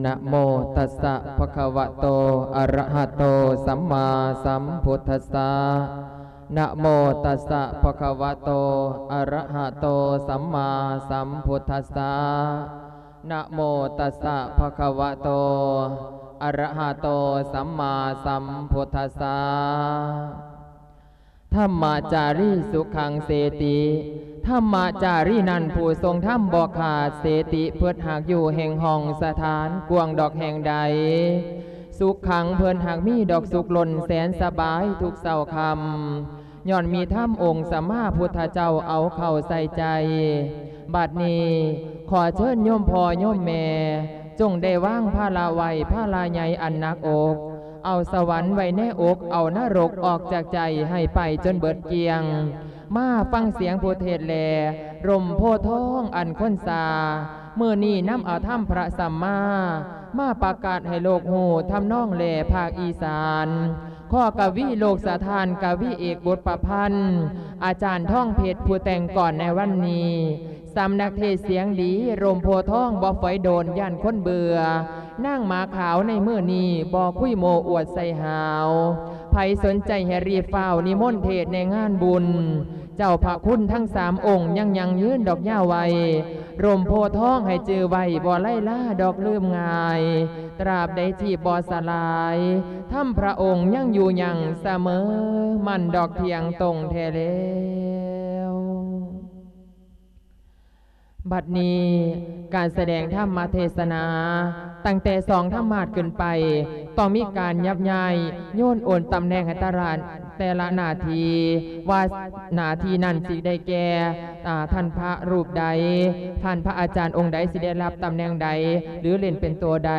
ນະໂມຕັດສະ ພະຄະວະໂຕ ອະຣະຫະໂຕ ສຳມາສຳພຸດທັດສະ ນະໂມຕັດສະ ພະຄະວະໂຕ ອະຣະຫະໂຕ ສຳມາສຳພຸດທັດສະ ນະໂມຕັດສະ ພະຄະວະໂຕ ອະຣະຫະໂຕ ສຳມາສຳພຸດທັດສະ. ທຳມະຈາຣີສຸຂັງເສຕິ ທຳມະຈາຣີນັ້ນຜູ້ຊົງທຳບໍ່ຂາດເສຕິ ເພິດຫາກຢູ່ແຫ່ງຫ້ອງສະຖານກວ້າງດອກແຫ່ງໃດ ສຸຂັງເພິ່ນຫາກມີດອກສຸກລົ້ນແສນສະບາຍທຸກເຊົ້າຄ່ຳ ຍ້ອນມີທຳອົງສຳມາພຸດທະເຈົ້າເອົາເຂົ້າໃສ່ໃຈ. ບັດນີ້ຂໍເຊີນໂຍມພໍ່ໂຍມແມ່ ຈົ່ງໄດ້ວາງພາລະໄວ້ ພາລະໃຫຍ່ອັນໜັກອົກ ເອົາສະຫວັນໄວ້ໃນອົກ ເອົານະລົກອອກຈາກໃຈ ໃຫ້ໄປຈົນເບິດກ້ຽງ. ມາຟັງສຽງຜູ້ເທດແລ ລົມໂພທອງອັນຄົນຊາ ມື້ນີ້ນຳເອົາທຳພະສຳມາ ມາປະກາດໃຫ້ໂລກຮູ້ ທຳນອງແລພາກອີສານ. ຂໍກະວີໂລກສະຖານ ກະວີເອກບົດປະພັນ ອາຈານທອງເພັດ ຜູ້ແຕ່ງກ່ອນໃນວັນນີ້. ສຳນັກເທດສຽງດີ ລົມໂພທອງບໍ່ຝອຍໂດນ ຢ້ານຄົນເບື່ອ ນາງໝາຂາວໃນມື້ນີ້ ບໍ່ຄຸຍໂມ້ອວດໃສ່ຫາວ. ໃຜສົນໃຈໃຫ້ຣີບຟ້າວນິມົນເທດໃນງານບຸນ. ເຈົ້າພະຄຸນທັງສາມອົງ ຍັງຢັ້ງຢືນດອກຍາວໄວ້ ລົມໂພທອງໃຫ້ຈື່ໄວ້ ບໍ່ໄລລາດອກລືມງ່າຍ ຕາບໃດທີ່ບໍ່ສະຫຼາຍ ທຳພະອົງຍັງຢູ່ຍັງສະເໝີ ໝັ້ນດອກທ່ຽງຕົງແທ້ແລ້ວ. ບັດນີ້ການສະແດງທຳມະເທດສະໜາ ຕັ້ງແຕ່ສອງທຳມາດຂຶ້ນໄປ ຕ້ອງມີການຍັບຍ້າຍໂຍນໂອນຕຳແໜ່ງໃຫ້ແຕ່ລະ ແຕ່ລະໜ້າທີ່ ວ່າໜ້າທີ່ນັ້ນຊິໄດ້ແກ່ ອາ ທ່ານພະຮູບໃດ ທ່ານພະອາຈານອົງໃດ ຊິໄດ້ຮັບຕຳແໜ່ງໃດ ຫຼື ເລ່ນເປັນໂຕໃດ.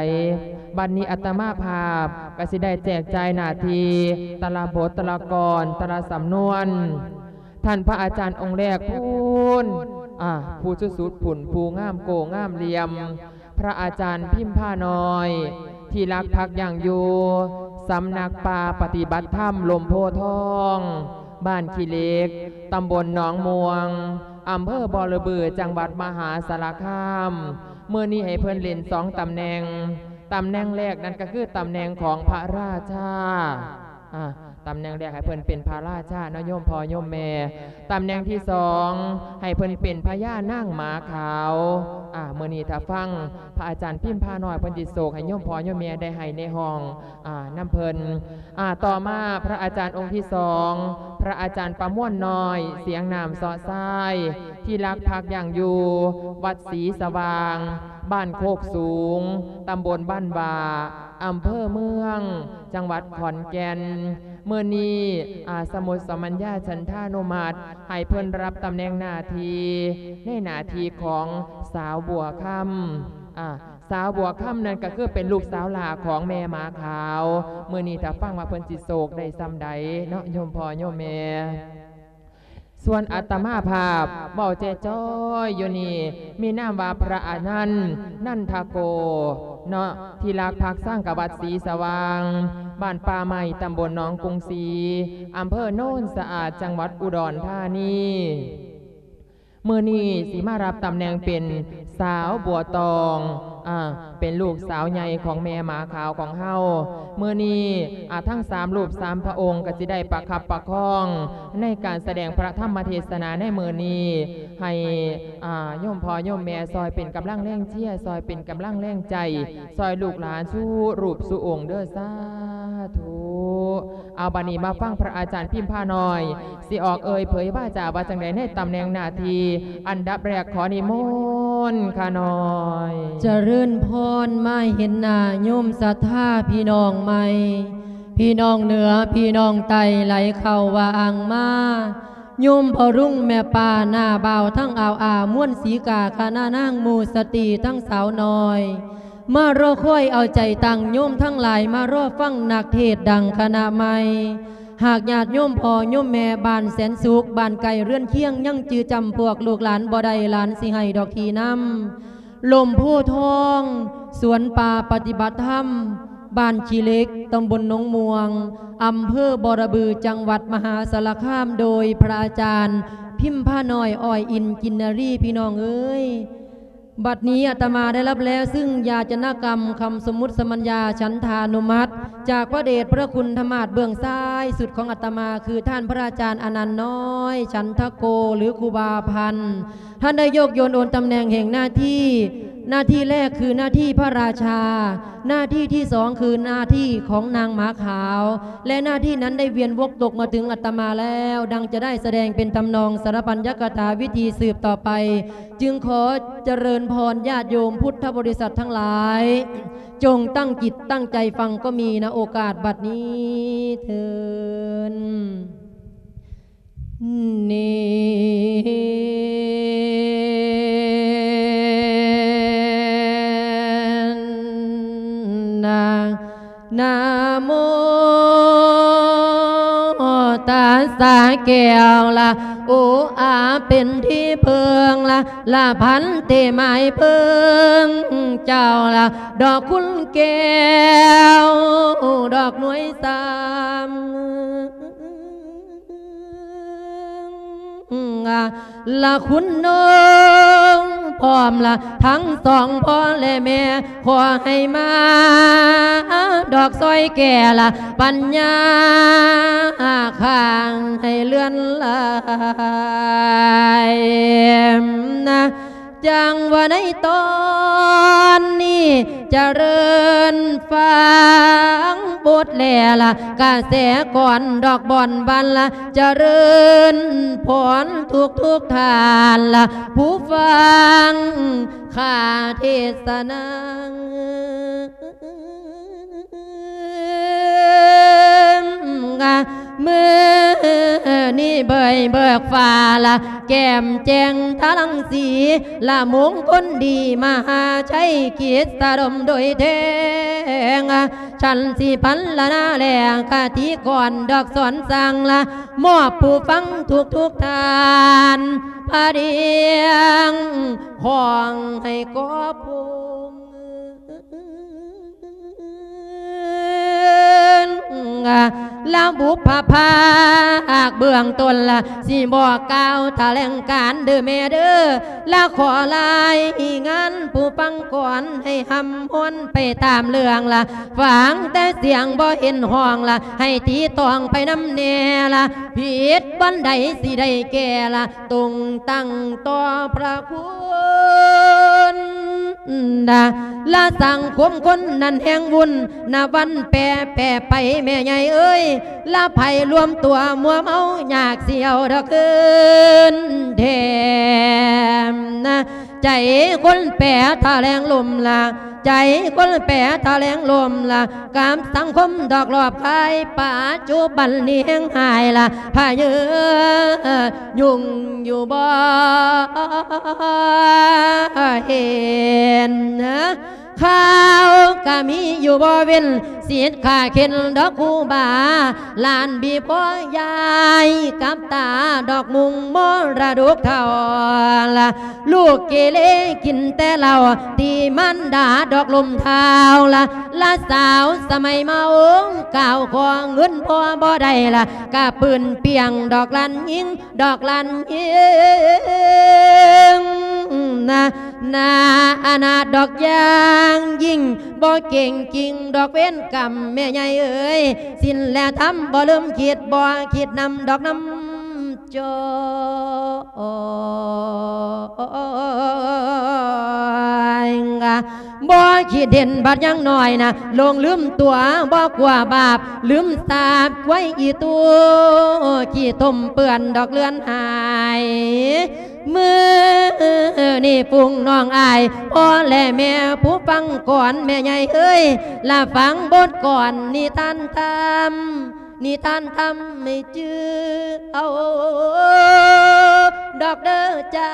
ບັດນີ້ອາດຕະມາພາບກໍຊິໄດ້ແຈກຈ່າຍໜ້າທີ່ ແຕ່ລະບົດ ແຕ່ລະກອນ ແຕ່ລະສຳນວນ. ທ່ານພະອາຈານອົງແລກພຸ້ນ ອາ ຜູ້ສຸດໆພຸ້ນ ຜູ້ງາມໂກ້ງາມຫຼ່ຽມ ພະອາຈານພິມພານ້ອຍ ທີ່ລັກພັກຢັ້ງຢູ່ ສຳນັກປ່າປະຕິບັດທຳລົມໂພທອງ ບ້ານຂີ້ເຫຼັກ ຕຳບົນໜອງມ່ວງ ອຳເພີບໍລະບື ຈັງຫວັດມະຫາສາລະຄາມ. ມື້ນີ້ໃຫ້ເພິ່ນເລ່ນສອງຕຳແໜ່ງ. ຕຳແໜ່ງແລກນັ້ນກໍຄືຕຳແໜ່ງຂອງພະລາຊາ ອາ ຕຳແໜ່ງແລກໃຫ້ເພິ່ນເປັນພະລາຊາເນາະ ໂຍມພໍ່ໂຍມແມ່. ຕຳແໜ່ງທີສອງ ໃຫ້ເພິ່ນເປັນພະຍານາງໝາຂາວ. ອາ ມື້ນີ້ຖ້າຟັງພະອາຈານພິມພານ້ອຍ ເພິ່ນຊິໂສກໃຫ້ໂຍມພໍ່ໂຍມແມ່ໄດ້ໄຫ້ໃນຫ້ອງ ອາ ນຳເພິ່ນ. ອາ ຕໍ່ມາພະອາຈານອົງທີສອງ ພະອາຈານປະມວນນ້ອຍ ສຽງນ້ຳເຊາະຊາຍ ທີ່ລັກພັກຢັ້ງຢູ່ ວັດສີສະຫວ່າງ ບ້ານໂຄກສູງ ຕຳບົນບ້ານຫວ້າ ອຳເພີເມືອງ ຈັງຫວັດຂອນແກ່ນ. ມື້ນີ້ ອາ ສະໝຸດສະມັນຍາ ສັນທານຸມັດ ໃຫ້ເພິ່ນຮັບຕຳແໜ່ງໜ້າທີ່ ໃນໜ້າທີ່ຂອງສາວບົວຄຳ. ອາ ສາວບົວຄຳນັ້ນກໍຄືເປັນລູກສາວຫຼ້າຂອງແມ່ໝາຂາວ. ມື້ນີ້ຖ້າຟັງວ່າເພິ່ນຊິໂຊກໄດ້ສ່ຳໃດເນາະ ໂຍມພໍ່ໂຍມແມ່. ສ່ວນອາດຕະມາພາບເວົ້າຈ່ອຍໆຢູ່ນີ້ ມີນາມວ່າພະອານັນ ນັນທະໂກ ເນາະ ທີ່ລັກພັກສັງກະວັດສີສະຫວ່າງ ບ້ານປ່າໄມ້ ຕຳບົນໜອງກຸງສີ ອຳເພີໂນນສະອາດ ຈັງຫວັດອຸດອນທານີ. ມື້ນີ້ຊິມາຮັບຕຳແໜ່ງເປັນສາວບົວຕອງ ອາ ເປັນລູກສາວໃຫຍ່ຂອງແມ່ໝາຂາວຂອງເຮົາ. ມື້ນີ້ ອາ ທັງສາມຮູບສາມພະອົງກໍຊິໄດ້ປະຄັບປະຄອງໃນການສະແດງພະທຳມະເທດສະໜາໃນມື້ນີ້ ໃຫ້ ອາ ໂຍມພໍ່ໂຍມແມ່ຊ່ອຍເປັນກຳລັງແຮງເຊຍ ຊ່ອຍເປັນກຳລັງແຮງໃຈ ຊ່ອຍລູກຫຼານສູ່ຮູບສູ່ອົງເດີ້ ສາທຸ. ເອົາ ບັດນີ້ມາຟັງພະອາຈານພິມພານ້ອຍ ຊິອອກເອີ່ຍເຜີຍວາຈາວ່າຈັ່ງໃດໃນຕຳແໜ່ງໜ້າທີ່. ອັນດັບແລກຂໍນິມົນຂ້ານ້ອຍ. ຈະເລີນພອນ ມາເຫັນໜ້າໂຍມສັດທາພີ່ນ້ອງໃໝ່ ພີ່ນ້ອງເໜືອ ພີ່ນ້ອງໃຕ້ ໄຫຼເຂົ້າວ່າອ່າງມາ ໂຍມພໍ່ລຸງແມ່ປ້າ ນ້າບ່າວທັງອາວອາ ມວນສີກາ ຄະນະນາງໝູ່ສະຕີ ທັງສາວນ້ອຍ ມາລໍຄອຍເອົາໃຈຕັ້ງ ໂຍມທັງຫຼາຍມາລໍຟັງນັກເທດດັງຄະນະໃໝ່. ຫາກຍາດໂຍມພໍ່ໂຍມແມ່ບ້ານແສນສຸກ ບ້ານໃກ້ເຮືອນຄຽງ ຍັງຈື່ຈຳພວກລູກຫຼານບໍ່ໄດ້ ຫຼານຊິໃຫ້ດອກທີ່ນຳ. ລົມໂພທອງ ສວນປ່າປະຕິບັດທຳ ບ້ານຂີ້ເຫຼັກ ຕຳບົນໜອງມ່ວງ ອຳເພີບໍລະບື ຈັງຫວັດມະຫາສາລະຄາມ ໂດຍພະອາຈານພິມພານ້ອຍ ອ້ອຍອິນ ກິນນາລີ. ພີ່ນ້ອງເອີຍ ບັດນີ້ອາດຕະມາໄດ້ຮັບແລ້ວຊຶ່ງຢາຈະນະກຳຄຳສົມມຸດສະມັນຍາ ສັນທານຸມັດ ຈາກພະເດດພະຄຸນທະມາດເບື້ອງຊ້າຍສຸດຂອງອາດຕະມາ ຄືທ່ານພະອາຈານອານັນນ້ອຍ ສັນທະໂກ ຫຼື ຄູບາພັນ. ທ່ານໄດ້ໂຍກໂຍນໂອນຕຳແໜ່ງແຫ່ງໜ້າທີ່, ໜ້າທີ່ແລກຄືໜ້າທີ່ພະລາຊາ, ໜ້າທີ່ທີສອງຄືໜ້າທີ່ຂອງນາງໝາຂາວ ແລະ ໜ້າທີ່ນັ້ນໄດ້ວຽນວົກຕົກມາເຖິງອາດຕະມາແລ້ວ, ດັ່ງຈະໄດ້ສະແດງເປັນທຳນອງສາລະປັນຍະກະຖາວິທີສືບຕໍ່ໄປ. ຈຶ່ງຂໍຈະເລີນພອນຍາດໂຍມພຸດທະບໍລິສັດທັງຫຼາຍ, ຈົ່ງຕັ້ງຈິດຕັ້ງໃຈຟັງກໍມີນະໂອກາດບັດນີ້ເທີນ. ນີ້ນະ ນະໂມຕັດສະແກ້ວລະ ໂອອາເປັນທີ່ເພິ່ງລະ ລະພັນເຕໝາຍເພິ່ງເຈົ້າລະ ດອກຄຸນແກ້ວ ດອກໜ່ວຍສາມ ລະຄຸນນົງ ພ້ອມລະທັງສອງພໍ່ແລະແມ່ ຂໍໃຫ້ມາດອກຊ່ອຍແກ່ລະ ປັນຍາຂ້າງໃຫ້ເລື່ອນຫຼາຍນະ. ຈັ່ງວ່າໃນຕອນນີ້ຈະເລີນຟັງບົດແລລະ ກະແສກ່ອນດອກບ່ອນບັນລະ ຈະເລີນພອນທຸກໆທ່ານລະ ຜູ້ຟັງຂ້າເທດສະນາ. ມື້ນີ້ເບີຍເບີກຟ້າລະ ແກ້ມແຈ້ງຕາລັງສີລະ ມົງຄົນດີມະຫາໄຊ ກິດສະດົມໂດຍແທງ ສັນສິພັນລະນາແລງຄະຕິກອນດອກສອນສັ່ງລະ ມອບຜູ້ຟັງທຸກໆທ່ານ ພະດຽງຂອງໃຫ້ກອບພົງ ລະບຸບພະພາກເບື້ອງຕົ້ນລະ ຊິບອກກ່າວຖະແຫຼງການເດີແມ່ເດີ ລະຂໍລາຍງານຜູ້ຟັງກ່ອນ ໃຫ້ຮ່ຳຮວນໄປຕາມເລື່ອງລະ ຟັງແຕ່ສຽງບໍ່ເຫັນຮ້ອງລະ ໃຫ້ຕີຕອງໄປນຳແນ່ລະ ຜິດບ່ອນໃດຊິໄດ້ແກ້ລະ ຕົງຕັ້ງຕໍ່ພະຄຸນນະ ລະສັງຄົມຄົນນັ້ນແຮງວຸ່ນນະ ວັນແປແປໄປແມ່ໃຫຍ່ເອີຍ ລະໄຜລວມຕົວມົວເມົາ ຢາກຊິເອົາດອກຄືນແຖມນະ ໃຈຄົນແປຖະແຫຼງລົມລະ ໃຈຄົນແປຖະແຫຼງລົມລະ ກັບສັງຄົມດອກລອບຄາຍ ປັດຈຸບັນນີ້ແຮງຫາຍລະ ພະເຍີຍຸ່ງຢູ່ບໍ່ເຫັນ ຂ່າວກະມີຢູ່ບໍ່ເວັ້ນ ສິດຂ້າເຂັນດອກຄູບາ ຫຼານບີພໍ່ຍາຍກັບຕາ ດອກມຸງມໍລະດົກເຖົ້າລະ ລູກເກເລກິນແຕ່ເຫຼົ້າ ຕີມານດາດອກລົມເທົ້າລະ ລະສາວສະໄໝເມົາ ກ່າວຂໍເງິນພໍ່ບໍ່ໄດ້ລະ ກະປືນປ່ຽງດອກຫຼານຍິງ ດອກຫຼານຍິງນະ ໜ້າອະນາດດອກຢ່າງຍິ່ງ ບໍ່ເກັ່ງກິ່ງດອກເວນກຳ ແມ່ໃຫຍ່ເອີຍ ສິນແລະທຳບໍ່ລືມຄິດ ບໍ່ຄິດນຳດອກນຳ ຈອຍ ບໍ່ຄິດເຫັນບັດຍັງນ້ອຍນະ ຫຼົງລືມຕົວບໍ່ກົວບາບ ລືມສາບຄວາຍອີຕູ ຂີ້ຕົມເປື້ອນດອກເລືອນຫາຍ ມື້ນີ້ຝູງນ້ອງອ້າຍ ພໍ່ແລະແມ່ຜູ້ຟັງກ່ອນ ແມ່ໃຫຍ່ເອີຍ ລະຟັງບົດກ່ອນນິທານທຳ ນິທານທຳໃຫ້ຈື່ເອົາດອກເດີຈ້າ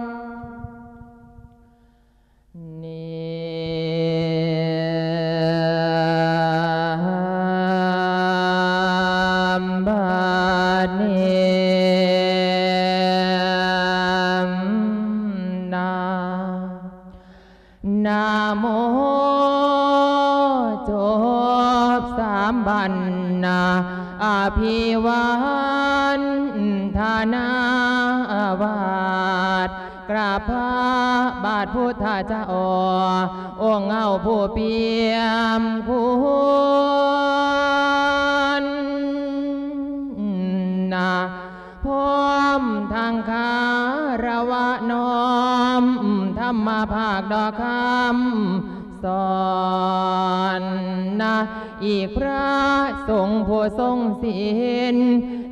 ນິບາດນີ້ນາ ນະໂມ ຈົບສາມບັນນາ ອະພິວັນທະນາບາດ ກາບພະບາດພຸດທະເຈົ້າ ອົງເອົາຜູ້ປ່ຽມຄຸນນາ ພ້ອມທັງຄາລະວະນ້ອມ ທຳມະພາກດອກຄຳສອນນະ ອີກພະສົງຜູ້ຊົງສິນ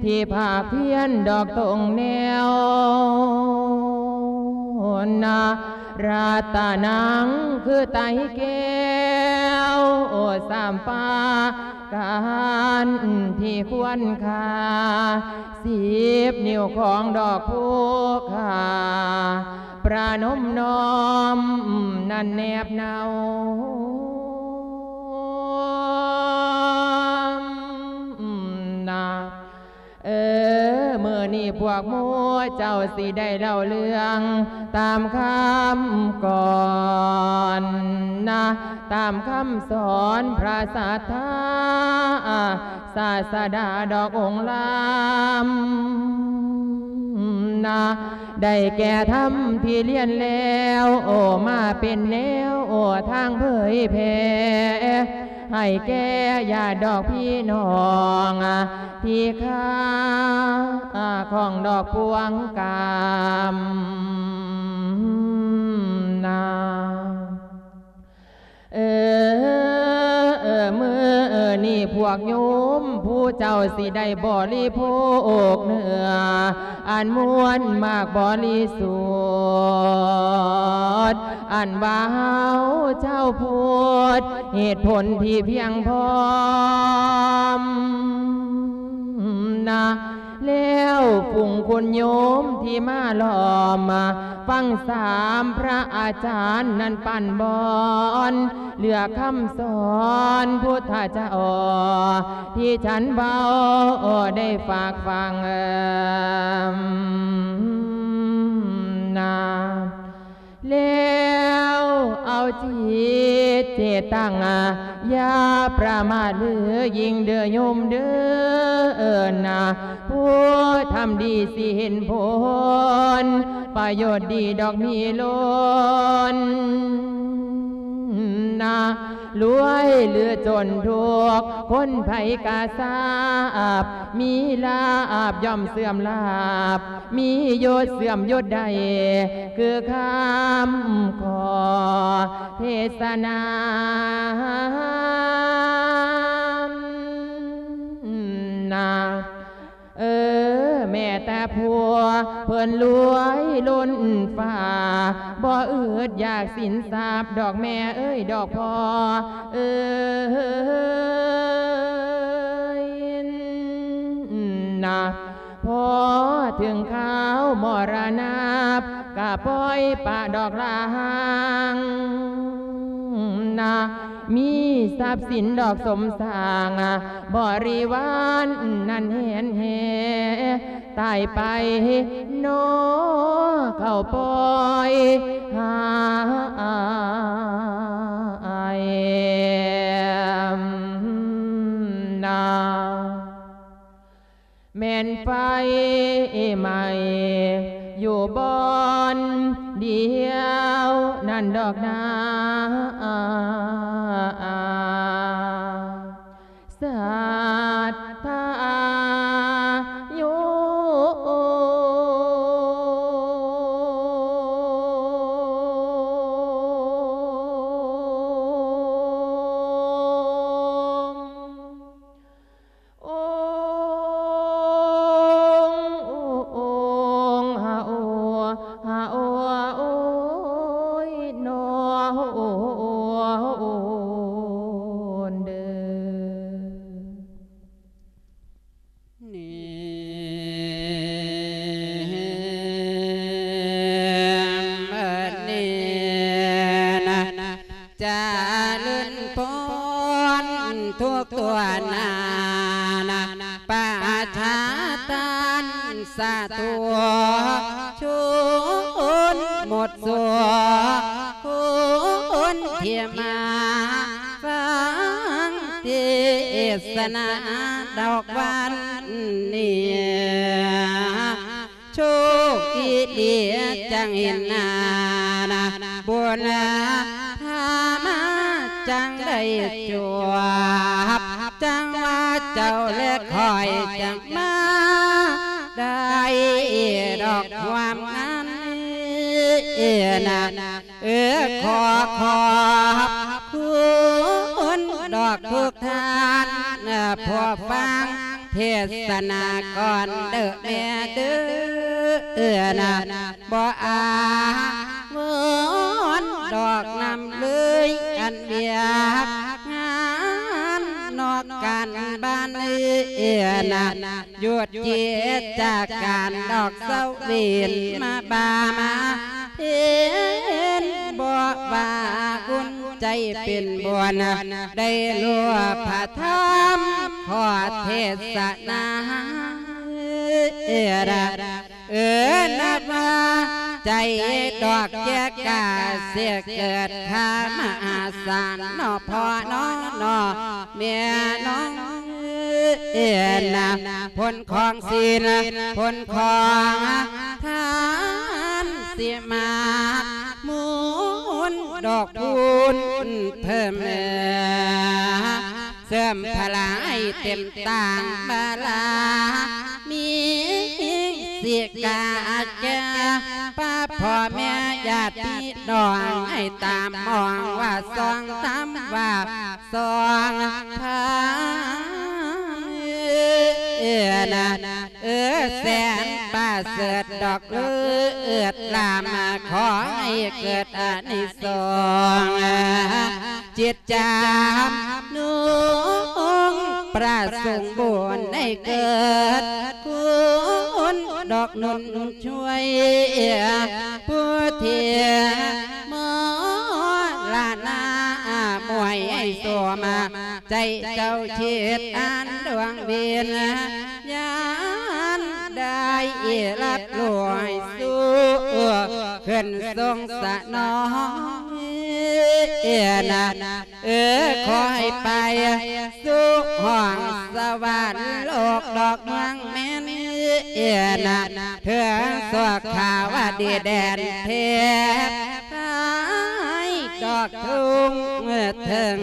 ທີ່ພາກພຽນດອກຕົງແນວນະ ລັດຕະນັງຄືໄຕແກ້ວ ໂອ ສາມປະການທີ່ຄວນຄ່າ ສິບນິ້ວຂອງດອກພູຄາ ປະນົມນ້ອມນັ້ນແນບເນົານາ ເອີ ມື້ນີ້ພວກໝູ່ເຈົ້າຊິໄດ້ເລົ່າເລື່ອງຕາມຄຳກ່ອນນະ ຕາມຄຳສອນພະສັດທາ ສາດສະດາດອກອົງລຳນະ ໄດ້ແກ່ທຳທີ່ລຽນແລ້ວ ໂອ ມາເປັນແນວ ໂອ ທາງເຜີຍແຜ່ ໃຫ້ແກ່ຍາດດອກພີ່ນ້ອງ ທີ່ຄາຂອງດອກປວງກາມນາ ເອີ ເອີ ມື້ນີ້ພວກໂຍມຜູ້ເຈົ້າຊິໄດ້ບໍລິໂພກເນື້ອ ອັນມ່ວນໝາກບໍລິສຸດ ອັນວ່າເຮົາຊາວພຸດ ເຫດຜົນທີ່ພຽງພ້ອມນະ ແລ້ວຝູງຄຸນໂຍມທີ່ມາລ້ອມ ຟັງສາມພະອາຈານນັ້ນປັ່ນບອນ ເລືອກຄຳສອນພຸດທະເຈົ້າ ທີ່ທ່ານເວົ້າໄດ້ຝາກຝັງນາ ແລ້ວເອົາຈິດເຈຕັງ ຢ່າປະໝາດເລີຍຍິ່ງເດີໂຍມເດີນາ ຜູ້ທຳດີຊິເຫັນຜົນ ປະໂຫຍດດີດອກມີລົ້ນນາ ລວຍຫຼືຈົນທຸກຄົນໃຜກະຊາບ ມີລາບຍ່ອມເສື່ອມລາບ ມີຍົດເສື່ອມຍົດໄດ້ ຄືຄຳຂໍເທດສະໜານາ ເອີ ແມ້ແຕ່ຜົວເພິ່ນລວຍລົ້ນຟ້າ ບໍ່ອຶດຢາກສິນຊາບດອກແມ່ເອີຍດອກພໍ່ເອີຍນະ ພໍເຖິງຄາວມໍລະນະພາບ ກະປ່ອຍປະດອກລາງນະ ມີຊັບສິນດອກສົມສ້າງ ບໍລິວານນັ້ນແຫນແຫ່ ຕາຍໄປໜໍ່ເຂົາປ່ອຍຫາຍນາ. ແມ່ນໄຟໄໝ້ຢູ່ບ່ອນດຽວນັ້ນດອກນາ ສັດທາໂຍ. ຈະເລີນພອນທຸກຕົວໜ້ານະ ປະຊາທ່ານສາທຸຊົນໝົດສູ່ ຄົນທີ່ມາຟັງເທດສະໜາດອກວັນນີ້. ໂຊກດີໆ ຈັ່ງເຫັນໜ້ານະ ບຸນພາມາຈັ່ງໄດ້ຈົບ ຈັ່ງວ່າເຈົ້າແລະຂ້ອຍຈັ່ງມາໄດ້ດອກຮ່ວມງານນະ. ເອີ ຂໍຂອບຄຸນດອກທຸກທ່ານ ເອີ ຜູ້ຟັງເທດສະໜາກ່ອນເດີແມ່ເດີ ເອີ ນະ ບໍ່ອາວອນດອກນຳເລີຍ ອັນວຽກງານນອກການບ້ານ ເອີ ນະ ຢຸດກິດຈະການດອກເຊົາເວັນມາບາມາເພັນ ບໍ່ວ່າບຸນໃຈເປັນບຸນ ໄດ້ຮູ້ພະທຳຂໍເທດສະໜາ ເອີ ນະ ເອີ ນັບວ່າໃຈດອກແຈກາ ເສກເກີດຂ້າມະຫາສານ ເນາະພໍ່ເນາະ ເນາະແມ່ນ້ອງ ເອີ ນະ ຜົນຂອງສິນ ຜົນຂອງທານ ຊິມາກໝູນດອກຄູນເພີ່ມ ເສີມພະລາໃຫ້ເຕັມຕ່າງບາລາມີ ຊິກາແກ່ປ້າພໍ່ແມ່ຍາດພີ່ນ້ອງ ໃຫ້ຕາມມອງວ່າຊ່ອງທຳວ່າຊ່ອງທຳ ເອີ ນະ ເອີ ແສນປະເສີດດອກເລີດລາມ ຂໍໃຫ້ເກີດອານິສົງ ຈິດຈຳນົງປະສົງບຸນໃຫ້ເກີດຄຸນດອກໜູນຊ່ວຍ ຜູ້ທີ່ມໍລະນະມວຍໃຫ້ສົມ ໃຈເຈົ້າຄິດອັນດວງວິນຍານໄດ້ຮັບຮູ້ໃຫ້ສຸກຂຶ້ນສົງສະໜອງ ເອີ ນະ ເອີ ຂໍໃຫ້ໄປສູ່ຫ້ອງສະຫວັນໂລກດອກເມືອງແມ່ນ ເອີ ນະ ເຖິງສຸຂາວະດີແດນເທບ ໃຫ້ດອກທຸງເຖິງ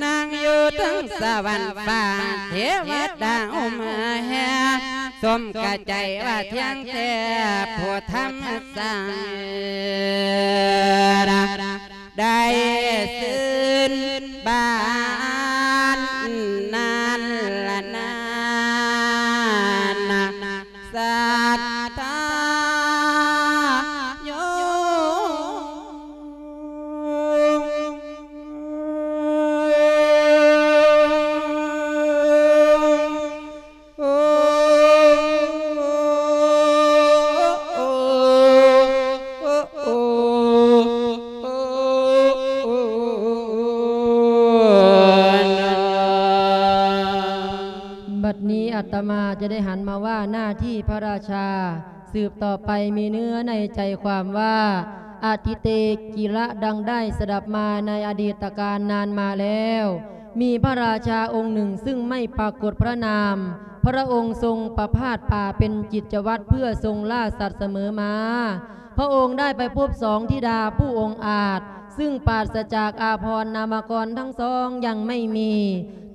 ນັ່ງຢູ່ເທິງສະຫວັນຟ້າ ເທວະດາອຸມແຫ່ ສົມກະໃຈວ່າທ່ຽງແທ້ ຜູ້ທຳສ້າງ ໄດ້ຊື່ນບານນັ້ນລະນານ ສັດທາໂຍ. ອາດຕະມາຈະໄດ້ຫັນມາວ່າໜ້າທີ່ພະລາຊາ ສືບຕໍ່ໄປມີເນື້ອໃນໃຈຄວາມວ່າ ອະຕິເຕກິລະ ດັ່ງໄດ້ສະດັບມາໃນອະດີດຕະການນານມາແລ້ວ ມີພະລາຊາອົງໜຶ່ງຊຶ່ງໄມ່ປາກົດພະນາມ, ພະອົງຊົງປະພາດປ່າເປັນກິດຈະວັດເພື່ອຊົງລາສັດສະເໝີມາ. ພະອົງໄດ້ໄປພົບສອງທິດາຜູ້ອົງອາດ ຊຶ່ງປາສະຈາກອາພອນນາມະກອນທັງສອງຍັງໄມ່ມີ,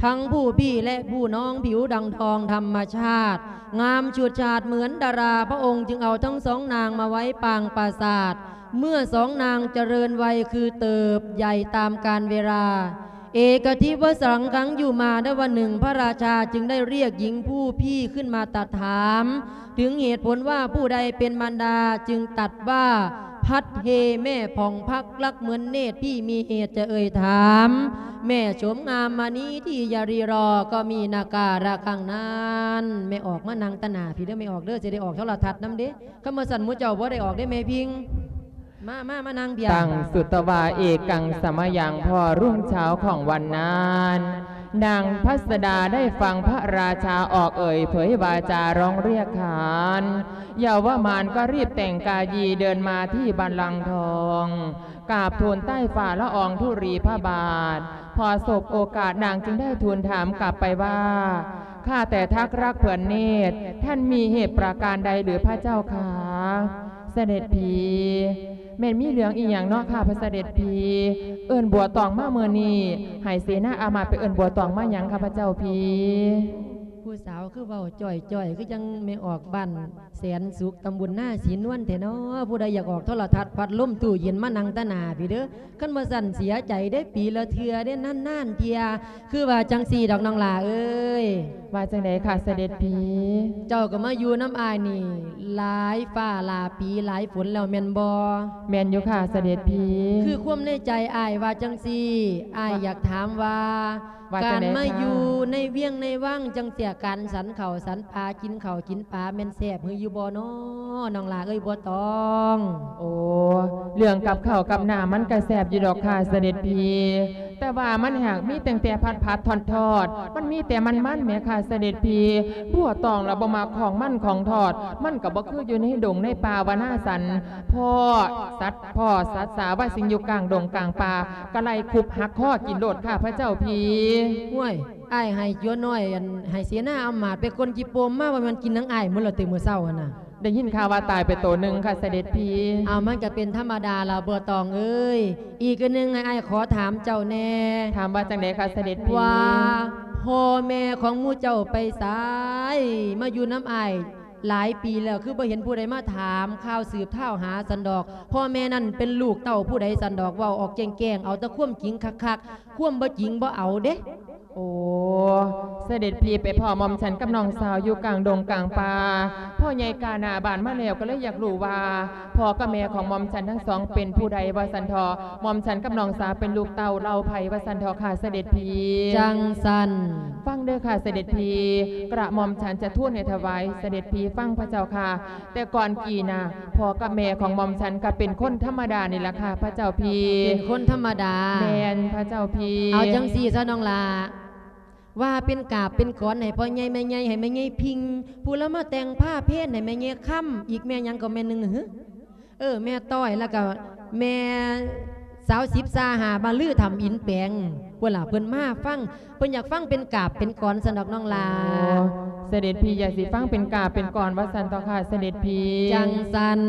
ທັງຜູ້ພີ່ ແລະ ຜູ້ນ້ອງຜິວດັ່ງທອງທຳມະຊາດ ງາມສວດສາດເໝືອນດາລາ, ພະອົງຈຶ່ງເອົາທັງສອງນາງມາໄວ້ປາງປາສາດ. ເມື່ອສອງນາງຈະເລີນໄວຄືເຕີບໃຫຍ່ຕາມການເວລາ, ເອກະທິວະສັງຄັງ ຢູ່ມາໄດ້ວັນໜຶ່ງ ພະລາຊາຈຶ່ງໄດ້ລຽກຍິງຜູ້ພີ່ຂຶ້ນມາຕັດຖາມ ເຖິງເຫດຜົນວ່າຜູ້ໃດເປັນມານດາ ຈຶ່ງຕັດວ່າ ພັດເຮແມ່ຜ່ອງພັກລັກເໝືອນເນດ ພີ່ມີເຫດຈະເອີ່ຍຖາມ ແມ່ໂສມງາມມະນີທີ່ຢ່າຣີລໍ ກໍມີນາກາລະຄັງນັ້ນ. ແມ່ອອກມານັ່ງຕາໜ້າພີ້ເດີ ແມ່ອອກເດີ ຊິໄດ້ອອກໂທລະທັດນຳເດ້. ຄັນບໍ່ຊັ້ນໝູ່ເຈົ້າບໍ່ໄດ້ອອກເດ້ແມ່ພິງ. ມາ ມາ ມານັ່ງເພຍ. ຕັງສຸດຕະວາເອກັງສະມະຍັງ ພໍລຸງເຊົ້າຂອງວັນນັ້ນ ນາງພັດສະດາໄດ້ຟັງພະລາຊາອອກເອີ່ຍເຜີຍວາຈາຮ້ອງລຽກຂານ ເຍົາວະມານກໍຣີບແຕ່ງກາຍຢີເດີນມາທີ່ບັນລັງທອງ ກາບທູນໃຕ້ຝ່າລະອອງທຸລີພະບາດ. ພໍສົບໂອກາດນາງຈຶ່ງໄດ້ທູນຖາມກັບໄປວ່າ ຂ້າແຕ່ທັກລັກເຜືອນເນດ ທ່ານມີເຫດປະການໃດຫຼືພະເຈົ້າຂ້າ? ສະເດັດພີ ແມ່ນມີເລື່ອງອີ່ຫຍັງເນາະຂ້າພະສະເດັດພີ? ເອີ້ນບົວຕອງມາມື້ນີ້ ໃຫ້ເສນາອາມາດໄປເອີ້ນບົວຕອງມາຫຍັງຂ້າພະເຈົ້າພີ? ຜູ້ສາວຄືເວົ້າຈ່ອຍໆ ຄືຈັ່ງແມ່ອອກບ້ານແສນສຸກ ຕຳບົນນາສີນວນແທ້ເນາະ. ຜູ້ໃດຢາກອອກໂທລະທັດ ພັດລົມ ຕູ້ເຢັນ ມານັ່ງຕາໜ້າພີ້ເດີ. ຄັນບໍ່ຊັ້ນເສຍໃຈເດ້ ປີລະເທື່ອເດ້ ນານໆເທື່ອ. ຄືວ່າຈັ່ງຊີ້ດອກນ້ອງຫຼ້າເອີຍ. ວ່າຈັ່ງໃດຂ້າສະເດັດພີ? ເຈົ້າກໍມາຢູ່ນຳອ້າຍນີ້ຫຼາຍຟ້າຫຼາຍປີຫຼາຍຝົນແລ້ວແມ່ນບໍ່? ແມ່ນຢູ່ຂ້າສະເດັດພີ. ຄືຄວາມໃນໃຈອ້າຍວ່າຈັ່ງຊີ້ ອ້າຍຢາກຖາມວ່າ ວ່າ ການມາຢູ່ໃນວຽງໃນວັງຈັ່ງເສຍ ການສັນເຂົ້າສັນປາ ກິນເຂົ້າກິນປາ ແມ່ນແຊບຄືຢູ່ບໍ່ນໍ ນ້ອງຫຼ້າເອີຍບົວຕອງ? ໂອ້ ເລື່ອງກັບເຂົ້າກັບນ້ຳມັນກະແຊບຢູ່ດອກຂ້າສະເດັດພີ ແຕ່ວ່າມັນຫາກມີຕັ້ງແຕ່ຜັດໆທອດໆ ມັນມີແຕ່ມັນໆແໝ່ຂ້າສະເດັດພີ. ບົວຕອງລະບໍ່ມັກຂອງມັນຂອງທອດ ມັນກະບໍ່ຄືຢູ່ໃນດົງໃນປ່າວະນາສັນ ພໍ້ສັດ ພໍ້ສັດສາວາສິ່ງຢູ່ກາງດົງກາງປ່າ ກະໄລ່ຄຸບຫັກຄໍກິນໂລດຂ້າພະເຈົ້າພີ. ຫ້ວຍ ອ້າຍໃຫ້ຕົວນ້ອຍ ອັນ ໃຫ້ເສນາອຳມາດໄປກົນຈີ່ປົມມາ ວ່າແມ່ນກິນນຳອ້າຍໝົດແລ້ວຕິມື້ເຊົ້າຫັ້ນນະ? ໄດ້ຍິນຂ່າວວ່າຕາຍໄປໂຕໜຶ່ງຂ້າສະເດັດພີ. ເອົາ ມັນກະເປັນທຳມະດາລະບົວຕອງເອີຍ. ອີກອັນໜຶ່ງ ໃຫ້ອ້າຍຂໍຖາມເຈົ້າແດ່. ຖາມວ່າຈັ່ງໃດຂ້າສະເດັດພີ? ວ່າພໍ່ແມ່ຂອງໝູ່ເຈົ້າໄປໃສ? ມາຢູ່ນຳອ້າຍ ຫຼາຍປີແລ້ວ ຄືບໍ່ເຫັນຜູ້ໃດມາຖາມຂ່າວສືບທ້າວຫາຊັ້ນດອກ. ພໍ່ແມ່ນັ້ນເປັນລູກເຕົ້າຜູ້ໃດຊັ້ນດອກ? ເວົ້າອອກແຈ້ງໆ ເອົາແຕ່ຄວາມຈິງຄັກໆ ຄວາມບໍ່ຈິງບໍ່ເອົາເດ້. ໂອ້ ສະເດັດພີໄປພໍ້ໝ່ອມສັນກັບນ້ອງສາວຢູ່ກາງດົງກາງປ່າ. ພໍ່ໃຫຍ່ກ້າໜ້າບ້ານມາແລ້ວ ກໍເລີຍຢາກຮູ້ວ່າ ພໍ່ກັບແມ່ຂອງໝ່ອມສັນທັງສອງເປັນຜູ້ໃດວ່າຊັ້ນເຖາະ. ໝ່ອມສັນກັບນ້ອງສາວເປັນລູກເຕົ້າເຫຼົ່າໃຜວ່າຊັ້ນເຖາະຂ້າສະເດັດພີ. ຈັ່ງຊັ້ນ ຟັງເດີຂ້າສະເດັດພີ ກະໝ່ອມສັນຈະທູນໃຫ້ຖວາຍສະເດັດພີຟັງພະເຈົ້າຂ້າ. ແຕ່ກ່ອນກີ້ນະ ພໍ່ກັບແມ່ຂອງໝ່ອມສັນກະເປັນຄົນທຳມະດານີ້ລະຂ້າພະເຈົ້າພີ. ເປັນຄົນທຳມະດາ. ແມ່ນພະເຈົ້າພີ. ເອົາຈັ່ງຊີ້ຊະນ້ອງຫຼ້າ ວ່າເປັນກາບເປັນກອນໃຫ້ພໍ່ໃຫຍ່ແມ່ໃຫຍ່ ໃຫ້ແມ່ໃຫຍ່ພິງ ຜູ້ລະມາແຕ່ງພາເພນໃຫ້ແມ່ໃຫຍ່ຄຳ ອີກແມ່ຫຍັງກໍແມ່ໜຶ່ງຫື? ເອີ ແມ່ຕ້ອຍ ແລ້ວກໍແມ່ສາວສິບຊາຫາ ມາລືທຳອິນແປງ ພຸ້ນລະ ເພິ່ນມາຟັງ ເພິ່ນຢາກຟັງເປັນກາບເປັນກອນຊັ້ນດອກນ້ອງຫຼ້າ. ໂອ້ ສະເດັດພີຢາກຊິຟັງເປັນກາບເປັນກອນວ່າຊັ້ນເຖາະຂ້າສະເດັດພີ. ຈັ່ງຊັ້ນ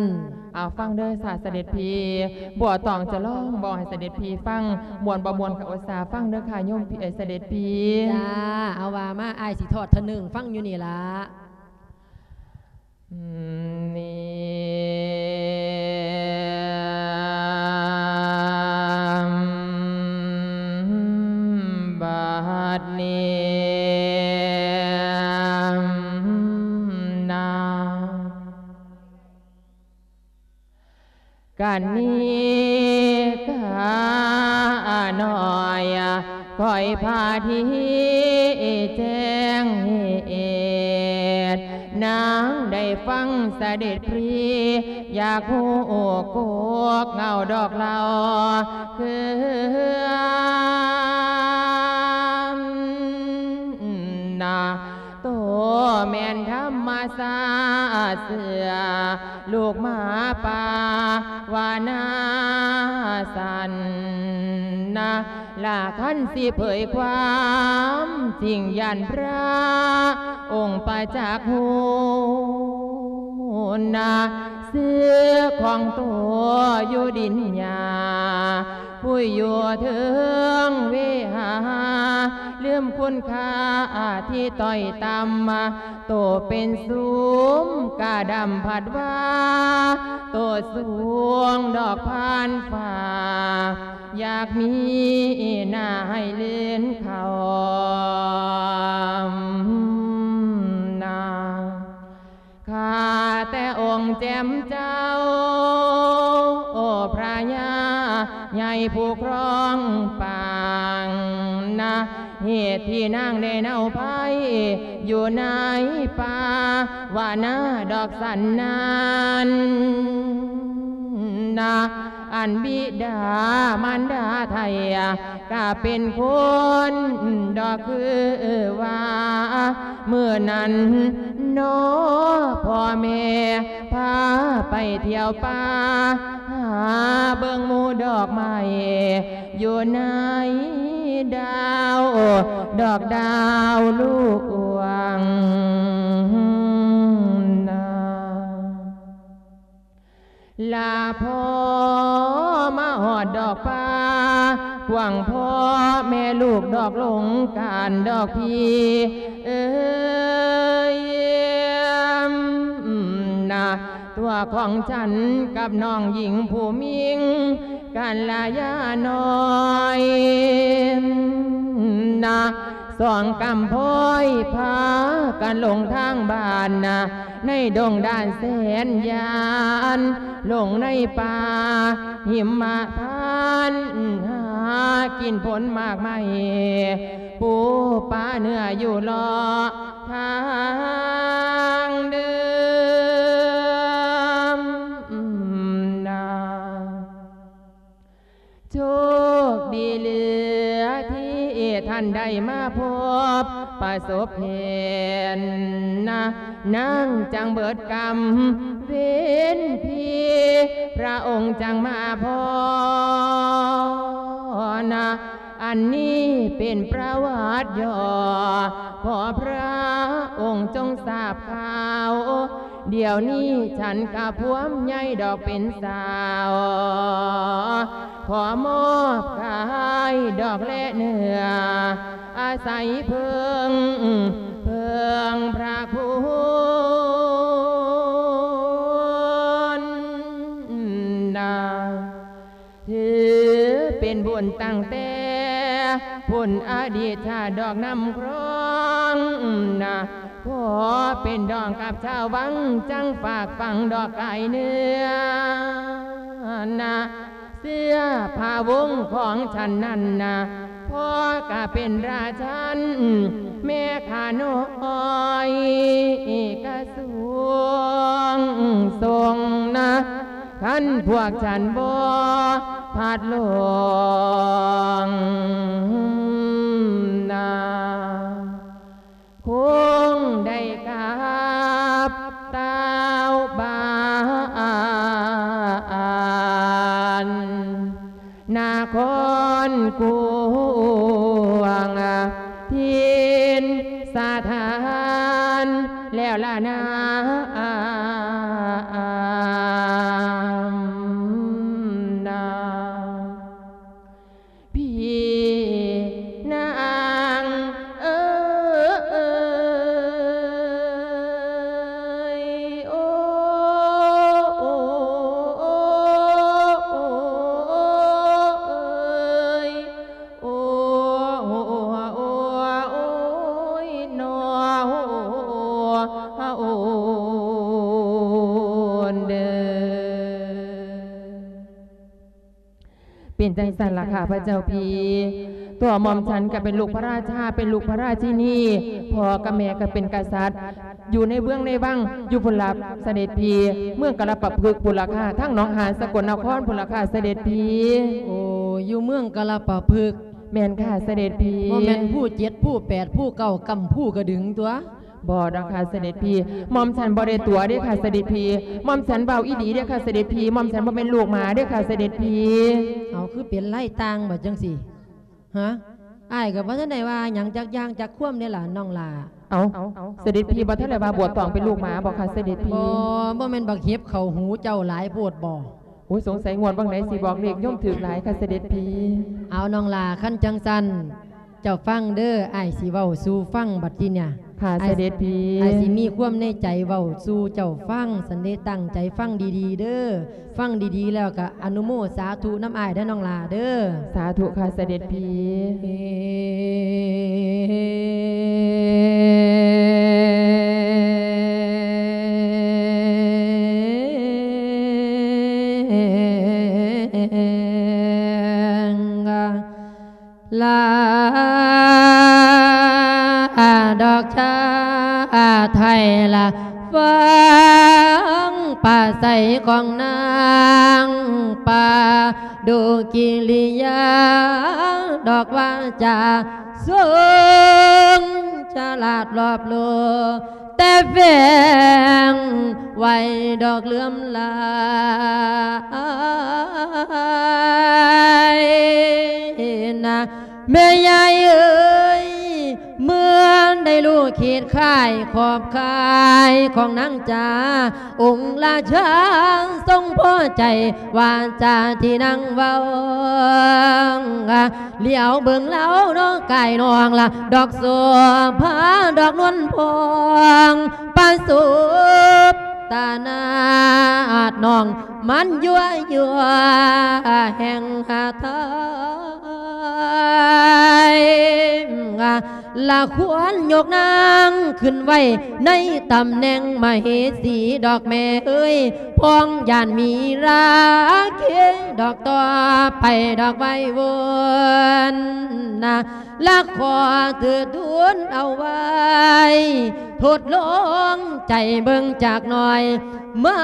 ເອົາ ຟັງເດີຂ້າສະເດັດພີ ບົວຕອງຈະຮ້ອງບອກໃຫ້ສະເດັດພີຟັງ ມ່ວນບໍ່ມ່ວນກໍອຸດສາຟັງເດີຂ້າໂຍມ ເອີ ສະເດັດພີ. ຈ້າ ເອົາວ່າມາ ອ້າຍຊິທອດທະເໜິງຟັງຢູ່ນີ້ລະ. ບັດນີ້ນາ ກະນິການ້ອຍ ຂ້ອຍພາທີ່ແຈ້ງເຫດ ນາງໄດ້ຟັງສະເດັດພີ ຢາກຮູ້ກົກເຫງົາດອກເລົ່າ ຄືນາໂຕ ສາເສືອລູກໝາປ່າວ່ານາສັນນະ ລະຄັນຊິເຜີຍຄວາມຈິງ ຢ້ານພຣະອົງປະຈັກຮູ້ນະ ຊື່ຂອງໂຕຢູ່ດິນຫຍ້າ ຜູ້ຢູ່ເທິງເວຫາ ລືມຄຸນຄ່າທີ່ຕ້ອຍຕ່ຳ ໂຕເປັນສຸມກະດຳພັດວ່າ ໂຕສູງດອກຜ່ານຟ້າ ຢາກມີໜ້າໃຫ້ລື່ນເຂົ້ານາ ຂ້າແຕ່ອົງແຈ່ມເຈົ້າ ໂອພຣະຍາໃຫຍ່ຜູ້ຄອງປາງນະ ເຫດທີ່ນາງໄດ້ເນົາໄພຢູ່ໃນປ່າ ວ່ານາດອກສັນນັ້ນນະ ອັນບິດາມານດາໄຖ່ ກະເປັນຄົນດອກຄືວ່າ ມື້ນັ້ນນໍພໍ່ແມ່ພາໄປທ່ຽວປ່າ ຫາເບິ່ງໝູ່ດອກໄມ້ ຢູ່ໃນດາວ ດອກດາວລວງນາ ລາພໍມາຮອດດອກປ່າກວ້າງ ພໍ່ແມ່ລູກດອກຫຼົງການດອກພີເອີຍນະ ຕົວຂອງສັນກັບນ້ອງຍິງຜູ້ມິ່ງກັນລະຢ່ານ້ອຍນະ ສອງກຳພ້ອຍພາກັນຫຼົງທາງບ້ານນະ ໃນດົງດານແສນຍານ ລົງໃນປ່າຫິມມະພານ ຫາກິນຜົນໝາກໄມ້ ປູປາເນື້ອຢູ່ເລາະທາງເດີມນາ ໂຊກດີເຫຼືອທີ່ທ່ານໄດ້ມາພົບປະສົບເຫັນນະ ນາງຈັ່ງເບີດກຳເວັນພີ ພຣະອົງຈັ່ງມາພໍນະ ອັນນີ້ເປັນປະຫວັດຫຍໍ້ ຂໍພຣະອົງຈົ່ງຊາບຂ່າວ ດຽວນີ້ສັນກະພວມໃຫຍ່ດອກເປັນສາວ ຂໍມອບກາຍດອກແລະເນື້ອ ອາໄສເພິ່ງ ເພິ່ງພຣະຄຸນນາ ຖືເປັນບຸນຕັ້ງແຕ່ພຸ້ນອະດີດຊາດດອກນຳຄຣອງນະ ຂໍເປັນດອງກັບຊາວວັງ ຈັ່ງຝາກຝັງດອກກາຍເນື້ອນະ ເສື້ອຜ້າວົງຂອງສັນນັ້ນນະ ພໍ່ກະເປັນລາຊັນ ແມ່ຂ້ານ້ອຍກະສວງຊົງນະ ຄັນພວກສັນບໍ່ພັດຫຼົງນາ ຄົງໄດ້ກັບຕາວບ້ານ ນະຄອນກວາງຖິ່ນສະຖານແລ້ວລະນາ ພີ່ນາງເອີຍ ໂອ ໂອ ໂອ ເອີຍ ໂອ ໂອ ໂອ ໂອຍ ໜໍ ໂອ ໂອ ເດີ. ເປັນຈັ່ງຊັ້ນລະຂ້າພະເຈົ້າພີ່ ຕົວໝ່ອມສັນກະເປັນລູກພະລາຊາ ເປັນລູກພະລາຊິນີ ພໍ່ກັບແມ່ກະເປັນກະສັດ ຢູ່ໃນເມືອງໃນວັງ ຢູ່ພຸ້ນລະສະເດັດພີ່ ເມືອງກາລະປະພຶກພຸ້ນລະຄ່າ ທາງໜອງຫານສະກົນນະຄອນພຸ້ນລະຄ່າສະເດັດພີ່. ໂອ້ ຢູ່ເມືອງກາລະປະພຶກ. ແມ່ນຄ່າສະເດັດພີ່. ບໍ່ແມ່ນພູເຈັດ ພູແປດ ພູເກົ້າ ກຳພູກະດຶງຕົວະ. ບໍ່ດອກຄ່ະສະເດັດພີ່ ໝ່ອມສັນບໍ່ໄດ້ຕົວະເດ້ຄ່ະສະເດັດພີ່ ໝ່ອມສັນເວົ້າອີ່ຫຼີເດ້ຄ່ະສະເດັດພີ່ ໝ່ອມສັນບໍ່ແມ່ນລູກໝາເດ້ຄ່ະສະເດັດພີ່. ເອົາ ຄືເປັນລາຍຕ່າງບາດຈັ່ງຊີ້? ຮະ? ອ້າຍກໍບໍ່ທັນໄດ້ວ່າຫຍັງຈັກຢ່າງຈັກຄວາມເດ້ລະນ້ອງຫຼ້າ. ເອົ້າ ສະເດັດພີ່ບໍ່ທັນໄດ້ວ່າບົວຕອງເປັນລູກໝາບໍຄະສະເດັດພີ່? ບໍ່ ບໍ່ແມ່ນບັກເຫັບເຂົ້າຫູເຈົ້າຫຼາຍໂພດບໍ? ໂອ້ຍ ສົງໄສງວດຫວ່າງໃດຊິບອກເລກໂຍມຖືກຫຼາຍຄ່ະສະເດັດພີ່. ເອົາ ນ້ອງຫຼ້າ ຄັນຈັ່ງຊັ້ນ ເຈົ້າຟັງເດີ້ ອ້າຍຊິເວົ້າສູ່ຟັງບັດທີເນີ້ຍ. ຄ່ະ ອ້າຍ ສະເດັດພີ່. ອ້າຍຊິມີຄວາມໃນໃຈເວົ້າສູ່ເຈົ້າຟັງ ຊັ້ນເດ ຕັ້ງໃຈຟັງດີໆເດີ້ ຟັງດີໆແລ້ວກະອະນຸໂມສາທຸນຳອ້າຍເດີ້ນ້ອງຫຼ້າເດີ້. ສາທຸຄ່ະສະເດັດພີ່. ລາດອກຊາດໄທລະ ຟັງປາໄສຂອງນາງປາດຸກິລິຍາ ດອກວາຈາຊົງສະຫຼາດລອບໂລ ແຕ່ແຝງໄວ້ດອກເຫຼືອມລາຍນະ ແມ່ຍາຍເອີຍ ເມື່ອໄດ້ຮູ້ຂີດຄ້າຍຂອບຂ່າຍຂອງນາງຈາ ອົງລາຊາຊົງພໍໃຈວາຈາທີ່ນາງເວົ້າ ຫຼຽວເບິ່ງລາວເນາະກາຍນ້ອງລະ ດອກໂສພາດອກນວນພອງ ປະສົບຕາໜ້າອາດນ້ອງ ມັນຍົວຍົວແຫ່ງຫາໄທ ລະຄວນຍົກນາງຂຶ້ນໄວ້ ໃນຕຳແໜ່ງມະເຫສີດອກແມ່ເອີຍ ພ້ອງຢ້ານມີລາເຄ ດອກຕໍ່ໄປດອກໄວວົນນະ ລະຂໍເທີດທູນເອົາໄວ້ ທົດລອງໃຈເບິ່ງຈັກໜ່ອຍ ມັ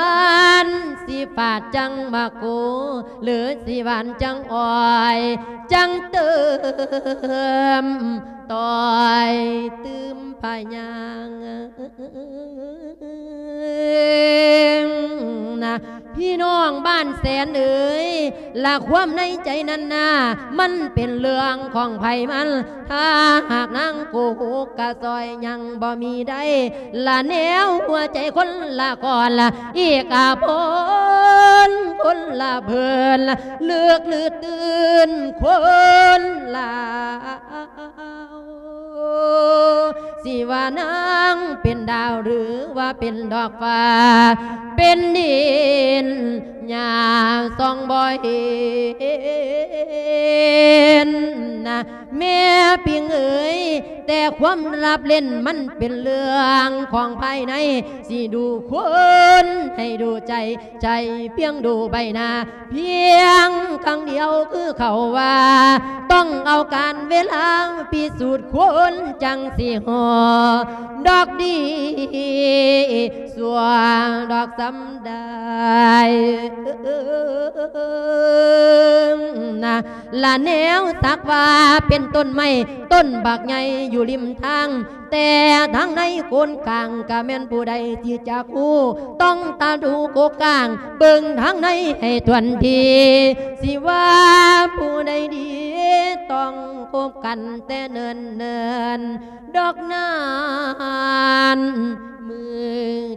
ນຊິຟາດຈັ່ງມາໂກ ຫຼືຊິຫວານຈັ່ງອອຍ ຈັ່ງເຕີມ ຕ່ອຍຕື່ມພະຍາ ນະ ພີ່ນ້ອງບ້ານແສນເອີຍ ລະຄວາມໃນໃຈນັ້ນນາ ມັນເປັນເລື່ອງຂອງໃຜມັນ ຖ້າຫາກນາງໂກຫົກກະຊ່ອຍຍັງບໍ່ມີໄດ້ ລະແນວຫົວໃຈຄົນລະກ່ອນລະ ອີກອາພົນຄົນລະເພີນລະ ເລືອກຫຼືຕື່ນຄົນລະ ຊິວ່ານາງເປັນດາວ ຫຼືວ່າເປັນດອກຟ້າ ເປັນດິນຫຍ້າສ່ອງບໍ່ເຫັນນະ ແມ່ປິງເອີຍ ແຕ່ຄວາມລັບເຫຼັ້ນມັນເປັນເລື່ອງຂອງພາຍໃນ ຊິດູຄົນໃຫ້ດູໃຈ ໃຈພຽງດູໃບໜ້າ ພຽງຄັ້ງດຽວຄືເຂົາວ່າ ຕ້ອງເອົາການເວລາພິສູດ ຄົນຈັ່ງຊິຮູ້ດອກດີ ຊົ່ວດອກສ່ຳໃດນະ ລະແນວສັກວ່າເປັນຕົ້ນໄມ້ ຕົ້ນບັກໃຫຍ່ຢູ່ລິມທາງ ແຕ່ທາງໃນໂກນກາງ ກະແມ່ນຜູ້ໃດທີ່ຈະຮູ້ ຕ້ອງຕາດູກົກກາງ ເບິ່ງທາງໃນໃຫ້ຖ້ວນທີ ຊິວ່າຜູ້ໃດດີ ຕ້ອງຄົບກັນແຕ່ເນີນໆ ດອກນານ ມື້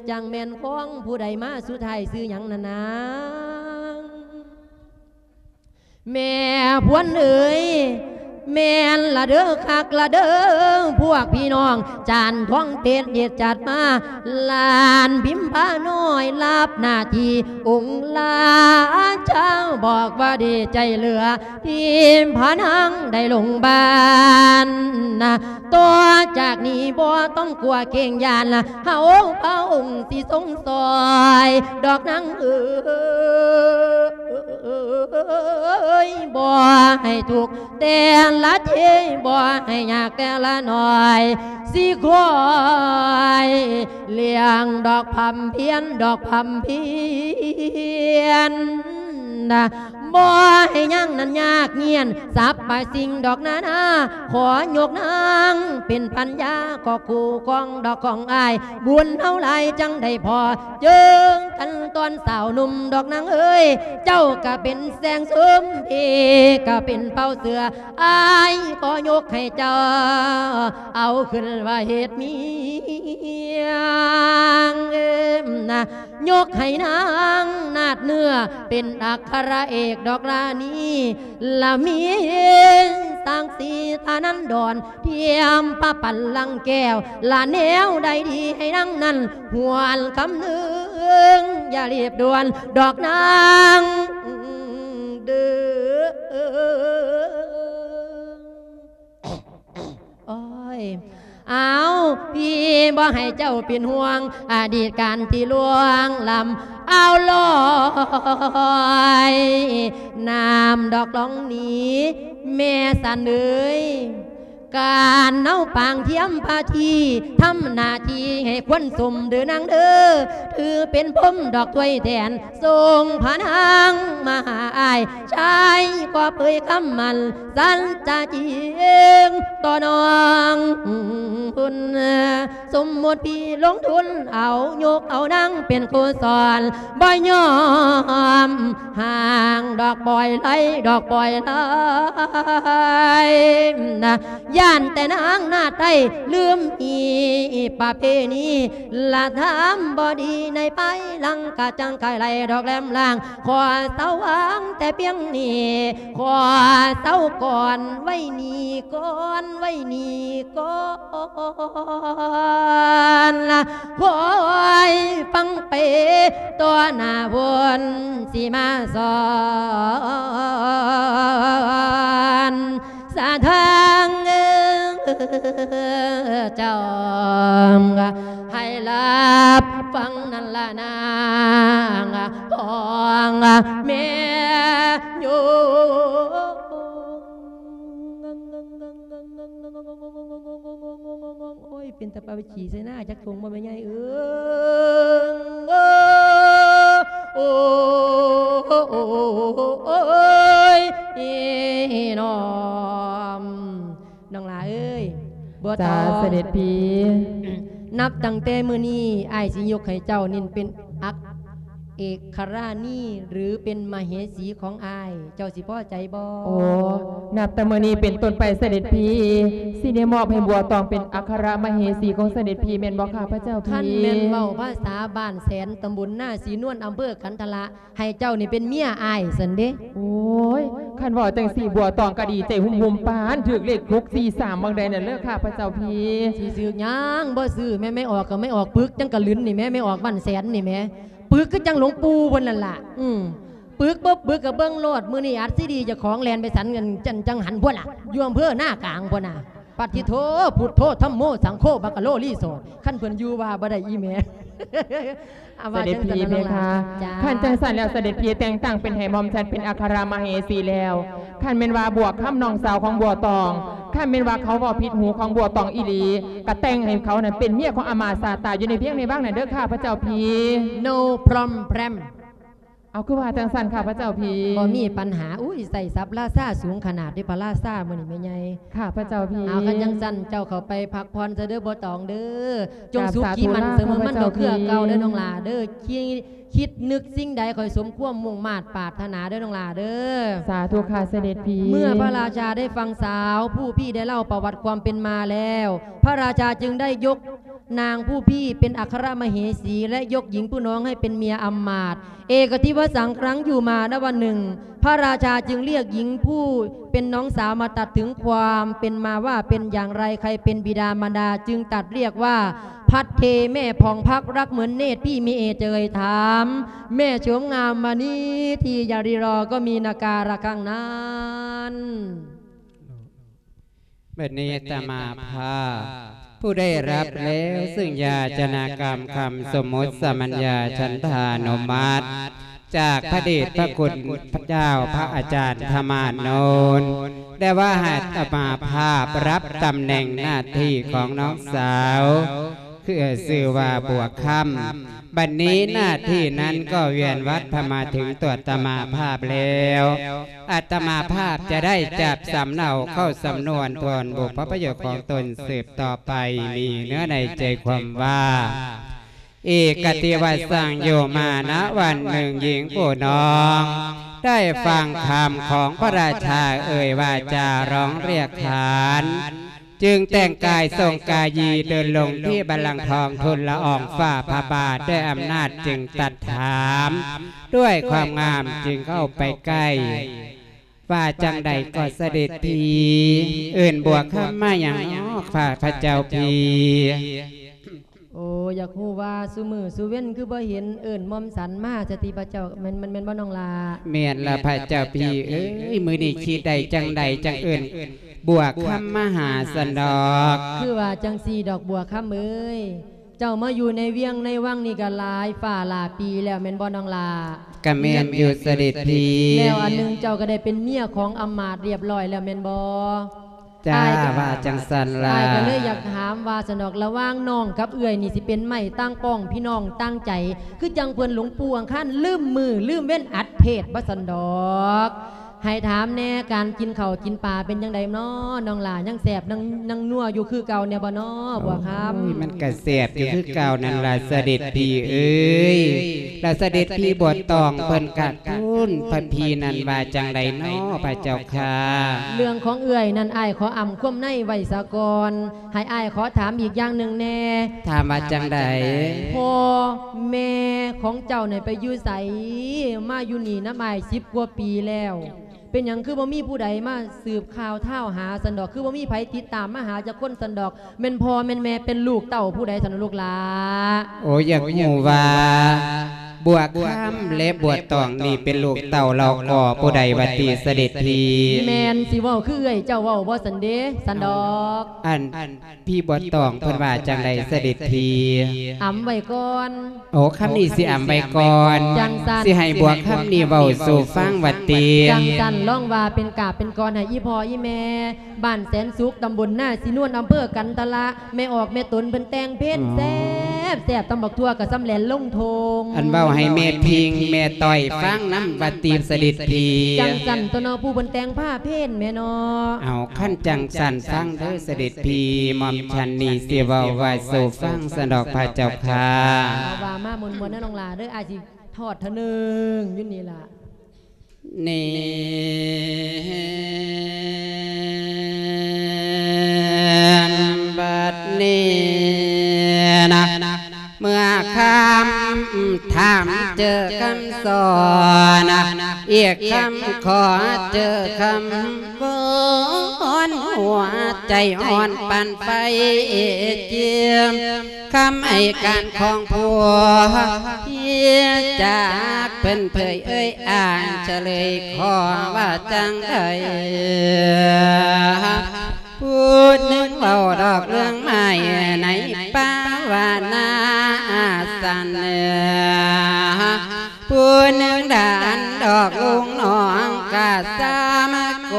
ຈັ່ງແມ່ນຂອງຜູ້ໃດມາ ສຸດທ້າຍຊື່ຫຍັງນະນາງ? ແມ່ພວນເອີຍ ແມ່ນລະເດີ ຄັກລະເດີ ພວກພີ່ນ້ອງ ຈານທອງເປັດເຮັດຈັດມາ ຫຼານພິມພານ້ອຍ ຮັບໜ້າທີ່ອົງລາຊາ ບອກວ່າດີໃຈເຫຼືອ ທີ່ພານາງໄດ້ລົງບ້ານນະ ຕໍ່ຈາກນີ້ບໍ່ຕ້ອງກົວເກງຢ້ານລະ ເຮົາພະອົງຊິຊົງຊ່ອຍ ດອກນາງເອີຍ ບໍ່ໃຫ້ທຸກແຕ່ລະທີ ບໍ່ໃຫ້ຍາກແຕ່ລະໜ້ອຍ ຊິຄອຍລ້ຽງດອກພຳພຽນ ດອກພຳພຽນ ນະ ບໍ່ໃຫ້ຍັງນັ້ນຍາກງຽນ ສັບປາຍສິ່ງດອກນານາ ຂໍຍົກນາງເປັນພັນຍາ ກໍຄູ່ຄອງດອກຂອງອ້າຍ ບຸນເຮົາຫຼາຍຈັ່ງໄດ້ພໍ ເຈີກັນຕອນສາວໜຸ່ມດອກນາງເອີຍ ເຈົ້າກະເປັນແສງຊຸມ ເອກະເປັນເປົາເສືອ ອ້າຍຂໍຍົກໃຫ້ເຈົ້າ ເອົາຂຶ້ນວ່າເຮັດເມຍ ນະ ຍົກໃຫ້ນາງນາດເນື້ອ ເປັນອັກຄະລະເອກດອກລານີ ລະມີສັກສີຖານັນດອນ ທຽມພະບັນລັງແກ້ວ ລະແນວໃດດີໃຫ້ນາງນັ້ນ ຫວນຄຳນຶງ ຢ່າຮີບດ່ວນດອກນາງເດີ. ໂອ້ຍ ເອົາ ພີ່ບໍ່ໃຫ້ເຈົ້າເປັນຫ່ວງ ອະດີດການທີ່ລ່ວງລ້ຳ ເອົາລອຍນ້ຳດອກລອງໜີ ແມ່ສັນເອີຍ ການເອົາປາງທຽມພາທີ ທຳໜ້າທີ່ໃຫ້ຄວນສົມເດີນາງເດີ ຖືເປັນພົມດອກຖ້ວຍແທນ ສົ່ງພະນາງມາຫາອ້າຍ ຊາຍກໍເຜີຍຄຳໝັ້ນ ສັນຈະຈິງຕໍ່ນ້ອງພຸ້ນ ສົມມຸດພີ່ລົງທຶນເອົາ ຍົກເອົານາງເປັນຄູ່ສອນ ບໍ່ຍອມຫ່າງດອກ ປ່ອຍໄຫຼດອກ ປ່ອຍໄຫຼນະ ຢ້ານແຕ່ນາງນາໄທລືມຮີດປະເພນີ ລະທຳບໍ່ດີໃນພາຍຫຼັງ ກະຈັ່ງກາຍໄຫຼດອກແຫຼມລ່າງ ຂໍເຊົາວາງແຕ່ພຽງນີ້ ຂໍເຊົາກ່ອນໄວ້ນີ້ກ່ອນ ໄວ້ນີ້ກ່ອນ ລະຄອຍຟັງໄປຕໍ່ໜ້າ ວົນຊິມາສອນ ສາທາງເຈົ້າ ໃຫ້ຮັບຟັງນັ້ນລະນາງ ຂອງແມ່ໂຍມ. ໂອ້ຍ ເປັນຕາປາໄປຂີ້ໃສ່ໜ້າຈັກຖົງບໍ່ແມ່ໃຫຍ່ເອີຍ ໂອ້ ໂອ້ ໂອ້ຍ ນ້ອງຫຼ້າເອີຍ ບໍ່ຕ້ອງ ເສດັດພີ່ ນັບຕັ້ງແຕ່ມື້ນີ້ ອ້າຍຊິຍົກໃຫ້ເຈົ້ານີ້ເປັນອັກ ເອກຄະລານີ ຫຼື ເປັນມະເຫສີຂອງອ້າຍ ເຈົ້າຊິພໍໃຈບໍ່? ໂອ້ ນັບແຕ່ມື້ນີ້ເປັນຕົ້ນໄປ ເສດັດພີ່ ຊິໄດ້ມອບໃຫ້ບົວຕອງເປັນອັກຄະລະມະເຫສີຂອງເສດັດພີ່ ແມ່ນບໍ່ຂ້າພະເຈົ້າພີ່? ຄັນແມ່ນເວົ້າພາສາບ້ານແສນ ຕຳບົນນາສີນວນ ອຳເພີຂັນທະລະ ໃຫ້ເຈົ້ານີ້ເປັນເມຍອ້າຍຊັ້ນເດ. ໂອ້ຍ ຄັນເວົ້າຈັ່ງຊີ້ ບົວຕອງກໍດີໃຈຫຸ່ມໆ ປານຖືກເລກຫົກສີ່ສາມ ບາງໃດນັ້ນເລີ ຂ້າພະເຈົ້າພີ່. ຊິຖືກຫຍັງ ບໍ່ຊື້ແມ່ໄມ້ອອກ ກໍໄມ້ອອກປຶກ ຈັ່ງກະລຶນນີ້ແໝ່ ໄມ້ອອກບ້ານແສນນີ້ແໝ່. ປຶກຄືຈັ່ງຫຼວງປູ່ເພິ່ນນັ້ນລະ ອືມ ປຶກບໍ່ປຶກກໍເບິ່ງໂລດ ມື້ນີ້ອັດຊີດີເຈົ້າຂອງແລ່ນໄປສັນກັນ ຈັ່ງ ຈັ່ງຫັນພຸ້ນລະ ຢູ່ອຳເພີນາກາງພຸ້ນນະ ປະຕິໂທ ພຸດໂທ ທຳໂມ ສັງໂຄ ບັກກະໂລ ຣີສອດ ຄັນເພິ່ນຢູ່ວ່າບໍ່ໄດ້ອີ່ແມ່ ເສດັດພີ່ເພຄະ ຄັນຈັ່ງຊັ້ນແລ້ວ ເສດັດພີ່ແຕ່ງຕັ້ງເປັນໃຫ້ໝ່ອມສັນເປັນອັກຄະລະມະເຫສີແລ້ວ ຄັນແມ່ນວ່າບົວຄຳນ້ອງສາວຂອງບົວຕອງ ຄັນແມ່ນວ່າເຂົາເວົ້າຜິດຫູຂອງບົວຕອງອີ່ຫຼີ ກະແຕ່ງໃຫ້ເຂົານັ້ນເປັນເມຍຂອງອາມາດຊາດຕາຢູ່ໃນວຽງໃນວັງນັ້ນເດີ ຂ້າພະເຈົ້າພີ່. No problem. ເອົາ ຄືວ່າຈັ່ງຊັ້ນ ຂ້າພະເຈົ້າພີ່ ບໍ່ມີປັນຫາ. ອຸ້ຍ ໃຊ້ສັບລາຊາສູງຂະໜາດເດ ພະລາຊາມື້ນີ້ແມ່ໃຫຍ່ ຂ້າພະເຈົ້າພີ່. ເອົາ ຄັນຈັ່ງຊັ້ນ ເຈົ້າເຂົ້າໄປພັກຜ່ອນຊະເດີ ບໍ່ຕ້ອງເດີ ຈົ່ງສຸຂີມັນສະເໝີມັນດອກເຄືອເກົ່າເດີ ນ້ອງຫຼ້າເດີ. ຄິດ ຄິດນຶກສິ່ງໃດ ຂໍໃຫ້ສົມຄວາມມຸ່ງມາດປາດຖະໜາເດີ ນ້ອງຫຼ້າເດີ. ສາທຸຄ່າ ເສດັດພີ່. ເມື່ອພະລາຊາໄດ້ຟັງສາວຜູ້ພີ່ໄດ້ເລົ່າປະຫວັດຄວາມເປັນມາແລ້ວ ພະລາຊາຈຶ່ງໄດ້ຍົກ ນາງຜູ້ພີ່ເປັນອັກຄະລະມະເຫສີ ແລະ ຍົກຍິງຜູ້ນ້ອງໃຫ້ເປັນເມຍອຳມາດ. ເອກະທິວະສັງ ຄັ້ງຢູ່ມານະວັນໜຶ່ງ ພະລາຊາຈຶ່ງລຽກຍິງຜູ້ເປັນນ້ອງສາວມາຕັດເຖິງຄວາມເປັນມາວ່າເປັນຢ່າງໃດ ໃຜເປັນບິດາມານດາ ຈຶ່ງຕັດລຽກວ່າ ພັດເທແມ່ຜ່ອງພັກ ລັກເໝືອນເນດ ພີ່ມີເອດເຈີຍຖາມ ແມ່ໂສມງາມມະນີທີ່ຢາລີລໍກໍມີນາກາລະຄັ້ງນັ້ນ. ບັດນີ້ອາດຕະມາພາບ ຜູ້ໄດ້ຮັບແລ້ວຊຶ່ງຢາຈະນາກຳຄຳສົມມຸດສະມັນຍາສັນທານຸມັດ ຈາກພະເດດພະຄຸນພະເຈົ້າພະອາຈານທະມານນນ ແຕ່ວ່າໃຫ້ອາດຕະມາພາບຮັບຕຳແໜ່ງໜ້າທີ່ຂອງນ້ອງສາວ ຊື່ວ່າບົວຄຳ. ບັດນີ້ໜ້າທີ່ນັ້ນກໍວຽນວັດເຂົ້າມາເຖິງຕົວອາດຕະມາພາບແລ້ວ. ອາດຕະມາພາບຈະໄດ້ຈັບສຳເນົາເຂົ້າສຳນວນທວນບຸບພະປະໂຫຍດຂອງຕົນສືບຕໍ່ໄປ. ມີເນື້ອໃນໃຈຄວາມວ່າ ເອກະຕິວະສັງ ຢູ່ມານະວັນໜຶ່ງ ຍິງຜູ້ນ້ອງໄດ້ຟັງຄຳຂອງພະລາຊາເອີ່ຍວາຈາຮ້ອງຮຽກຂານ ຈຶ່ງແຕ່ງກາຍສົ່ງກາຢີເດີນລົງທີ່ບັນລັງທອງທູນລະອອງຝ່າພະບາດດ້ວຍອຳນາດ ຈຶ່ງຕັດຖາມດ້ວຍຄວາມງາມ ຈຶ່ງເຂົ້າໄປໃກ້ ວ່າຈັ່ງໃດກໍສະເດັດພີ່ ເອີ້ນບົວຄຳມາຫຍັງເນາະ ຂ້າພະເຈົ້າພີ່? ໂອ້ ຢາກຮູ້ວ່າຊຸມື້ຊຸເວັນຄືບໍ່ເຫັນເອີ້ນໝ່ອມສັນມາຊະຕິພະເຈົ້າ? ແມ່ນ ແມ່ນ ແມ່ນບໍ່ນ້ອງຫຼ້າ? ແມ່ນລະພະເຈົ້າພີ່ເອີຍ ມື້ນີ້ຄິດໄດ້ຈັ່ງໃດຈັ່ງເອີ້ນບົວຄຳມາຫາຊັ້ນດອກ. ຄືວ່າຈັ່ງຊີ້ດອກບົວຄຳເອີຍ ເຈົ້າມາຢູ່ໃນວຽງໃນວັງນີ້ກໍຫຼາຍຟ້າຫຼາຍປີແລ້ວແມ່ນບໍ່ນ້ອງຫຼ້າ? ກະແມ່ນຢູ່ສະເດັດພີ່. ແລ້ວອັນໜຶ່ງເຈົ້າກໍໄດ້ເປັນເມຍຂອງອຳມາດຮຽບຮ້ອຍແລ້ວແມ່ນບໍ່? ຈ້າ ອ້າຍກໍ ວ່າຈັ່ງຊັ້ນລະ. ອ້າຍກໍເລີຍຢາກຖາມວ່າຊັ້ນດອກ ລະຫວ່າງນ້ອງກັບເອື້ອຍນີ້ ຊິເປັນໄມ້ຕ່າງປ້ອງ ພີ່ນ້ອງຕ່າງໃຈ ຄືຈັ່ງເພິ່ນຫຼວງປູ່ອັງຄານລືມມື້ລືມເວັນອັດເພດບໍ່ຊັ້ນດອກ. ໃຫ້ຖາມແດ່ ການກິນເຂົ້າກິນປາເປັນຈັ່ງໃດເນາະນ້ອງຫຼ້າ? ຍັງແຊບ ຍັງ ຍັງນົວຢູ່ຄືເກົ່າແດ່ບໍ່ເນາະບົວຄຳ? ໂອ້ຍ ມັນກະແຊບຢູ່ຄືເກົ່ານັ້ນລະສະເດັດພີ່ເອີຍ. ລະສະເດັດພີ່ບົວຕອງເພິ່ນກະທູນພະພີ່ນັ້ນວ່າຈັ່ງໃດເນາະພະເຈົ້າຂ້າ? ເລື່ອງຂອງເອື້ອຍນັ້ນ ອ້າຍຂໍອຳຄວາມໃນໄວ້ສາກ່ອນ. ໃຫ້ອ້າຍຂໍຖາມອີກຢ່າງໜຶ່ງແດ່. ຖາມວ່າຈັ່ງໃດ? ພໍ່ແມ່ຂອງເຈົ້ານັ້ນໄປຢູ່ໃສ? ມາຢູ່ນີ້ນຳອ້າຍສິບກວ່າປີແລ້ວ ເປັນຫຍັງຄືບໍ່ມີຜູ້ໃດມາສືບຂ່າວທາວຫາຊັ້ນດອກ? ຄືບໍ່ມີໃຜຕິດຕາມມາຫາຈັກຄົນຊັ້ນດອກ? ແມ່ນພໍ່ແມ່ນແມ່ເປັນລູກເຕົ້າຜູ້ໃດຊັ້ນລູກຫຼ້າ? ໂອ້ ຢາກຮູ້ວ່າບົວຄຳ ແລະ ບົວຕອງນີ້ເປັນລູກເຕົ້າລອກອຜູ້ໃດວ່າຕິສະເດັດພີ່? ແມ່ນ ຊິເວົ້າຄືເອື້ອຍເຈົ້າເວົ້າບໍ່ຊັ້ນເດ ຊັ້ນດອກ. ອັນ ພີ່ບົວຕອງເພິ່ນວ່າຈັ່ງໃດສະເດັດພີ່? ອຳໄວ້ກ່ອນ. ໂອ້ ຄຳນີ້ຊິອຳໄວ້ກ່ອນ. ຈັ່ງຊັ້ນ ຊິໃຫ້ບົວຄຳນີ້ເວົ້າສູ່ຟັງວ່າຕິ? ຈັ່ງຊັ້ນ ລອງວ່າເປັນກາບເປັນກອນໃຫ້ອີ່ພໍ່ອີ່ແມ່ ບ້ານແສນສຸກ ຕຳບົນນາສີນວນ ອຳເພີກັນທະລະ ແມ່ອອກແມ່ຕົນເພິ່ນແຕ່ງເພງ ອໍ ແຊບໆ ຕຳບັກຖົ່ວກະສ່ຳແລ່ນລົງທົ່ງ. ອັນເວົ້າໃຫ້ແມ່ພິງແມ່ຕ້ອຍຟັງນຳວ່າຕິສະເດັດພີ່? ຈັ່ງຊັ້ນຕົວະເນາະ ຜູ້ເພິ່ນແຕ່ງພາເພງແມ່ເນາະ. ເອົາ ຄັນຈັ່ງຊັ້ນຟັງເດີສະເດັດພີ່ ໝ່ອມສັນນີ້ຊິເວົ້າວ່າສູ່ຟັງຊັ້ນດອກພະເຈົ້າຂ້າ. ເອົາ ວ່າມາມ່ວນໆເດີນ້ອງຫຼ້າເດີ ອ້າຍຊິທອດເທື່ອໜຶ່ງຢູ່ນີ້ລະ. ນີ້ ບັດນີ້ນະ ເມື່ອຄຳຖາມເຈີຄຳສອນ ອີກຄຳຂໍເຈີຄຳວອນ ຫົວໃຈຮ້ອນປານໄຟຈຽມ ຄຳໃຫ້ການຂອງຜົວເມຍຈາກເພິ່ນເຜີຍເອີຍອ່ານສະເຫຼີຍຂໍວ່າຈັ່ງໃດ. ຜູ້ໜຶ່ງເວົ້າດອກເລື່ອງໄມ້ໃນປ່າວ່ານາສັນ ຜູ້ໜຶ່ງດານດອກລຸງນ້ອງກະສາມະໂກ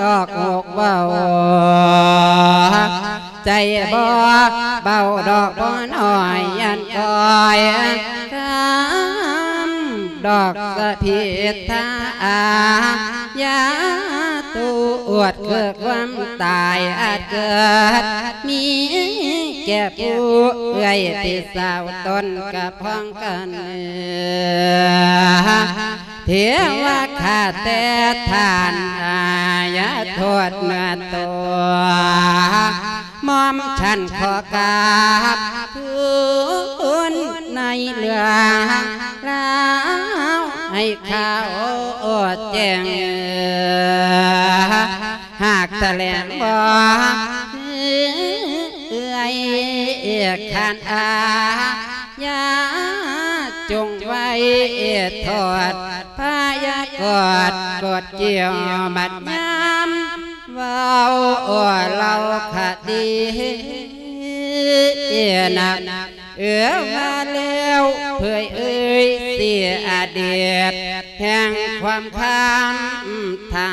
ດອກຫົກເວົ້າ ໃຈບໍ່ເບົາດອກບໍ່ນ້ອຍ ອັນກ້ອຍຄຳດອກສະພິດທາອາຍາ ໂຕອວດເກີດຄວາມຕາຍອາດເກີດມີແກ່ຜູ້ເອື້ອຍພີ່ສາວຕົນກະພ້ອງກັນ ເທວະຂ້າແຕ່ທ່ານ ອາ ຢ່າໂທດເນື້ອໂຕ ໝ່ອມສັນຂໍກາບທູນໃນເລື່ອງລາວໃຫ້ຂ່າວແຈ້ງ ຫາກຖະແຫຼງບໍ່ເອີຍຂານອາ ຢ່າຈົ່ງໄວ້ທອດພະຍາກອດກົດກ່ຽວບັດຍາມ ເວົ້າເລົ່າຄະດີນະ ເອີ ວ່າແລ້ວເຜີຍເອີຍເສຍອະດີດແຫ່ງຄວາມຄຳທຳ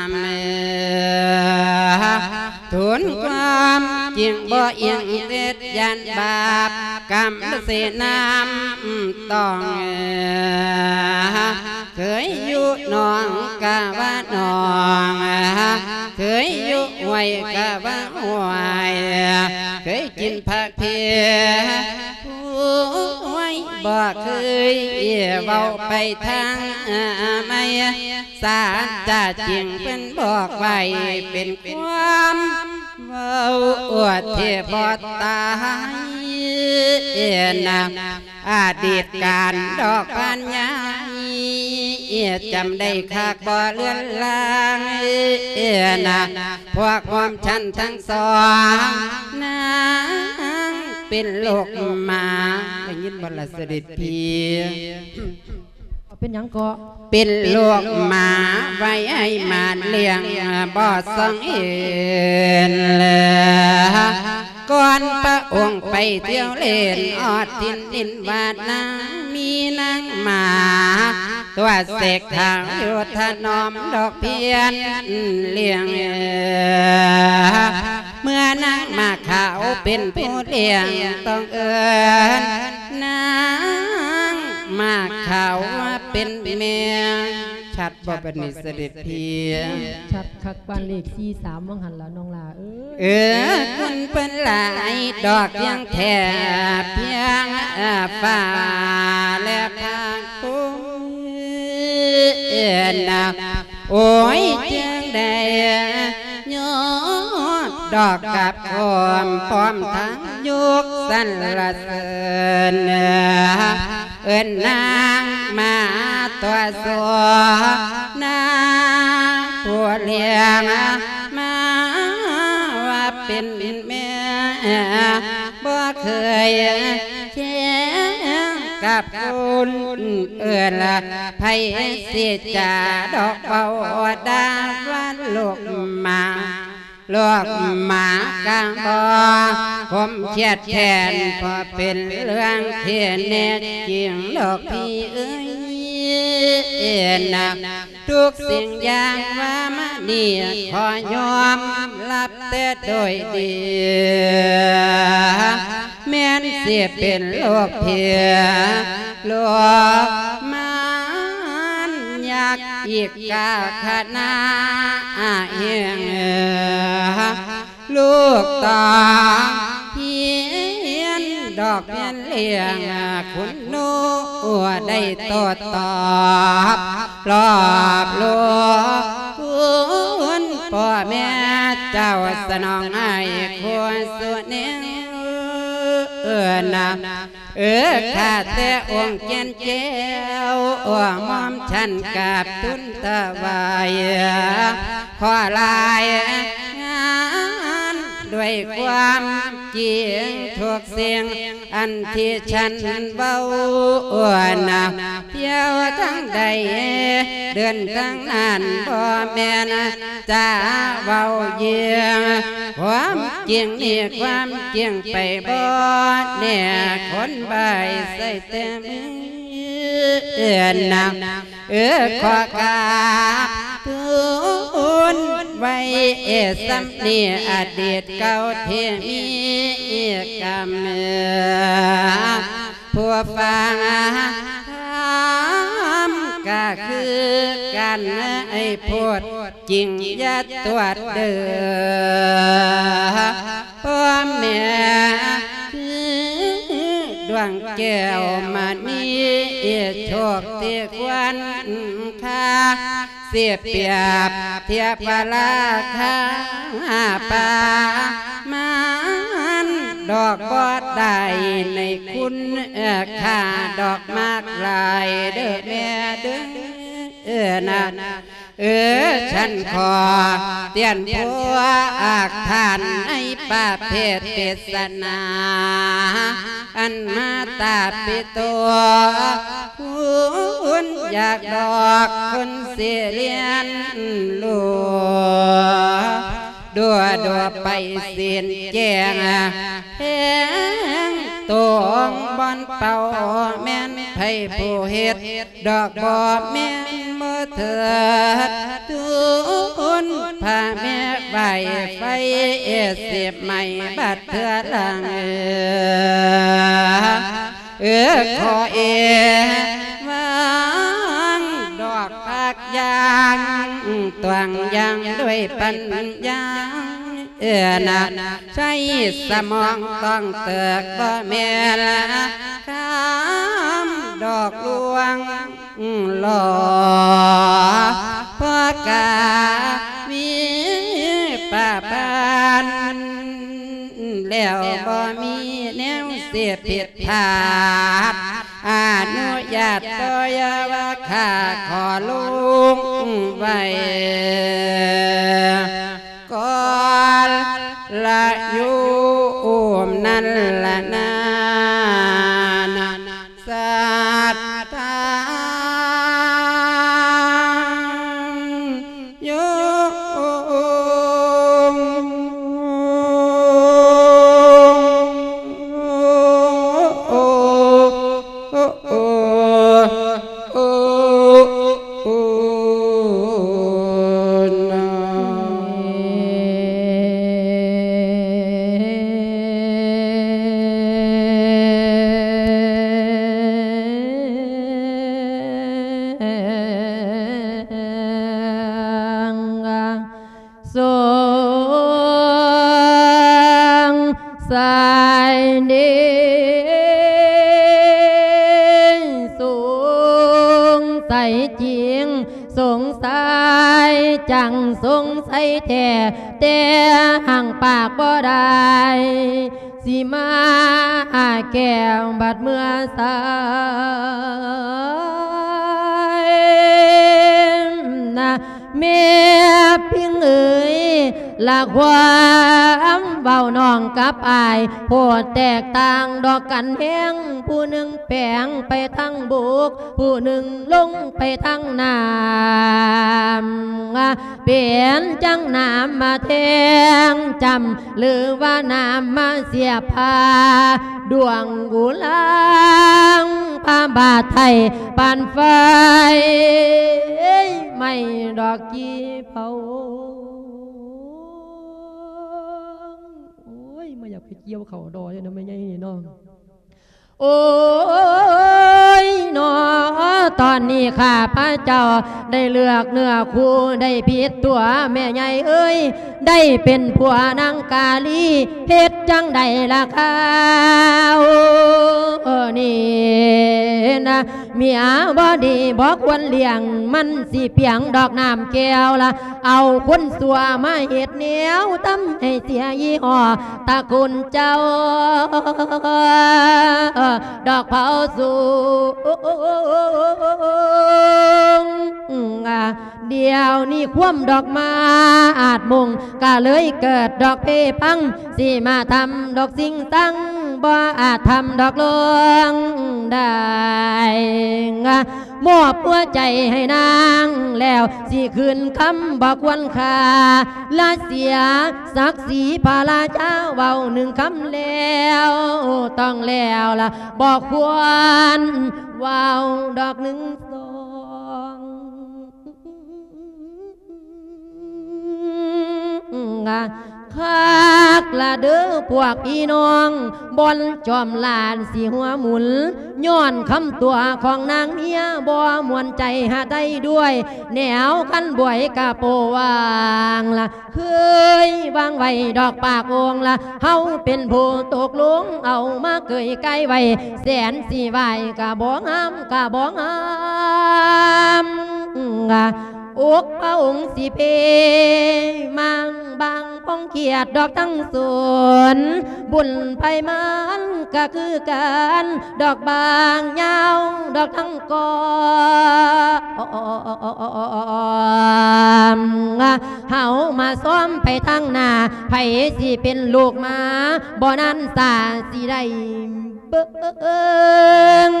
ທູນຄວາມຈິງບໍ່ອີງເດັດ ຢ້ານບາບກຳເສນ້ຳຕ້ອງ. ເຄີຍຢູ່ໜອງກະວ່າໜອງ, ເຄີຍຢູ່ຫ້ວຍກະວ່າຫ້ວຍ, ເຄີຍກິນຜັກເພ ໂອ້ຍ ບໍ່ເຄີຍເວົ້າໄປທາງໃໝ່. ສາຈະຈິງເພິ່ນບອກໄວ້ ເປັນຄວາມເວົ້າອວດທີ່ບໍ່ຕາຍນະ. ອະດີດການດອກບານຍາຍ ຈຳໄດ້ຄັກບໍ່ເລືອນລາງນະ. ພວກຮ່ວມຊັ້ນທັງສອງ ນາງເປັນລູກໝາ ໄດ້ຍິນບໍ່ລະເສດັດພີ່? ເປັນຫຍັງເກາະ? ເປັນລູກໝາໄວ້ໃຫ້ໝານລ້ຽງ ບໍ່ສ່ອງເຫັນ. ກ່ອນພະອົງໄປທ່ຽວເລ່ນ ຮອດຖິ່ນດິນວາດນາ ມີນາງໝາຕົວເສກຂາວ ຢູ່ຖະໜອມດອກພຽນລ້ຽງ. ເມື່ອນາງໝາຂາວເປັນຜູ້ລ້ຽງ ຕ້ອງເອີ້ນນາງໝາຂາວວ່າເປັນແມ່. ຊັດບໍ່ບັດນີ້ສະເດັດພີ່? ຊັດຄັກປານເລກສີ່ສາມວ່າງຫັ້ນລະນ້ອງຫຼ້າເອີຍ. ເອີ ຄຸນເພິ່ນຫຼາຍດອກ ພຽງແຕ່ພຽງຟ້າແລະພາກພູນະ. ໂອ້ຍ ຈຶ່ງໄດ້ຍອດດອກກັບຄວາມພ້ອມທັງຍຸກສັນລະເສີນ. ເອີ້ນນາງມາຕົວະໂສ ນາງຜູ້ລ້ຽງມາວ່າເປັນແມ່ ບໍ່ເຄີຍແຂ່ງກັບຄົນອື່ນລະ ໃຜຊິຈະດອກເວົ້າດ່າວ່າລູກໝາ ລູກໝາກະບໍ່ຄົມຄຽດແຄ້ນ ເພາະເປັນເລື່ອງທີ່ແທ້ຈິງດອກພີ່ເອີຍນະ. ທຸກສິ່ງຢ່າງວ່າມານີ້ ຂໍຍອມຮັບແຕ່ໂດຍດີ ແມ່ນຊິເປັນລູກເພຍ ລູກມານຍັກອີກກາຂະນາເຮງ. ລູກຕ້ອງຮຽນດອກຮຽນລ້ຽງ ຄຸນໜູໄດ້ໂຕ້ຕອບ ລອບລວງຄຸນພໍ່ແມ່ເຈົ້າ ສະໜອງໃຫ້ຄູ່ສູ່ແນວນະ. ເອີ ຂ້າແຕ່ອົງແກ່ນແກ້ວ ໝ່ອມຊັ້ນກາບທູນຖວາຍ ຂໍລາຍງານດ້ວຍຄວາມຈິງ ທຸກສິ່ງອັນທີ່ສັນເວົ້ານະ ທ່ຽວທາງໃດເດີນທາງນັ້ນ ບໍ່ແມ່ນຈະເວົ້າເຢີ່ອງ ຄວາມຈິງນີ້ຄວາມຈິງໄປບໍ່ແນ່ ຄົນບາຍໃສ່ແຕ່ມືນະ. ເອີ ຂໍກາບທູນໄວ້ສ່ຳນີ້ ອະດີດເກົ່າທີ່ມີກຳ ຜູ້ຟັງທຳກະຄືກັນ ໃຫ້ໂພດຈິງຢ່າຕົວະເດີ ພໍ່ແມ່ຄືດວງແກ້ວມະນີ ໂຊກທີ່ຄວນຄ່າ ຊິປຽບທຽບວ່າລາຄາປະມານດອກບໍ່ໄດ້ ໃນຄຸນຄ່າດອກມາກຫຼາຍເດີແມ່ເດີນະ. ເອີ ຊັ້ນຂໍຕຽນຜົວອາກທ່ານໃນປະເພດເທດສະໜາ ອັນມາຕາປິໂຕ ຄຸນຢາກດອກຄົນຊິລຽນຮູ້ ດູດວໄປສິ້ນແຈ້ງ ແຫ່ງຕົງບ່ອນເປົ່າ ແມ່ນໃຜຜູ້ເຮັດ ດອກບໍ່ແມ່ນບໍ່ ເທີດທູນພະແມ່ໄຫວ້ໄຟເອດສິບໄມ້ບັດເທື່ອຫຼັງ ເອີ ຂໍເອວາງດອກຜັກຢ່າງ ຕວງຢ່າງດ້ວຍປັນຍາ ເອີ ນະ ໃຊ້ສະໝອງຕ້ອງເຕີກ ບໍ່ແມ່ນຄຳດອກລວງຫຼໍ່ ເພາະກະມີປະປານ ແລ້ວບໍ່ມີແນວເສດຜິດພາດ ອະນຸຍາດຕໍ່ຢ່າວ່າຂ້າຂໍລົງໄວ້ ກ່ອນລະຢູ່ອູມນັ້ນລະນານະ ສັດທາໂຍ ສົງໄສດີ ສົງໄສຈິງ ສົງໄສຈັງ ສົງໄສແທ້ ແຕ່ຮັ່ງປາກບໍ່ໄດ້ ຊິມາແກ້ວບັດເມື່ອສາຍນະ ແມ່ພິງເອີຍ ລະຄວາມເວົ້ານ້ອງກັບອ້າຍ ໂພດແຕກຕ່າງດອກກັນແຮງ ຜູ້ໜຶ່ງແປງໄປທາງບົກ ຜູ້ໜຶ່ງລົງໄປທາງນ້ຳ ເປັນຈັ່ງນ້ຳມາແທງຈຳ ຫຼືວ່ານ້ຳມາສຽບພາ ດວງກຸລາງພາບາດໄທປານໄຟໄໝ້ດອກກີ່ເຜົາ. ໂອ້ຍ ມາຢາກໄປກ່ຽວເຂົ້າດໍ້ຢູ່ນຳແມ່ໃຫຍ່ນີ້ເນາະ. ໂອ້ຍ ໜໍ ຕອນນີ້ຂ້າພະເຈົ້າໄດ້ເລືອກເນື້ອຄູ່ ໄດ້ຜິດຕົວແມ່ໃຫຍ່ເອີຍ ໄດ້ເປັນຜົວນາງກາລີ ເຮັດຈັ່ງໃດລະຄາວນີ້ນະ ເມຍບໍ່ດີບໍ່ຄວນລ້ຽງ ມັນຊິປຽງດອກນ້ຳແກ້ວລະ ເອົາຄົນຊົ່ວມາເຮັດແນວທຳໃຫ້ເສຍຍີ່ຫໍ້ ຕະກຸນເຈົ້າດອກເຜົາສູງ. ດຽວນີ້ຄວາມດອກມາອາດມຸງ ກະເລີຍເກີດດອກເພພັງ ຊິມາທຳດອກຊິງສັງ ບໍ່ອາດທຳດອກລວງໄດ້. ມອບຫົວໃຈໃຫ້ນາງແລ້ວ ຊິຄືນຄຳບໍ່ຄວນຄ່າ ລະເສຍສັກສີພະລາຊາ ເວົ້າໜຶ່ງຄຳແລ້ວ ຕ້ອງແລ້ວລະ ບໍ່ຄວນເວົ້າດອກໜຶ່ງສອງ. ຄັກລະເດີພວກພີ່ນ້ອງ ບ່ອນຈອມຫຼານຊິຫົວໝຸນ ຍ້ອນຄຳຕົວະຂອງນາງເມຍ ບໍ່ມ່ວນໃຈຫາໄດ້ດ້ວຍ ແນວຄັນບວຍກະໂປວ່າງລະ ເຄີຍວາງໄວ້ດອກປາກໂອ່ງລະ ເຮົາເປັນຜູ້ຕົກລົງ ເອົາມາເກີຍກາຍໄວ້ ແສນຊິໄຫວ້ກະບໍ່ງາມ ກະບໍ່ງາມ ອົກພະອົງຊິເພ ມາງບາງ ປອງຂຽດດອກທັງສວນ ບຸນໄພມັນກະຄືກັນ ດອກບາງຍາວດອກທັງກອງ ເຮົາມາຊ້ອມໄປທາງໜ້າ ໃຜຊິເປັນລູກໝາ ບໍ່ນັ້ນສາຊິໄດ້ ເບິ່ງ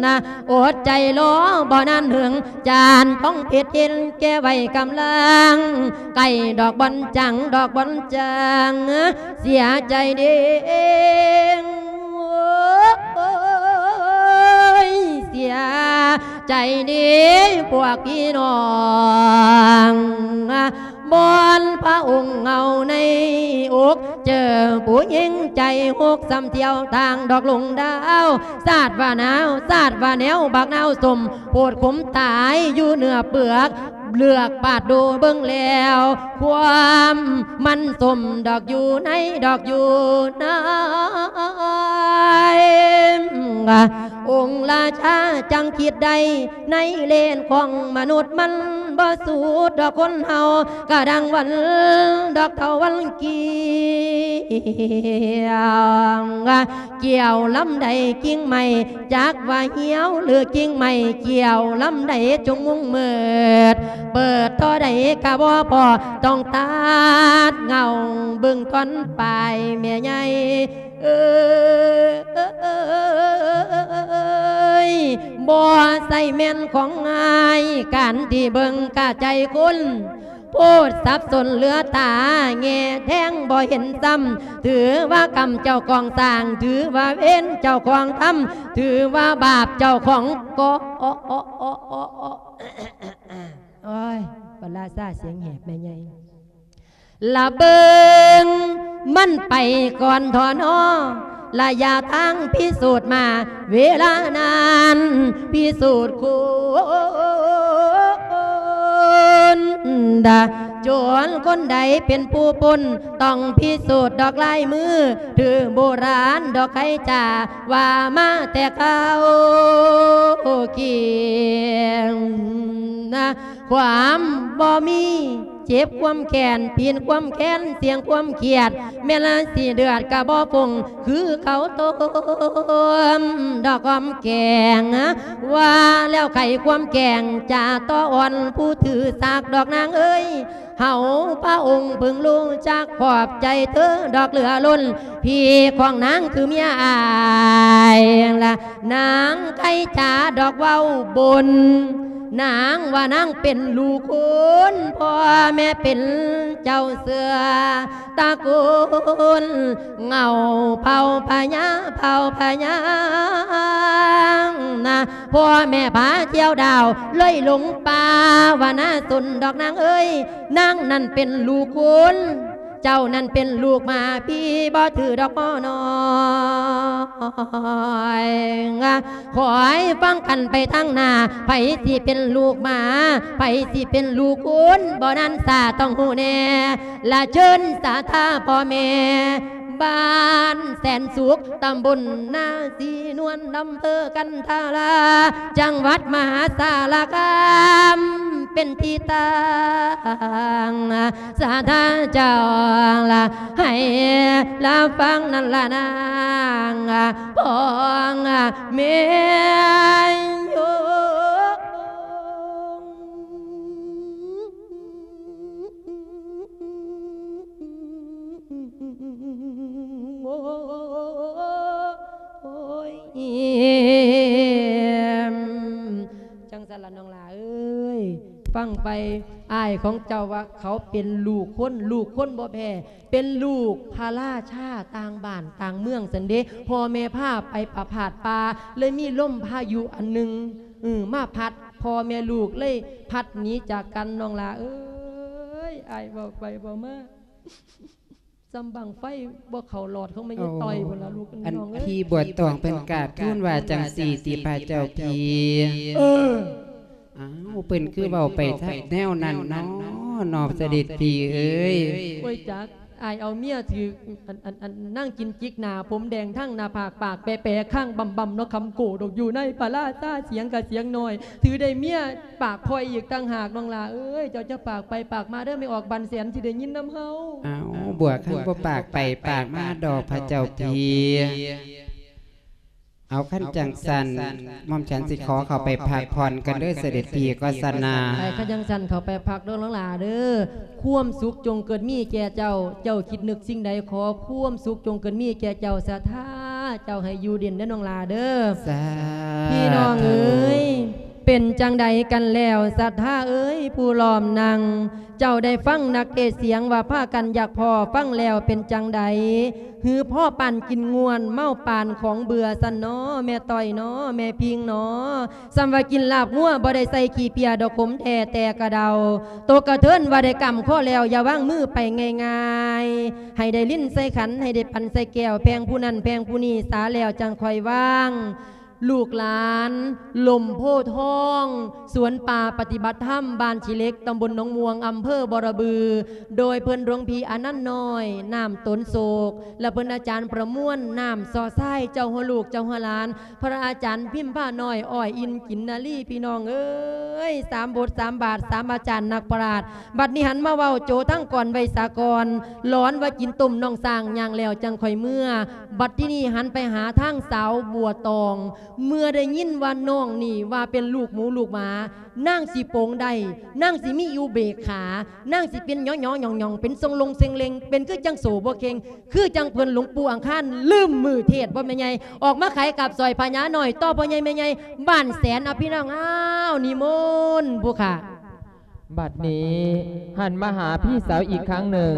ນະ ອົດໃຈລໍບໍ່ນານເຫິງ ຈານທອງເພັດເຫັນແກ່ໄວ້ກຳລັງ ໃກ້ດອກບ່ອນຈັງ ດອກບ່ອນຈັງ ເສຍໃຈເດ້ ໂອ້ຍ ເສຍ ໃຈດີພວກພີ່ນ້ອງ ບ່ອນພະອົງເອົາໃນອົກ ເຈີຜູ້ຍິງໃຈຫົກ ສ່ຳທ່ຽວທາງດອກລຸງດາວ ສາດວ່າໜາວ ສາດວ່າແນວ ບັກນາວສົ້ມ ໂພດຂົມຕາຍຢູ່ເນື້ອເປືອກ ເລືອກປາດດູເບິ່ງແລ້ວ ຄວາມມັນສົ້ມດອກຢູ່ໃນ ດອກຢູ່ໃນ ອົງລາຊາຈັ່ງຄິດໄດ້ ໃນເລນຂອງມະນຸດມັນບໍ່ສູ້ດອກຄົນເຮົາ ກະດັ່ງວັນດອກເທົ່າວັນກ່ຽວ ກ່ຽວລຳໃດກິ່ງໄມ້ ຈັກວ່າຫ່ຽວຫຼືກິ່ງໄມ້ ກ່ຽວລຳໃດຈົງມຸງມືດ ເປີດທໍ່ໃດກະບໍ່ພໍ ຕ້ອງຕັດເຫງົ້າເບິ່ງທ່ອນປາຍແມ່ໃຫຍ່ ເອີຍ ບໍ່ໃສ່ແມ່ນຂອງງ່າຍ ການທີ່ເບິ່ງກະໃຈຄົນ ໂພດສັບສົນເຫຼືອຕາ ແງ່ແທງບໍ່ເຫັນຊ້ຳ ຖືວ່າກຳເຈົ້າຂອງສ້າງ ຖືວ່າເວນເຈົ້າຂອງທຳ ຖືວ່າບາບເຈົ້າຂອງກໍ່ ໂອ້ຍ ພະລາຊາສຽງແຫບແມ່ໃຫຍ່ ລະເບິ່ງມັນໄປກ່ອນທໍນອ ລະຢະທາງພິສູດມາ ເວລານັ້ນພິສູດຄຸນ ດາ ໂຈນຄົນໃດເປັນຜູ້ປົນ ຕ້ອງພິສູດດອກລາຍມື ຖືໂບລານດອກໄຄຈາ ວ່າມາແຕ່ເກົ່າກ່ຽງນະ ຄວາມບໍ່ມີ ເຈັບຄວາມແຄ້ນ ປິ່ນຄວາມແຄ້ນ ສ່ຽງຄວາມຄຽດ ແມ່ນລະຊິເດືອດກະບໍ່ຟົງ ຄືເຂົາຕົ້ມດອກຫອມແກ້ງ ວ່າແລ້ວໄຂຄວາມແກ້ງ ຈະຕໍ່ອ່ອນຜູ້ຖືສາກດອກນາງເອີຍ ເຮົາພະອົງເພິ່ງຮູ້ຈັກຂອບໃຈເທີດອກເຫຼືອລົ້ນ ພີ່ຂອງນາງຄືເມຍອ້າຍລະ ນາງໄຄຈາດອກເວົ້າບົນ ນາງວ່ານາງເປັນລູກຄຸນ ພໍ່ແມ່ເປັນເຈົ້າເຊື້ອຕະກຸນ ເຫງົ້າເຜົ່າພະຍາ ເຜົ່າພະຍານະ ພໍ່ແມ່ພາທ່ຽວດາວ ເລີຍຫຼົງປ່າວ່ານາສົນດອກນາງເອີຍ ນາງນັ້ນເປັນລູກຄຸນ ເຈົ້ານັ້ນເປັນລູກໝາ ພີ່ບໍ່ຖືດອກໝໍນ້ອຍ ຄອຍຟັງກັນໄປທາງໜ້າ ໃຜຊິເປັນລູກໝາ ໃຜຊິເປັນລູກຄຸນ ບໍ່ນານຊ້າຕ້ອງຮູ້ແນ່ ລະເຊີນສາທາພໍ່ແມ່ ບ້ານແສນສຸກ ຕຳບົນນາສີນວນ ອຳເພີກັນທາລາ ຈັງຫວັດມະຫາສາລະຄາມ ເປັນທີ່ຕັ້ງ ສາທາເຈົ້າລະ ໃຫ້ລະຟັງນັ້ນລະນາງ ຂອງແມ່ໂຍ ໂອ້ຍ ຈັ່ງຊັ້ນລະນ້ອງຫຼ້າເອີຍ ຟັງໄປ ອ້າຍຂອງເຈົ້າວ່າເຂົາເປັນລູກຄົນ ລູກຄົນບໍ່ແພ້ ເປັນລູກພະລາຊາຕ່າງບ້ານຕ່າງເມືອງຊັ້ນເດ ພໍ່ແມ່ພາໄປປະພາດປ່າ ເລີຍມີລົມພາຍຸອັນໜຶ່ງ ເອີ ມາພັດ ພໍ່ແມ່ລູກເລີຍພັດໜີຈາກກັນ ນ້ອງຫຼ້າເອີຍ ອ້າຍເວົ້າໄປເວົ້າມາ ສ່ຳບັ້ງໄຟບໍ່ເຂົ້າຫຼອດຂອງແມ່ຍາຍ ໂອ້ ຕ້ອຍພຸ້ນລະລູກ ອັນ ນ້ອງເອີຍ ພີ່ບົວຕອງເພິ່ນກາບທູນວ່າຈັ່ງຊີ້ຕິພະເຈົ້າພີ່ ເອີ ອ້າວ ເພິ່ນຄືເວົ້າໄປທາງແນວນັ້ນເນາະ ເນາະ ສະເດັດພີ່ເອີຍ ໂອ້ຍ ຈັກ ອ້າຍເອົາເມຍຖືກ ອັນ ອັນ ອັນ ນາງກິນຈິກໜ້າ ຜົມແດງທັງໜ້າຜາກ ປາກແປໆ ຄາງບຳໆ ເນາະ ຄຳໂກດອກຢູ່ໃນພະລາຊາ ສຽງກະສຽງນ້ອຍ ຖືໄດ້ເມຍປາກພອຍອີກຕ່າງຫາກ ນ້ອງຫຼ້າເອີຍ ເຈົ້າຈະປາກໄປປາກມາເດີ ແມ່ອອກບັນແສນຊິໄດ້ຍິນນຳເຮົາ ອ້າວ ບົວຄັນບໍ່ປາກໄປປາກມາດອກພະເຈົ້າພີ່ ເອົາ ຄັນຈັ່ງຊັ້ນ ໝ່ອມສັນຊິຂໍເຂົ້າໄປພັກຜ່ອນກ່ອນເດີ ສະເດັດພີ່ ກໍຊັ້ນນະ ໄປ ຄັນຈັ່ງຊັ້ນເຂົ້າໄປພັກເດີ ນ້ອງຫຼ້າເດີ ຄວາມສຸກຈົ່ງເກີດມີແກ່ເຈົ້າ ເຈົ້າຄິດນຶກສິ່ງໃດ ຂໍຄວາມສຸກຈົ່ງເກີດມີແກ່ເຈົ້າ ສາທາ ເຈົ້າໃຫ້ຢູ່ເຢັນເດີ ນ້ອງຫຼ້າເດີ ສາທຸ ພີ່ນ້ອງເອີຍ ເປັນຈັ່ງໃດກັນແລ້ວ ສັດທາເອີຍ ຜູ້ລ້ອມນັ່ງ? ເຈົ້າໄດ້ຟັງນັກເທດສຽງວ່າພາກັນຢາກພໍ້ ຟັງແລ້ວເປັນຈັ່ງໃດ? ຫຼືພໍ້ປານກິນງ່ວນ ເມົາປານຂອງເບື່ອຊັ້ນນໍ ແມ່ຕ້ອຍນໍ ແມ່ພິງນໍ? ສ່ຳວ່າກິນລາບງົວ ບໍ່ໄດ້ໃສ່ຂີ້ເພຍດອກ ຂົມແທ້ແຕ່ກະເດົາ. ໂຕກະເທີນວ່າໄດ້ກຳຄໍແລ້ວ ຢ່າວາງມືໄປງ່າຍໆ. ໃຫ້ໄດ້ລິນໃສ່ຂັນ ໃຫ້ໄດ້ປັນໃສ່ແກ້ວ ແພງຜູ້ນັ້ນແພງຜູ້ນີ້ສາແລ້ວ ຈັ່ງຄ່ອຍວາງ. ລູກຫຼານ ລົມໂພທອງ ສວນປ່າປະຕິບັດທຳ ບ້ານຂີ້ເຫຼັກ ຕຳບົນໜອງມ່ວງ ອຳເພີບໍລະບື ໂດຍເພິ່ນຫຼວງພີ່ອານັນນ້ອຍ ນາມຕົນໂສກ ແລະ ເພິ່ນອາຈານປະມວນ ນາມຊໍຊາຍ ເຈົ້າຫົວລູກເຈົ້າຫົວຫຼານ ພະອາຈານພິມພານ້ອຍ ອ້ອຍອິນ ກິນນາລີ ພີ່ນ້ອງເອີຍ ສາມບົດສາມບາດ ສາມອາຈານນັກປະຫຼາດ. ບັດນີ້ຫັນມາເວົ້າໂຈທາງກອນໄວສາກອນ ຫຼອນວ່າກິນຕົ້ມນ້ອງຊ້າງ ຍ່າງແລ້ວຈັ່ງຄ່ອຍເມືອ. ບັດທີນີ້ຫັນໄປຫາທາງສາວບົວຕອງ ເມື່ອໄດ້ຍິນວ່ານ້ອງນີ້ວ່າເປັນລູກໝູລູກໝາ ນາງຊິໂປງໄດ້ ນາງຊິມີອຸເບກຂາ ນາງຊິເປັນຫຍໍ້ໆຫຍ້ອງໆ ເປັນຊົງລົງເຊັງເລັງ ເປັນຄືຈັ່ງໂສບໍ່ເຄັ່ງ ຄືຈັ່ງເພິ່ນຫຼວງປູ່ອັງຄານລືມມື້ເທດບໍ່ແມ່ໃຫຍ່ ອອກມາຂາຍກາບສອຍພະຍານ້ອຍ ຕໍ່ພໍ່ໃຫຍ່ແມ່ໃຫຍ່ບ້ານແສນ. ເອົາ ພີ່ນ້ອງ ອ້າວ ນິມົນຜູ້ຂ້າ. ບັດນີ້ຫັນມາຫາພີ່ສາວອີກຄັ້ງໜຶ່ງ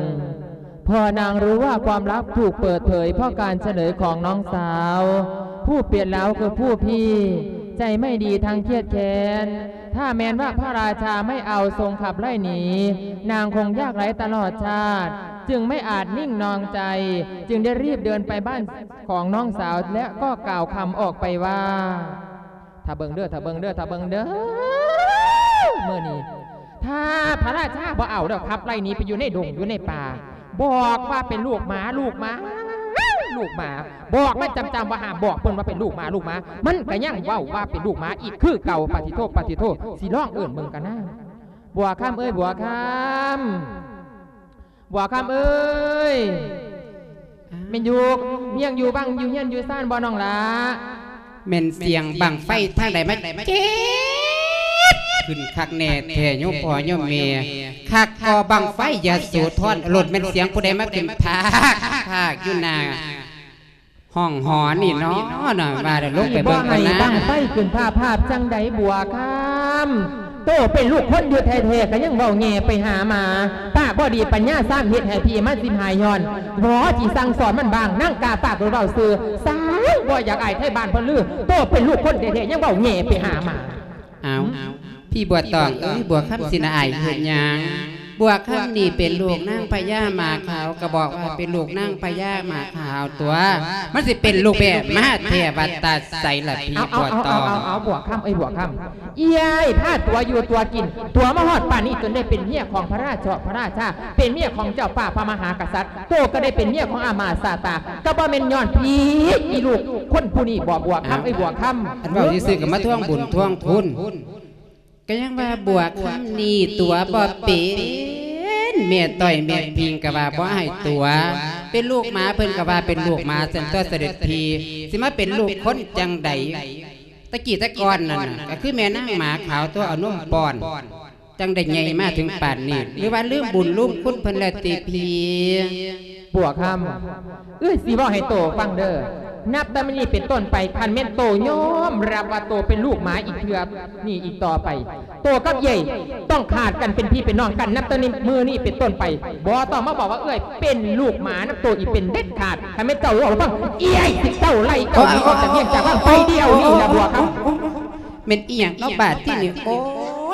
ເພາະນາງຮູ້ວ່າຄວາມລັບຖືກເປີດເຜີຍເພາະການສະເໜີຂອງນ້ອງສາວ. ຜູ້ປ່ຽນລາວຄືຜູ້ພີ່ ໃຈໄມ່ດີທັງຄຽດແຄ້ນ. ຖ້າແມ່ນວ່າພະລາຊາໄມ່ເອົາຊົງຂັບໄລ່ໜີ ນາງຄົງຍາກໄຮ້ຕະຫຼອດຊາດ ຈຶ່ງໄມ່ອາດນິ່ງນອງໃຈ ຈຶ່ງໄດ້ຣີບເດີນໄປບ້ານຂອງນ້ອງສາວ ແລະ ກໍກ່າວຄຳອອກໄປວ່າ ຖ້າເບິ່ງເດີ ຖ້າເບິ່ງເດີ ຖ້າເບິ່ງເດີ ມື້ນີ້ ຖ້າພະລາຊາບໍ່ເອົາແລ້ວ ຂັບໄລ່ໜີໄປຢູ່ໃນດົງຢູ່ໃນປ່າ ບອກວ່າເປັນລູກໝາ ລູກໝາ ລູກໝາ ບອກມັນຈຳໆວ່າຫ້າມບອກເພິ່ນວ່າເປັນລູກໝາ ລູກໝາ ມັນກໍຍັງເວົ້າວ່າເປັນລູກໝາອີກຄືເກົ່າ. ປາຕິໂທ ປາຕິໂທ ຊິລອງເອີ້ນເບິ່ງກັນນາ. ບົວຄຳເອີຍ ບົວຄຳ ບົວຄຳເອີຍ ແມ່ນຢູ່ ຍັງຢູ່ບັງ ຢູ່ເຮືອນຢູ່ຊານບໍ່ນ້ອງຫຼ້າ? ແມ່ນສຽງບັ້ງໄຟທາງໃດມາເຈັດຂຶ້ນຄັກແນ່ແທ້ ໂຍມພໍ່ໂຍມແມ່? ຄັກກໍບັ້ງໄຟຍະໂສທອນ ໂລດແມ່ນສຽງຜູ້ໃດມາຂຶ້ນພາກພາກຢູ່ໜ້າ ຫ້ອງຫໍນີ້ເນາະ ວ່າແລ້ວລົງໄປເບິ່ງກ່ອນນາ. ນີ້ບໍ່ໃຫ້ບັ້ງໄຟຂຶ້ນພາບພາບຈັ່ງໃດ ບົວຄຳ? ໂຕເປັນລູກຄົນຢູ່ແທ້ໆ ກໍຍັງເວົ້າແຍ່ໄປຫາໝາ. ປາກບໍ່ດີປັນຍາຊ້ຳ ເຮັດໃຫ້ພີ່ມັນຊິມຫາຍຍ້ອນ. ບໍ່ຊິສັ່ງສອນມັນບ້າງ ນາງກ້າປາກໂດດເວົ້າຊື່. ຊ້າງ ບໍ່ຢາກອາຍໄທບ້ານເພິ່ນລື. ໂຕເປັນລູກຄົນແທ້ໆ ຍັງເວົ້າແຍ່ໄປຫາໝາ. ອ້າວ ພີ່ບົວຕອງເອີຍ ບົວຄຳຊິນະອາຍເຮັດຫຍັງ? ບົວຄຳນີ້ເປັນລູກນາງພະຍາໝາຂາວ ກໍບອກວ່າເປັນລູກນາງພະຍາໝາຂາວຕົວະ ມັນຊິເປັນລູກແພ້ມາແທ້ວ່າແຕ່ໃສລະພີ່ບົວຕອງ? ເອົາ ເອົາ ເອົາ ບົວຄຳເອີຍ ບົວຄຳ ເອື້ອຍພາຕົວະຢູ່ຕົວະກິນ ຕົວະມາຮອດປານນີ້ ຈົນໄດ້ເປັນເມຍຂອງພະລາຊາ ພະລາຊາ ເປັນເມຍຂອງເຈົ້າຟ້າພະມະຫາກະສັດ. ໂຕກໍໄດ້ເປັນເມຍຂອງອາມາດຊາດຕາ ກໍບໍ່ແມ່ນຍ້ອນພີ່ອີລູກຄົນຜູ້ນີ້ບໍ ບົວຄຳເອີຍ ບົວຄຳ? ອັນເວົ້າຊື່ໆກໍມາທວງບຸນທວງຄຸນ ກໍຍັງວ່າບົວຄຳນີ້ຕົວະບໍ່ເປັນ ແມ່ຕ້ອຍແມ່ພິງກໍວ່າບໍ່ໃຫ້ຕົວະ ເປັນລູກໝາເພິ່ນກໍວ່າເປັນລູກໝາ ຊັ້ນຕົວະສະເດັດພີ່ ຊິມາເປັນລູກຄົນຈັ່ງໃດ? ແຕ່ກີ້ແຕ່ກ່ອນນັ້ນນະ ກໍຄືແມ່ນາງໝາຂາວຕົວະ ເອົານົມປ້ອນ ຈັ່ງໄດ້ໃຫຍ່ມາເຖິງປານນີ້ ຫຼືວ່າລືມບຸນລືມຄຸນເພິ່ນແລ້ວຕິພີ່? ບົວຄຳ ເອື້ອຍຊິເວົ້າໃຫ້ໂຕຟັງເດີ ນັບແຕ່ມື້ນີ້ເປັນຕົ້ນໄປ ຄັນແມ່ນໂຕຍອມຮັບວ່າໂຕເປັນລູກໝາອີກເທື່ອນີ້ອີກຕໍ່ໄປ ໂຕກັບເອື້ອຍຕ້ອງຂາດກັນເປັນພີ່ເປັນນ້ອງກັນ ນັບແຕ່ມື້ນີ້ເປັນຕົ້ນໄປ ບໍ່ຕ້ອງມາບອກວ່າເອື້ອຍເປັນລູກໝານຳໂຕອີກເປັນເດັດຂາດ. ຄັນແມ່ນເຈົ້າເວົ້າໃຫ້ຟັງ ເອື້ອຍຊິເຈົ້າໄລ່ເຈົ້າໜີອອກຈາກວຽງຈາກວັງໄປດຽວນີ້ລະ ບົວຄຳ. ແມ່ນອີ່ຫຍັງເນາະບາດທີນີ້? ໂອ້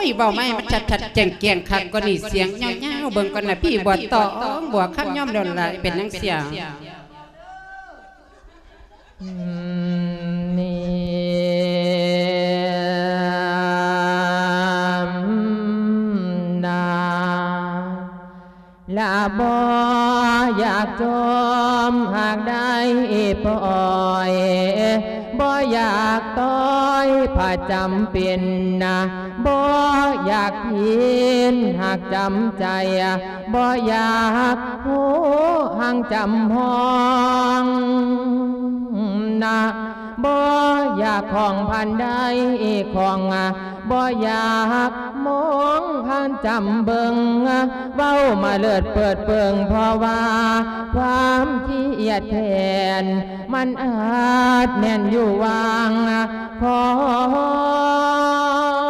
ຍ ເວົ້າມາໃຫ້ມັນຊັດໆແຈ້ງໆຄັກກວ່ານີ້ ສຽງຍາວໆ ເບິ່ງກ່ອນນະ ພີ່ບົວຕອງ ບົວຄຳຍອມແລ້ວລະ ເປັນຫຍັງສຽງ ອືມ ນີ້ ອືມ ນາ ລະບໍ່ຢາກຈົ່ມຫາກໄດ້ປ່ອຍ ບໍ່ຢາກຕ້ອຍພະຈຳເປັນນະ ບໍ່ຢາກຜິດຫາກຈຳໃຈ ບໍ່ຢາກຮູ້ຫາກຈຳຫ້ອງ ນະ ບໍ່ຢາກຂອງພັນໃດຂອງ ບໍ່ຢາກມອງຜ່ານຈຳເບິ່ງ ເວົ້າມາເລີດເປີດເບິ່ງ ເພາະວ່າຄວາມຄຽດແຄ້ນ ມັນອາດແມ່ນຢູ່ຫວ່າງຂອງ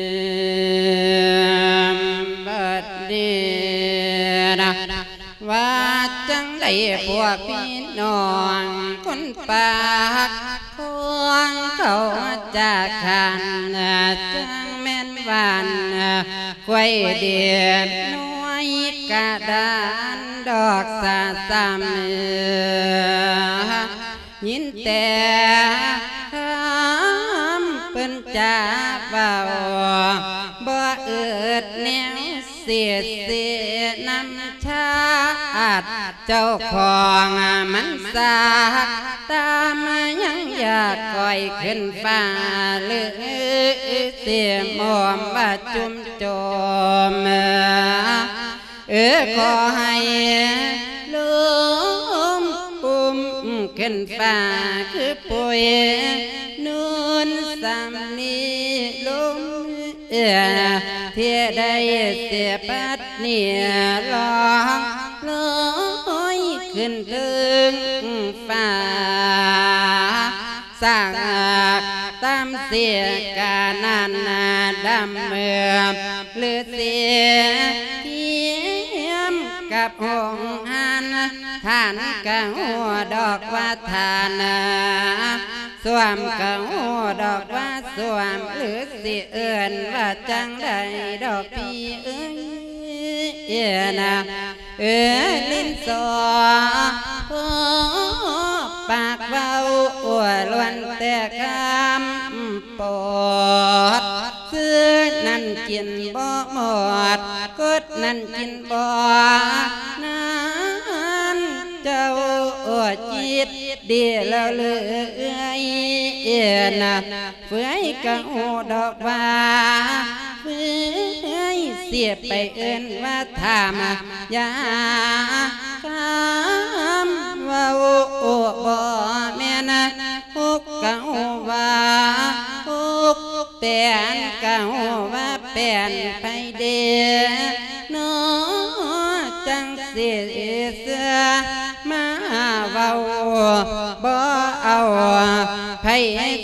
ບັດນີ້ນະ ວ່າຈັ່ງໃດພວກພີ່ນ້ອງຄົນປາກຂອງເຂົາຈາກຄັນ ຈັ່ງແມ່ນຫວານ ຄວາຍເດບນ້ອຍກະດານດອກສະສ່ຳ ຍິນແຕ່ຄຳເພິ່ນຈາເວົ້າ ບໍ່ອຶດແນວເສຍເສນຳຊາດ ເຈົ້າຂອງມັນສາກຕາມ ຍັງຢາກກອຍຂຶ້ນຟ້າ ຫຼືເສຍໝອມວ່າຈຸ່ມໂຈມ ເອີ ຂໍໃຫ້ລົມປຸ້ມຂຶ້ນຟ້າຄືປຸຍນຸນສຳນີລົມ ເອີ ທີ່ໄດ້ເສຍປັດເນຍລອງລອຍຂຶ້ນເທິງຟ້າ ສາກຕາມເສຍການັ້ນດຳເມືອມ ຫຼືເສຍທຽມກັບຫົງຫັນ ທ່ານກະຮູ້ດອກວ່າທ່ານ ສວມກະຮູ້ດອກວ່າສວມ ຫຼືຊິເອີ້ນວ່າຈັ່ງໃດດອກພີ່ເອີຍນະ ເອີ ຫຼິ້ນສໍ ພໍປາກເວົ້າ ລ້ວນແຕ່ຄຳປອດ ຊື້ນັ້ນກິນບໍ່ໝົດ ກົດນັ້ນກິນບໍ່ນານ ເຈົ້າຈິດດີແລ້ວເລີຍນະ ເຟືອຍກໍຮູ້ດອກວ່າ ເຟືອຍຊິໄປເອີ້ນວ່າຖາມຢາ ຄຳເວົ້າບໍ່ແມ່ນ ຮົກກໍຮູ້ວ່າຮົກ ແປນກໍຮູ້ວ່າແປນໃຜເດ ເນາະ ຈັ່ງຊິເຊື່ອມາເວົ້າ ບໍ່ເອົາ ໃຜ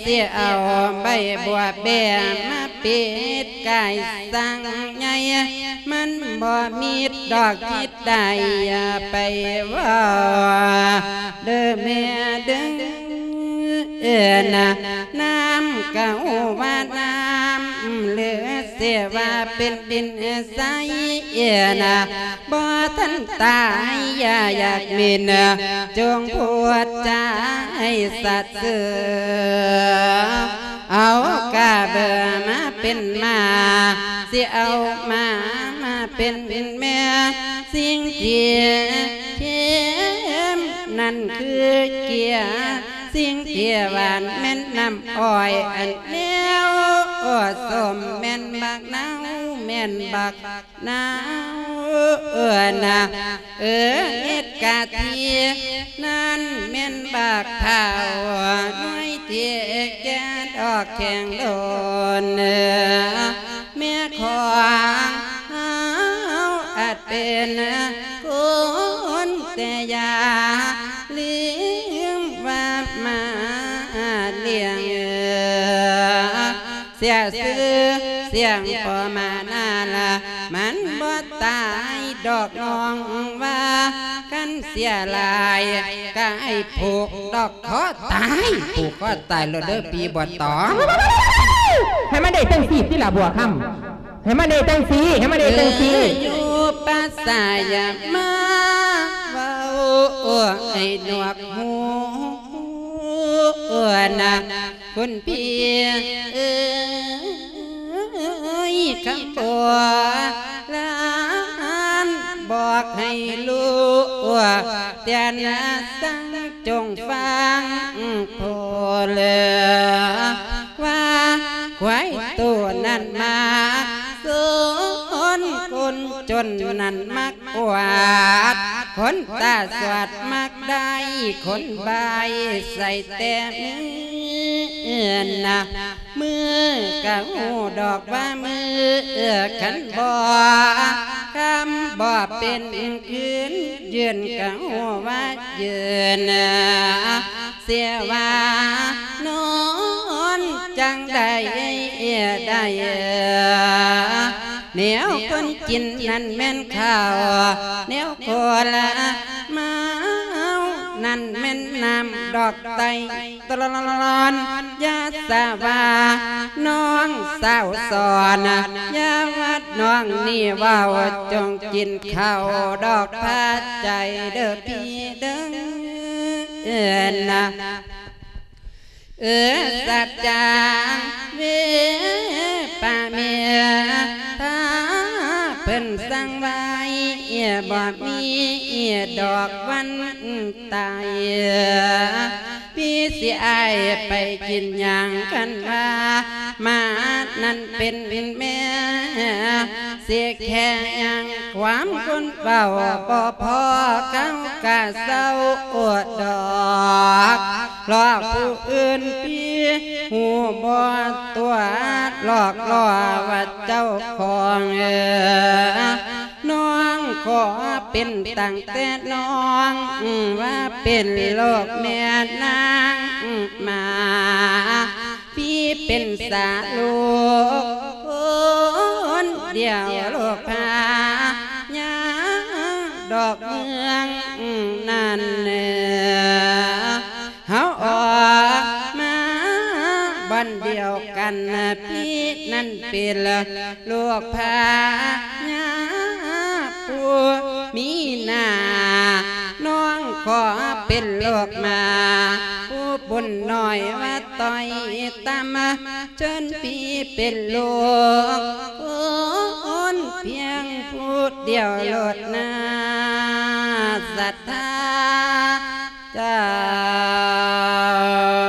ຊິເອົາໃບບົວແບມາປິດກາຍສັງໃຫຍ່ ມັນບໍ່ມີດອກຈິດໄດ້ ຢ່າໄປເວົ້າເດີແມ່ເດີ ເອີນະ ນ້ຳກໍຮູ້ວ່ານ້ຳ ຫຼືຊິວ່າເປັນດິນໃສ ເອີນະ ບໍ່ທັນຕາຍ ຢ່າຢາກໝິ່ນ ຈົ່ງພູດຈາໃຫ້ສັດຊື່ ເອົາກະເບີມາເປັນມ້າ ຊິເອົາມ້າມາເປັນແມ່ ສິ່ງທີ່ເຄັມນັ້ນຄືເກືອ ສິ່ງທີ່ຫວານແມ່ນນ້ຳອ້ອຍ ອັນແນວສົ້ມແມ່ນບັກນາວ ແມ່ນບັກນາວ ເອີນະ ເອີ ເຮັດກະທິ ນັ້ນແມ່ນບັກພ້າວ ໜ່ວຍທີ່ແກ່ດອກແຂງໂດນ ແມ່ຂອງເຮົາອາດເປັນຄົນ ແຕ່ຢ່າລືມວ່າມາລ້ຽງ ເສຍຊື່ສຽງພໍ່ມານາລະ ມັນບໍ່ຕາຍດອກນ້ອງວ່າ ຄັນເສຍຫຼາຍກະໃຫ້ຜູກດອກຄໍຕາຍ ຜູກຄໍຕາຍໂລດເດີ ຜີບໍ່ຕອງ ໃຫ້ມັນໄດ້ຈັ່ງຊີ້ຕິລະບົວຄຳ ໃຫ້ມັນໄດ້ຈັ່ງຊີ້ ໃຫ້ມັນໄດ້ຈັ່ງຊີ້ ເອີ ຢູ່ປ່າຊາຢ່າມາເວົ້າໃຫ້ໜວກຫູ ເອີນະ ຄຸນພີ່ເອີຍ ຄຳໂບລານບອກໃຫ້ຮູ້ ແຕ່ນະສັງຈົ່ງຟັງໂພເລີ ວ່າຄວາຍໂຕນັ້ນມັກສົນ ຄົນຈົນນັ້ນມັກອວດ ຄົນຕາສວາດມັກໄດ້ ຄົນບາຍໃສ່ແຕ່ມື້ນະ ມື້ກະຮູ້ດອກວ່າມື້ ຄັນບໍ່ຄຳບໍ່ເປັນຄືນ ຢືນກະຮູ້ວ່າຢືນ ເສຍວ່ານອນຈັ່ງໃດໄດ້ ແນວຄົນກິນນັ້ນແມ່ນເຂົ້າ ແນວຄົນເມົານັ້ນແມ່ນນ້ຳ ດອກໄຕຕະລອນ ຢ່າສາວ່ານ້ອງສາວສອນ ຢ່າວ່ານ້ອງນີ້ເວົ້າ ຈົ່ງກິນເຂົ້າດອກພາໃຈເດີພີ່ເດີ ເອີນະ ເອີ ສັດຈັງເວປາເມ ຖ້າເພິ່ນສັ່ງໄວ້ ບໍ່ມີດອກວັນຕາຍ ພີ່ຊິອ້າຍໄປກິນຫຍັງ ຄັນວ່າໝານັ້ນເປັນແມ່ ຊິແຄ່ຫຍັງຄວາມຄົນເວົ້າບໍ່ພໍ ເຂົາກະເຊົາອວດດອກ ຫຼອກຜູ້ອື່ນພີ່ ຮູ້ບໍ່ຕົວະ ຫຼອກລໍ້ວ່າເຈົ້າຂອງ ນ້ອງຂໍເປັນຕັ້ງແຕ່ນ້ອງ ວ່າເປັນລູກແມ່ນາງມາ ພີ່ເປັນສາລູກຄົນດຽວ ລູກພະຍາດອກເມືອງນັ້ນ ເຮົາອອກມາບ່ອນດຽວກັນ ພີ່ນັ້ນເປັນລູກພະຍາດຜູ້ມີໜ້າ ນ້ອງ ຂໍເປັນລູກໝາ ຜູ້ບຸນນ້ອຍວ່າຕ້ອຍຕ່ຳ ເຊີນພີ່ເປັນລູກຄົນພຽງຜູ້ດຽວໂລດນາ ສັດທາເຈົ້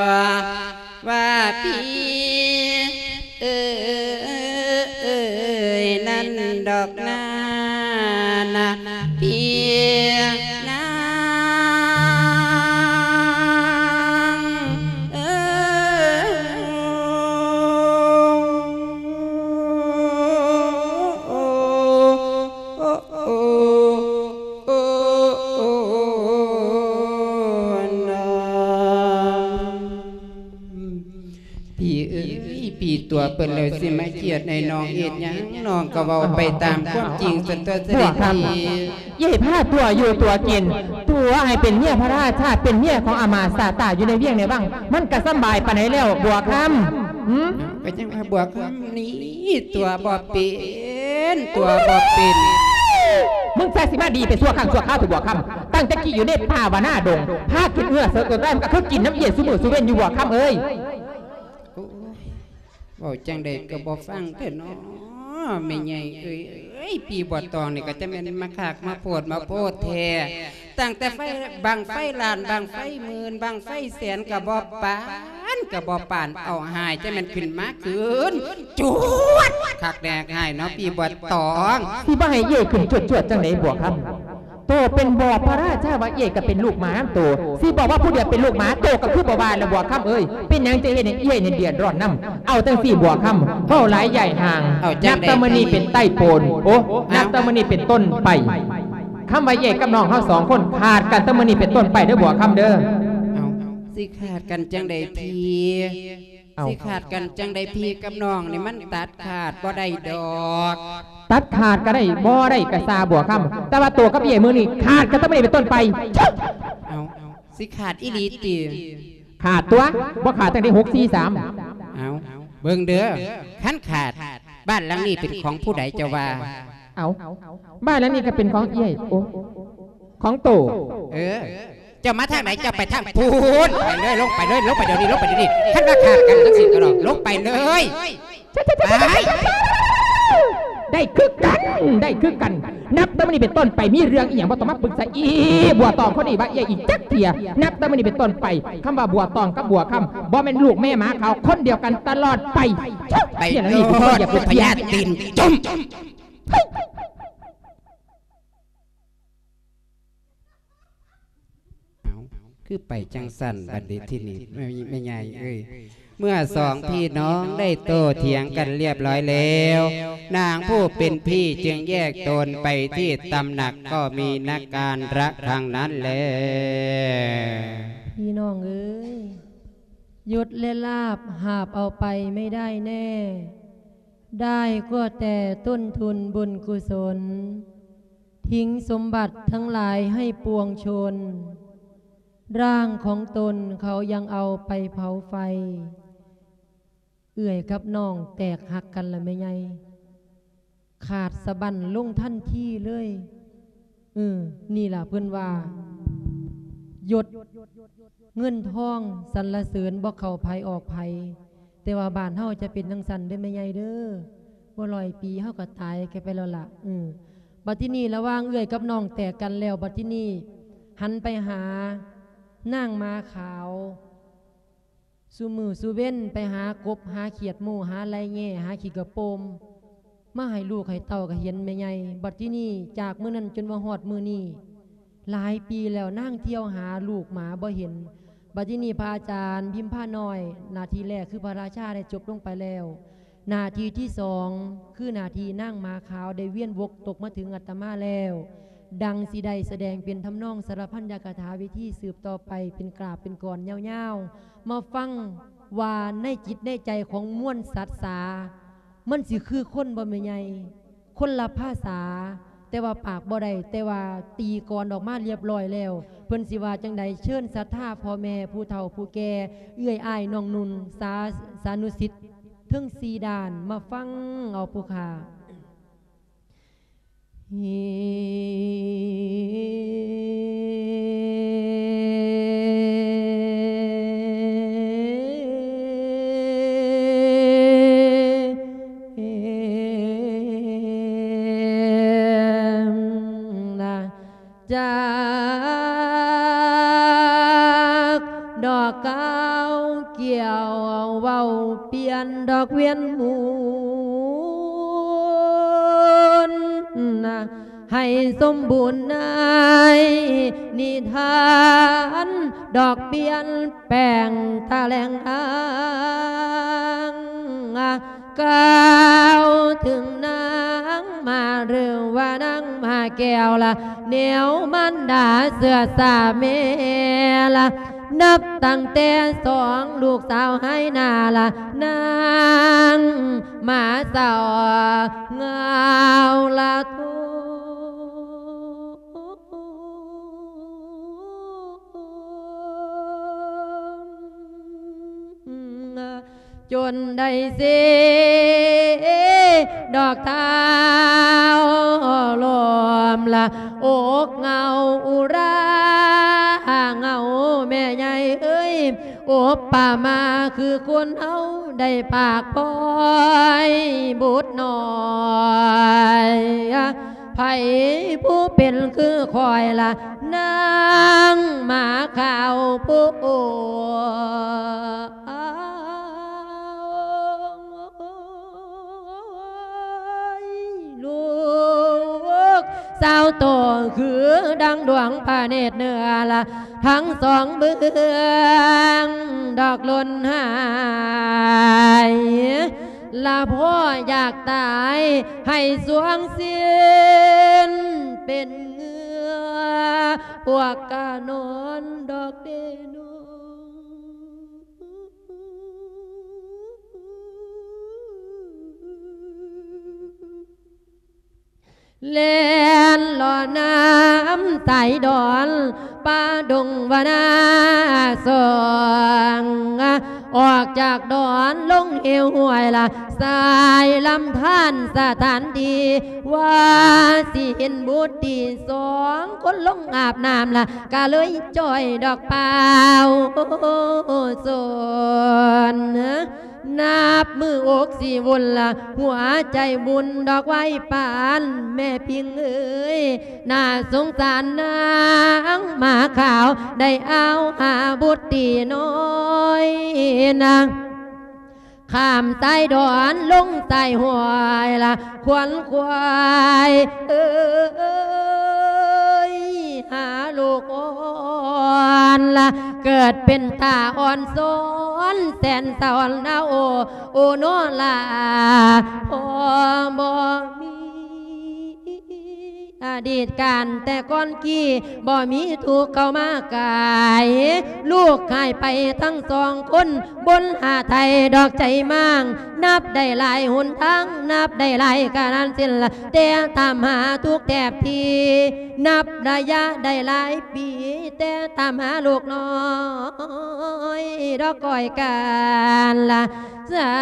າ ວ່າພີ່ເອີຍນັ້ນດອກນາ ນະ ພີ່ນາງເອີຍ. ພີ່ເອີຍ ພີ່ຕົວະເພິ່ນແລ້ວ ຊິມາຄຽດໃຫ້ນ້ອງເຮັດຫຍັງ? ນ້ອງກໍເວົ້າໄປຕາມຄວາມຈິງ ຊັ້ນຕົວະ ເສດັດພີ່. ຢ່າໃຫ້ພາຕົວະຢູ່ຕົວະກິນ ຕົວະໃຫ້ເປັນເມຍພະລາຊາ ເປັນເມຍຂອງອາມາດຊາດຕາຢູ່ໃນວຽງໃນວັງ ມັນກະສຳບາຍປານໃດແລ້ວ ບົວຄຳ? ຫື? ກໍຈັ່ງວ່າບົວຄຳນີ້ຕົວະບໍ່ເປັນ ຕົວະບໍ່ເປັນ. ມຶງໃສ່ຊິມາດີໄປຊົ່ວຄັ້ງຊົ່ວຄາວເຖາະບົວຄຳ. ຕັ້ງແຕ່ກີ້ຢູ່ໃນປ່າວ່ານາດົງ ພາກິນເຫື່ອເສີກຕົວຕາຍ ມັນກໍຄືກິນນຳເອີຍຊຸມື້ຊຸເວັນຢູ່ ບົວຄຳເອີຍ. ໂອ້ຍ ເວົ້າຈັ່ງໃດກໍບໍ່ຟັງແທ້ເນາະ ແມ່ໃຫຍ່ເອີຍ. ເອີຍ ພີ່ບົວຕອງນີ້ກໍຈະແມ່ນມາຄັກມາໂພດມາໂພດແທ້. ຕັ້ງແຕ່ໄຟ ບັ້ງໄຟລ້ານ ບັ້ງໄຟໝື່ນ ບັ້ງໄຟແສນກໍບໍ່ປານ ກໍບໍ່ປານ ເອົາຫາຍ ຈະແມ່ນຂຶ້ນມາຄືນ ຈວດ ຄັກແນ່ຫາຍເນາະ ພີ່ບົວຕອງ. ຊິບໍ່ໃຫ້ເອື້ອຍຂຶ້ນຈວດໆ ຈັ່ງໃດບົວຄຳ? ໂຕເປັນບໍ່ພະລາຊາວ່າເອື້ອຍກໍເປັນລູກໝານຳໂຕ ຊິບອກວ່າຜູ້ດຽວເປັນລູກໝາ ໂຕກໍຄືບໍ່ວ່າລະບົວຄຳເອີຍ. ເປັນຫຍັງຈະເຮັດໃຫ້ເອື້ອຍນີ້ເດືອດຮ້ອນນຳ? ເອົາຈັ່ງຊີ້ບົວຄຳ ເວົ້າຫຼາຍຢ່າຍຫ່າງ ເອົາຈັ່ງໃດ ນັບແຕ່ມື້ນີ້ເປັນຕົ້ນໄປ ໂອ້ ເອົາ ນັບແຕ່ມື້ນີ້ເປັນຕົ້ນໄປ ຄຳວ່າເອື້ອຍກັບນ້ອງເຮົາສອງຄົນຂາດກັນແຕ່ມື້ນີ້ເປັນຕົ້ນໄປເດີບົວຄຳເດີ. ເອົາ ຊິຂາດກັນຈັ່ງໃດພີ່? ເອົ້າ ຊິຂາດກັນຈັ່ງໃດ? ພີ່ກັບນ້ອງນີ້ມັນຕັດຂາດບໍ່ໄດ້ດອກ. ຕັດຂາດກໍໄດ້ ບໍ່ໄດ້ກໍຊ່າງບົວຄຳ ແຕ່ວ່າໂຕກັບເອື້ອຍມື້ນີ້ຂາດກັນແຕ່ມື້ນີ້ເປັນຕົ້ນໄປ. ເອົ້າ ຊິຂາດອີ່ຫຼີຕິ? ຂາດຕົວະ ບໍ່ຂາດຈັ່ງໃດ ຫົກ ສີ່ ສາມ. ເອົ້າ ເບິ່ງເດີ ຄັນຂາດ ບ້ານຫຼັງນີ້ເປັນຂອງຜູ້ໃດເຈົ້າວ່າ? ເອົ້າ ບ້ານຫຼັງນີ້ກໍເປັນຂອງເອື້ອຍ ໂອ້ ຂອງໂຕ. ເອີ ເຈົ້າມາທາງໃດ? ເຈົ້າໄປທາງພຸ້ນ ໄປເລີຍ ລົງໄປເລີຍ ລົງໄປດຽວນີ້ ລົງໄປດຽວນີ້. ຄັນວ່າຂາດກັນຈັ່ງຊີ້ກໍລອງ ລົງໄປເລີຍ ໄປ. ໄດ້ຄືກັນ ໄດ້ຄືກັນ. ນັບແຕ່ມື້ນີ້ເປັນຕົ້ນໄປ ມີເລື່ອງອີ່ຫຍັງບໍ່ຕ້ອງມາປຶກສາອີ່ບົວຕອງຄົນນີ້ວ່າເອື້ອຍອີກຈັກເທື່ອ. ນັບແຕ່ມື້ນີ້ເປັນຕົ້ນໄປ ຄຳວ່າບົວຕອງກັບບົວຄຳ ບໍ່ແມ່ນລູກແມ່ໝາຂາວ ຄົນດຽວກັນຕະຫຼອດໄປ. ໄປໂລດ ພະຍາດຕີນຈຸ້ມ. ເອົ້າ ຄືໄປຈັ່ງຊັ້ນບັດນີ້ທີນີ້ ແມ່ ແມ່ໃຫຍ່ເອີຍ. ເມື່ອສອງພີ່ນ້ອງໄດ້ໂຕ້ຖຽງກັນລຽບຮ້ອຍແລ້ວ ນາງຜູ້ເປັນພີ່ຈຶ່ງແຍກຕົນໄປທີ່ຕຳໜັກ ກໍມີນັກການລະຄັ້ງນັ້ນແລ. ພີ່ນ້ອງເອີຍ ຍົດແລະລາບຫາບເອົາໄປໄມ່ໄດ້ແນ່ ໄດ້ກໍແຕ່ຕົ້ນທຶນບຸນກຸສົນ ຖິ້ມສົມບັດທັງຫຼາຍໃຫ້ປວງຊົນ. ຮ່າງຂອງຕົນເຂົາຍັງເອົາໄປເຜົາໄຟ. ເອື້ອຍກັບນ້ອງແຕກຫັກກັນລະແມ່ໃຫຍ່ ຂາດສະບັ້ນລົງທັນທີເລີຍ. ເອີ ນີ້ລະເພິ່ນວ່າ ຍົດເງິນທອງສັນລະເສີນບໍ່ເຂົ້າໃຜອອກໃຜ. ແຕ່ວ່າບ້ານເຮົາຈະເປັນຈັ່ງຊັ້ນເດີແມ່ໃຫຍ່ເດີ ບໍ່ຮ້ອຍປີເຮົາກໍຕາຍກັນໄປແລ້ວລະ. ເອີ ບັດທີນີ້ລະຫວ່າງເອື້ອຍກັບນ້ອງແຕກກັນແລ້ວ ບັດທີນີ້ຫັນໄປຫານາງໝາຂາວ ຊຸມື້ຊຸເວັນໄປຫາກົບຫາຂຽດໝູ່ ຫາໄລ່ແຍ່ ຫາຂີ້ກະໂປມ ມາໃຫ້ລູກໃຫ້ເຕົ້າກໍເຫັນແມ່ໃຫຍ່. ບັດທີນີ້ຈາກມື້ນັ້ນຈົນວ່າຮອດມື້ນີ້ ຫຼາຍປີແລ້ວນາງທ່ຽວຫາລູກໝາບໍ່ເຫັນ. ບັດທີນີ້ພະອາຈານພິມພານ້ອຍ ໜ້າທີ່ແລກຄືພະລາຊາໄດ້ຈົບລົງໄປແລ້ວ. ໜ້າທີ່ທີສອງ ຄືໜ້າທີ່ນາງໝາຂາວໄດ້ວຽນວົກຕົກມາເຖິງອາດຕະມາແລ້ວ. ດັ່ງຊິໄດ້ສະແດງເປັນທຳນອງສາລະພັນຍະກະຖາເວທີສືບຕໍ່ໄປເປັນກາບເປັນກອນຍາວໆ. ມາຟັງວ່າໃນຈິດໃນໃຈຂອງມວນສັດສາ ມັນຊິຄືຄົນບໍ່ແມ່ໃຫຍ່? ຄົນລະພາສາ ແຕ່ວ່າປາກບໍ່ໄດ້ ແຕ່ວ່າຕີກອນອອກມາລຽບຮ້ອຍແລ້ວ. ເພິ່ນຊິວ່າຈັ່ງໃດ ເຊີນສັດທາພໍ່ແມ່ ຜູ້ເຖົ້າຜູ້ແກ່ ເອື້ອຍອ້າຍນ້ອງນຸ່ນ ສາ ສານຸສິດ ເທິງສີ່ດ້ານ ມາຟັງເອົາຜູ້ຂ້າ. จากดอกกาวเกี่ยวเว้าเปลี่ยนดอกเวียนหมุน ให้สมบูรณ์ในนิทาน ดอกเปลี่ยนแปลงตะแหล่งทาง กล่าวถึงนางมาหรือว่านางมาแก้วละ แนวมารดาเสื้อสาแม่ละ นับตั้งแต่สองลูกสาวหายหน้าละ นางมาเศร้าเหงาละทุก จนได้เสดอกเท้าลมละ อกเหงาอุราเหงาแม่ใหญ่เอ้ย อุปมาคือคนเฮาได้ปากปอยบุตรน้อย ไผผู้เป็นคือข้อยละ นางหมาขาวผู้ ลูกสาวโตคือดังดวงพระเนตรเหนือละ ทั้งสองเบื้องดอกหล่นหาย ละพ่ออยากตายให้สวงสิ้นเป็นเหงื่อ พวกกะนอนดอกเดนอ แล่นเลาะน้ำสายดอน ป่าดงวนาสอง ออกจากดอนลงเหวห้วยละ สายลำธารสถานที่ ว่าสิเห็นบุตรีสองคนลงอาบน้ำละ กะเลยจ้อยดอกเปล่าสน นับมืออกสิวุ่นละ หัวใจบุญดอกไว้ปานแม่พิงเอ๋ย น่าสงสารนางหมาขาว ได้เอาหาบุตรีน้อยนาง ข้ามสายดอนลงสายห้วยละ ขวนขวายเอ้ย หาลูกอ่อนละ เกิดเป็นตาอ่อนสอนแสนสอนนะโอ โอโนลา พ่อบ่มี อดีตการแต่ก่อนกี้ บ่มีทุกข์เข้ามากาย ลูกหายไปทั้งสองคน บนหาไทยดอกใจมาง นับได้หลายหนทาง นับได้หลายกาลสิ้นละ แต่ตามหาทุกแทบที นับระยะได้หลายปี แต่ตามหาลูกน้อย ดอกก้อยกาลละ สร้า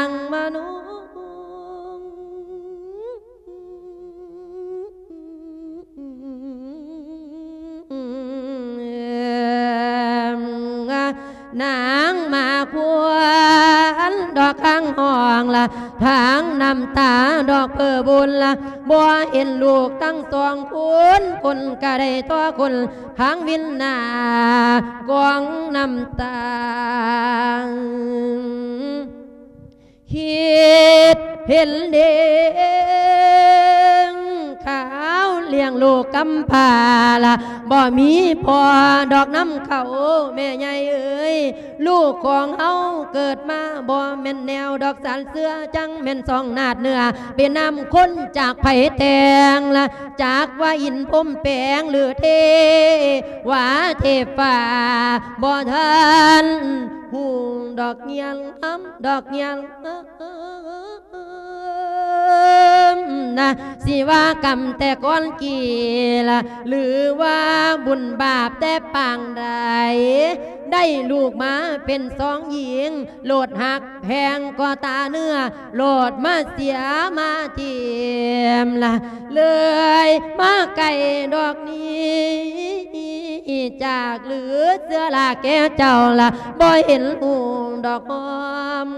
งมนุษย์ นางมาควรดอกข้างห้องละ ทางน้ำตาดอกเพื่อบุญละ บ่เห็นลูกทั้งสองคน คนกะได้ต่อคน ทางวินหน้ากองน้ำตา คิดเห็นเด้งขาวเลี้ยงลูกกำพร้าละ บ่มีพ่อดอกนำเขาแม่ใหญ่เอ๋ย ลูกของเฮาเกิดมาบ่แม่นแนวดอกสารเสื้อ จั่งแม่นสองนาดเนื้อ เป็นนำคนจากไผแต่งละ จากว่าอินพรหมแปลงหรือเทวาเทพฟ้า บ่ทันฮู้ดอกเงียง ดอกเงียง นะ สิว่ากรรมแต่ก่อนกี่ละ หรือว่าบุญบาปแต่ปางใด ได้ลูกมาเป็นสองหญิง โลดหักแพงก็ตาเนื้อ โลดมาเสียมาทีมละ เลยมาไกลดอกนี้ จากหรือเสื้อลาแก่เจ้าละ บ่เห็นหูดอกหอม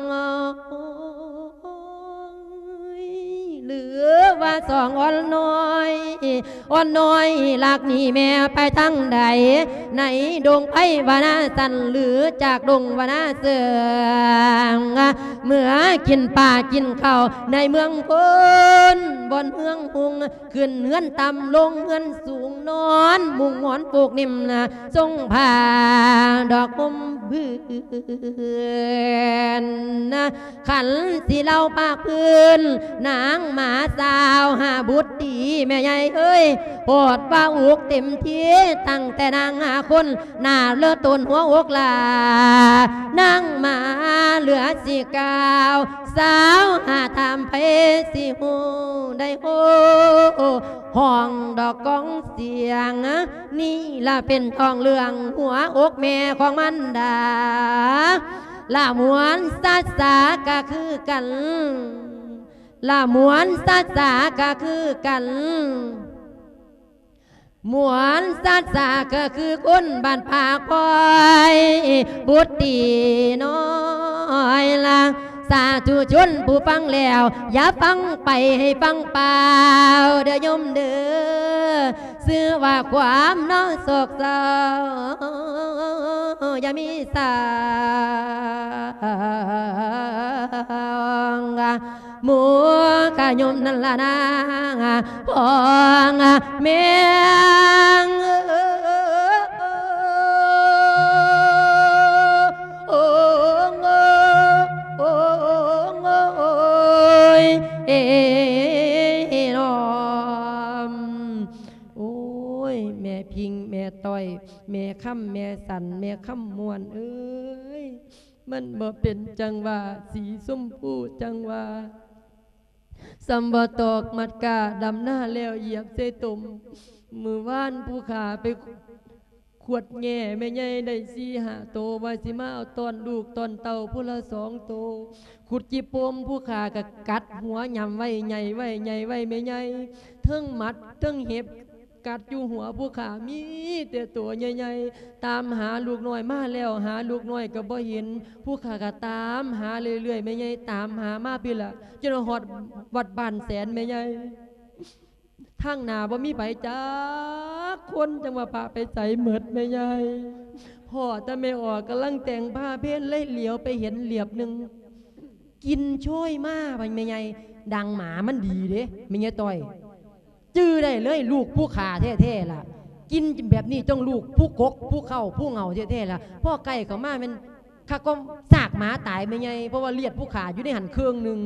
หรือ ວ່າສອງອ່ອນນ້ອຍ ອ່ອນນ້ອຍລັກໜີແມ່ໄປທາງໃດ ໃນດົງໄພວະນາສັນ ຫຼື ຈາກດົງວະນາເຊື່ອງ ເມື່ອກິນປາກິນເຂົ້າໃນເມືອງພຸ້ນ ບ່ອນເມືອງຮຸ່ງ ຂຶ້ນເຮືອນຕ່ຳລົງເຮືອນສູງ ນອນມຸງໝອນປູກນິ້ມ ຊົງຜ້າດອກຫົ່ມພື້ນ ຄັນຊິເລົ່າພາກພື້ນ ນາງໝາຊາວຫາບຸດດີ ແມ່ໃຫຍ່ເອີຍ ໂພດວ່າອຸກເຕັມທີ່ ຕັ້ງແຕ່ນາງຫາຄົນ ໜ້າເລີດໂຕນຫົວອົກຫຼ້າ ນາງໝາເຫຼືອຊິກ່າວ ສາວຫາຖາມໃຜຊິຮູ້ໄດ້ໂອ້ ຮ້ອງດອກກອງສຽງ ນີ້ລະເປັນທ້ອງເລື່ອງຫົວອົກແມ່ຂອງມານດາ ລະມ່ວນຊາຊາກະຄືກັນ ລະມ່ວນຊາຊາກະຄືກັນ ມ່ວນຊາຊາກະຄືຄົນບ້ານປາກພອຍ ບຸດດີນ້ອຍລະ ສາທຸຊົນຜູ້ຟັງແລ້ວ ຢ່າຟັງໄປໃຫ້ຟັງເປົ່າເດີໂຍມເດີ ຊື່ວ່າຄວາມເນາະໂສກເສົ້າ ຢ່າມີສາງ ໝູ່ກະຍົມນັ້ນລະນາງ ພອງແມງ ໂອ້ ໂອ້ ໂອ້ ໂອ້ຍ ເອ ເອ ເອ ເນາະ ໂອ້ຍ ແມ່ພິງ ແມ່ຕ້ອຍ ແມ່ຄຳ ແມ່ສັນ ແມ່ຄຳມ່ວນເອີຍ ມັນບໍ່ເປັນຈັງຫວະ ສີຊົມພູຈັງຫວະ ສ່ຳບໍ່ຕອກມັດກ້າ ດຳນາແລ້ວຢຽບໃສ່ຕົມ. ມື້ວານຜູ້ຂ້າໄປຂວດແງ່ແມ່ໃຫຍ່ໄດ້ສີ່ຫ້າໂຕ ວ່າຊິມາເອົາຕ້ອນລູກຕ້ອນເຕົ້າຜູ້ລະສອງໂຕ. ຂຸດຈີ່ປົມຜູ້ຂ້າກະກັດຫົວຫຍ້ຳໄວ້ ໃຫຍ່ໄວ້ ໃຫຍ່ໄວ້ແມ່ໃຫຍ່ ເທິງໝັດເທິງເຫັບ ກັດຢູ່ຫົວຜູ້ຂ້າມີແຕ່ໂຕໃຫຍ່ໆ ຕາມຫາລູກນ້ອຍມາແລ້ວ ຫາລູກນ້ອຍກໍບໍ່ເຫັນ ຜູ້ຂ້າກໍຕາມຫາເລື້ອຍໆ ແມ່ໃຫຍ່ຕາມຫາມາພີ້ລະ ຈົນວ່າຮອດວັດບ້ານແສນແມ່ໃຫຍ່ ທາງໜ້າບໍ່ມີໃຜຈັກຄົນ ຈັ່ງວ່າພະໄປໃສໝົດແມ່ໃຫຍ່ ພໍ້ແຕ່ແມ່ອອກກຳລັງແຕ່ງພາເພນ ເລີຍຫຼຽວໄປເຫັນຫຼຽບໜຶ່ງ ກິ່ນໂຊຍມາ ວ່າແມ່ໃຫຍ່ ດັງໝາມັນດີເດ້ ແມ່ໃຫຍ່ຕ້ອຍ ຈື່ໄດ້ເລີຍ ລູກຜູ້ຂ້າແທ້ໆລະ ກິ່ນແບບນີ້ຕ້ອງລູກຜູ້ກົກ ຜູ້ເຄົ້າ ຜູ້ເຫງົາແທ້ໆລະ ພໍ້ໃກ້ເຂົ້າມາແມ່ນຄັກກວ່າຊາກໝາຕາຍແມ່ໃຫຍ່ ເພາະວ່າລຽດຜູ້ຂ້າຢູ່ໃນຫັ້ນເຄິ່ງໜຶ່ງ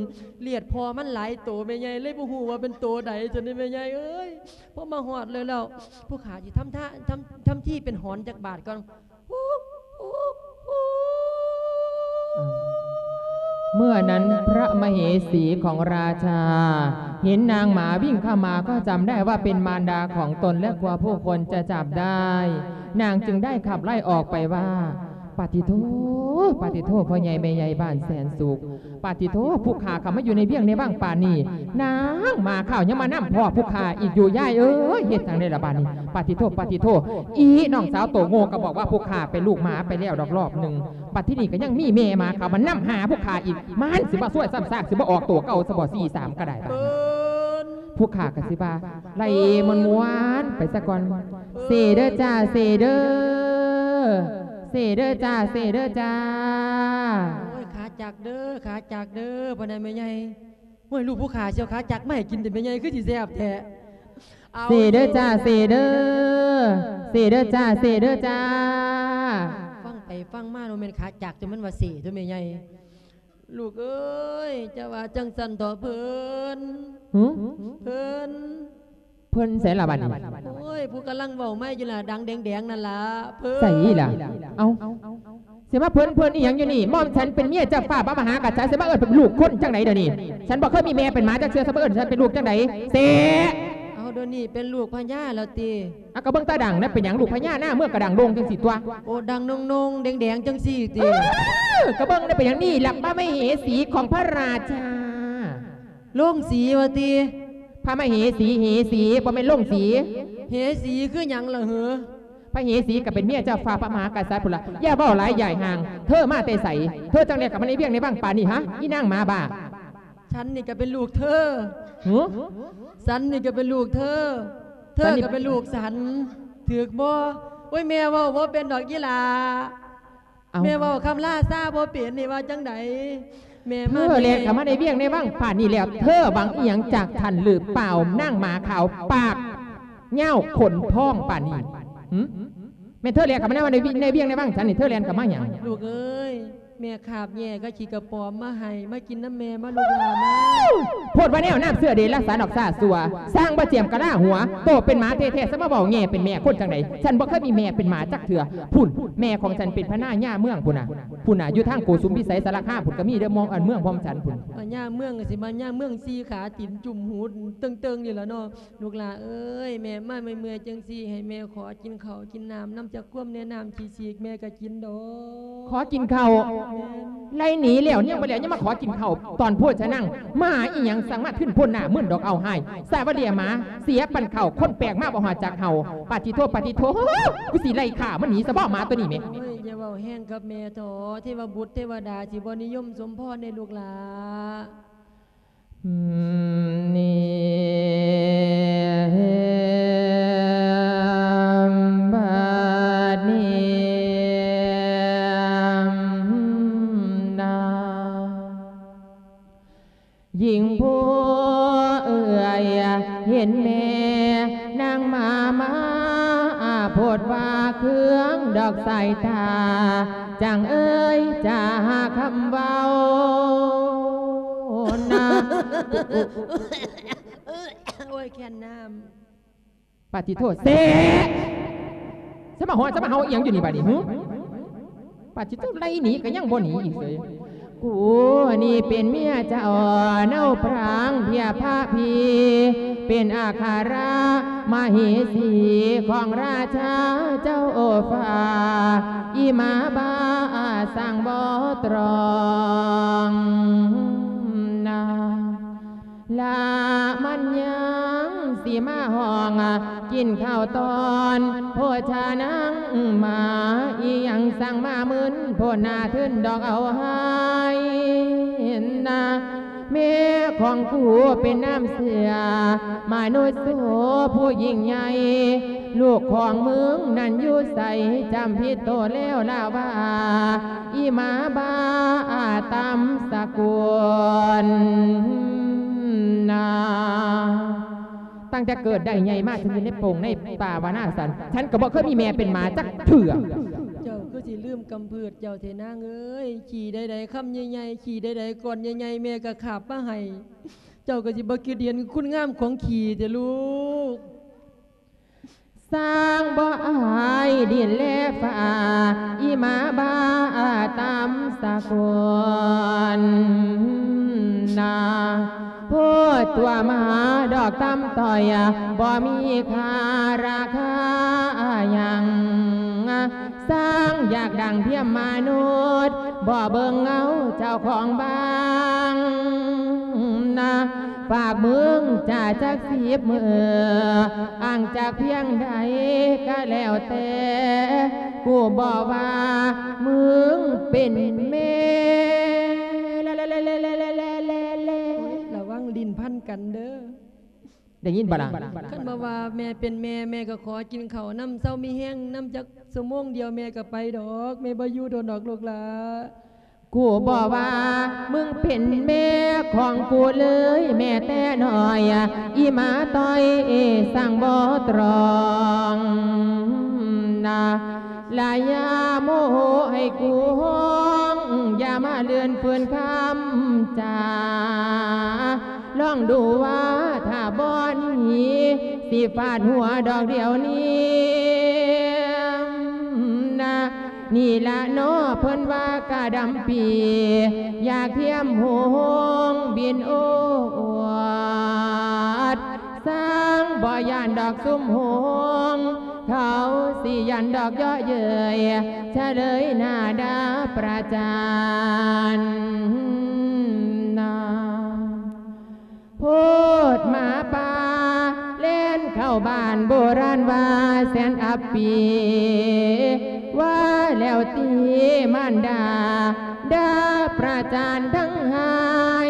ລຽດພໍ່ມັນຫຼາຍໂຕແມ່ໃຫຍ່ ເລີຍບໍ່ຮູ້ວ່າເປັນໂຕໃດ ຊັ້ນນີ້ແມ່ໃຫຍ່ເອີຍ ພໍມາຮອດແລ້ວ ແລ້ວຜູ້ຂ້າຊິທຳທ່າ ທຳ ທຳທີເປັນຫອນຈັກບາດກ່ອນ. เมื่อนั้นพระมเหสีของราชาเห็นนางหมาวิ่งเข้ามาก็จำได้ว่าเป็นมารดาของตนและกลัวผู้คนจะจับได้ นางจึงได้ขับไล่ออกไปว่า ปาติโธ ปาติโธ พ่อใหญ่แม่ใหญ่บ้านแสนสุข ปาติโธ ผู้ข้าเข้ามาอยู่ในเวียงในวังป่านนี้ นางหมาข้าวยังมานำพ้อผู้ข้าอีกอยู่ ยายเอ้ย เฮ็ดจั่งใดล่ะบาดนี้ ปาติโธ ปาติโธ อีน้องสาวโตโง่ก็บอกว่าผู้ข้าเป็นลูกหมาไปแล้วดอกรอบหนึ่ง บัดทีนี้ก็ยังมีแม่หมาเข้ามานำหาผู้ข้าอีก มันสิมาซวยซ้ำซาก สิมาออกโตเก่าซะบ่ สี่สามก็ได้บาดนี้ ผู้ข้าก็สิว่า ไล่ม่วนๆไปซะก่อน เซเด้อจ้า เซเด้อ เซเด้อจ้า เซเด้อจ้า โอ้ย ขาจักเด้อ ขาจักเด้อ พ่อใหญ่แม่ใหญ่ โอ้ย ลูกผู้ข้าสิเอาขาจักมาให้กินติแม่ใหญ่ คือสิแซ่บแท้ เซเด้อจ้า เซเด้อ เซเด้อจ้า เซเด้อจ้า ฟังไปฟังมา บ่แม่นขาจัก แต่มันว่าเซตั๊วแม่ใหญ่ ลูกเอ้ย จะว่าจั่งซั่นเถาะเพิ่น หึ เพิ่น เพิ่นไสล่ะบัดนี้ โอ้ย ผู้กำลังเว้าใหม่อยู่ล่ะ ดังแดงๆ นั่นล่ะ เพิ่น ไสล่ะ เอ้า สิมาเพิ่น เพิ่นอีหยังอยู่นี่ หม่อมฉันเป็นเมียเจ้าฟ้าพระมหากษัตริย์ สิมาเอิ้นเป็นลูกคนจั่งใดเดี๋ยวนี้ ฉันบ่เคยมีแม่เป็นหมาจักเทื่อ สิมาเอิ้นฉันเป็นลูกจั่งใด เซ เอา เดี๋ยวนี้เป็นลูกพญาแล้วติ อ่ะ ก็เบิ่งตาดังนะ เป็นหยังลูกพญาหน้าเมืองกะดังโด่งจั่งซี้ตั๊ว โอ้ ดังโน่งๆ แดงๆ จั่งซี้ติ เออ ก็เบิ่งได้เป็นหยังนี่ล่ะ พระมเหสีของพระราชา โรงสีว่าติ พระมเหสี เหสี บ่แม่นโรงสี เหสีคือหยังล่ะเหอ พระเหสีก็เป็นเมียเจ้าฟ้าพระมหากษัตริย์พุ้นล่ะ อย่าเว้าหลายย้ายห่าง เธอมาแต่ไส เธอจั่งใดเข้ามาในเวียงในวังป่านนี้ฮะ อีนางหมาบ้า ສັນນີ້ກໍເປັນລູກເທີ. ຫື? ສັນນີ້ກໍເປັນລູກເທີ ເທີກໍເປັນລູກສັນ ຖືກບໍ່? ໂອ້ຍ ແມ່ເວົ້າບໍ່ເປັນດອກອີ່ຫຼ້າ. ເອົ້າ ແມ່ເວົ້າຄຳລາຊາບໍ່ເປັນ ນີ້ວ່າຈັ່ງໃດ? ແມ່ມາ ເທີແລ່ນເຂົ້າມາໃນວຽງໃນວັງປານນີ້ແລ້ວ ເທີຫວັງອີ່ຫຍັງຈາກທ່ານຫຼືເປົ່າ? ນາງໝາຂາວປາກຍາວຂົນພອງປານນີ້. ຫື? ແມ່ນເທີແລ່ນເຂົ້າມາໃນວັງ ໃນວຽງໃນວັງສັນນີ້ ເທີແລ່ນເຂົ້າມາຫຍັງ? ລູກເອີຍ ແມ່ຄາບແຍ່ກັບຂີ້ກະປອມມາໃຫ້ ມາກິນນຳແມ່ ມາລູກຫຼ້າມາ. ໂພດວ່າແນວ ນ້ຳເຊື້ອເດລະສານອອກຊາຊົ່ວ ຊ່າງບໍ່ຈຽມກະລາຫົວ ໂຕເປັນໝາແທ້ໆ ສະມາເວົ້າແຍ່ເປັນແມ່ຄົນຈັ່ງໃດ? ສັນບໍ່ເຄີຍມີແມ່ເປັນໝາຈັກເທື່ອ. ພຸ້ນ ແມ່ຂອງສັນເປັນພະນາຍາເມືອງພຸ້ນນະ ພຸ້ນນະ ຢູ່ທາງໂກສຸມພິໄສສາລະຄາມພຸ້ນ ກໍມີເດີ ມອງອັນເມືອງພອມສັນພຸ້ນ. ພະຍາເມືອງກໍຊິມາຍາເມືອງ ສີ່ຂາຕີນຈຸ້ມຫູເຕີງໆ ນີ້ລະເນາະ. ລູກຫຼ້າເອີຍ ແມ່ມາເມື່ອຍໆ ຈັ່ງຊີ້ ໃຫ້ແມ່ຂໍກິນເຂົ້າກິນນ້ຳນຳຈັກຄວມແດ່ ນ້ຳຂີ້ສີກແມ່ກໍກິນດອກ. ຂໍກິນເຂົ້າ? ແມ່ນ. ໄລ່ໜີແລ້ວຍັງບໍ່ແລ້ວ ຍັງມາຂໍກິນເຂົ້າ ຕອນໂພຊະນັງ ໝາອີ່ຫຍັງ ສັ່ງມາທຶນໂພນໜ້າມຶນດອກ ເອົາຫາຍ ສາວະເລຍໝາ ເສຍປັນເຂົ້າ ຄົນແປກມາບໍ່ຮູ້ຈັກເຮົາ. ປາດຕິໂທ ປາດຕິໂທ ກູຊິໄລ່ຂ້າມັນໜີຊະບໍ ໝາໂຕນີ້ແມ. ໂອ້ຍ ຢ່າເວົ້າແຮງກັບແມ່ເຖາະ ເທວະບຸດເທວະດາຊິບໍ່ນິຍົມສົມພອນໃນລູກຫຼ້າ. ນີ້ ບາດນີ້ນາ ຍິງຜູ້ເອື້ອຍເຫັນແມ່ນາງມາ ມາ ໂພດວ່າເຄືອງດອກສາຍຕາ ຈັ່ງເອີຍຈາຄຳເວົ້ານາ. ໂອ້ຍ ແຄນນ້ຳ. ປາດຕິໂທ ແຊະ! ສະມາຮ້ອງສະມາເຫົ່າອີ່ຫຍັງຢູ່ນີ້ບາດນີ້ ຫື? ປາດຕິໂທ ໄລ່ໜີກໍຍັງບໍ່ໜີອີກເສີຍ. ກູນີ້ເປັນເມຍເຈົ້າເນົາພຣາງເພຍພະພີ ເປັນອັກຄະຣະມະເຫສີຂອງລາຊາເຈົ້າໂອຟາ ອີ່ໝາບ້າຊ່າງບໍ່ຕຣອງນາ. ລະມັນຍັງຊິມາຮ້ອງ ກິນເຂົ້າຕອນໂພຊານັງມາ ອີ່ຫຍັງສັ່ງມາມຶນໂພນໜ້າທຶນດອກເອົາຫາຍນາ. ແມ່ຂອງກູເປັນນ້ຳເຊື້ອມະນຸດໂສຜູ້ຍິ່ງໃຫຍ່ ລູກຂອງມຶງນັ້ນຢູ່ໃສ ຈຳຜິດໂຕແລ້ວລະວ່າ ອີ່ໝາບ້າຕຳສະກຸນນາ. ຕັ້ງແຕ່ເກີດໄດ້ໃຫຍ່ມາ ສັນຢູ່ໃນໂປ່ງໃນປ່າວານາສັນ ສັນກໍບໍ່ເຄີຍມີແມ່ເປັນໝາຈັກເທື່ອ. ເຈົ້າຄືຊິລືມກຳພືດເຈົ້າແທ້ນາງເອີຍ ຂີ້ໃດໆຄຳໃຫຍ່ໆ ຂີ້ໃດໆກ້ອນໃຫຍ່ໆ ແມ່ກໍຄາບມາໃຫ້ ເຈົ້າກໍຊິບໍ່ຄິດເຫັນຄຸນງາມຂອງຂີ້ແທ້ລູກ. ສ້າງບໍ່ອາຍດິນແລຟ້າ ອີ່ໝາບ້າຕຳສະກຸນນາ. ໂພດຕົວະໝາດອກຕຳຕ້ອຍ ບໍ່ມີຄ່າລາຄາຫຍັງ. ສ້າງຢາກດັງພຽມມະນຸດ ບໍ່ເບິ່ງເງົາເຈົ້າຂອງບາງນາ. ຝາກມຶງຈາຈັກສິບມື້ ອ້າງຈາກພຽງໃດກະແລ້ວແຕ່ ກູບໍ່ວ່າມຶງເປັນແມ່. ລະວັງຫຼິ້ນພັນກັນເດີ. ໄດ້ຍິນບໍ່ລະ? ຄັນບໍ່ວ່າແມ່ເປັນແມ່ ແມ່ກໍຂໍກິນເຂົ້ານຳ ເຊົາມີແຮງນຳຈັກຊົ່ວໂມງດຽວ ແມ່ກໍໄປດອກ ແມ່ບໍ່ຢູ່ດົນດອກລູກຫຼ້າ. ກູບໍ່ວ່າມຶງເປັນແມ່ຂອງກູເລີຍແມ້ແຕ່ນ້ອຍ ອີ່ໝາຕ້ອຍສັ່ງບໍ່ຕຣອງນາ. ລະຢ່າໂມໂຫໃຫ້ກູຮ້ອງ ຢ່າມາເລື່ອນຟື້ນຄຳຈາ. ລອງດູວ່າຖ້າບໍ່ໜີ ຊິຟາດຫົວດອກດຽວນີ້ນາ. ນີ້ລະເນາະເພິ່ນວ່າກະດຳປີ ຢາກທຽມໂຮງບິນໂອດ. ຊ່າງບໍ່ຢ້ານດອກຊຸມໂຮງ ເຂົາຊິຢ້ານດອກເຍາະເຍີ້ຍ ຊະເລີຍໜ້າດ່າປະຈານນາ. ໂພດໝາປ່າແລ່ນເຂົ້າບ້ານໂບລານວ່າແສນອັບປີ ວ່າແລ້ວຕິມານດາ ດ່າປະຈານທັງຫາຍ.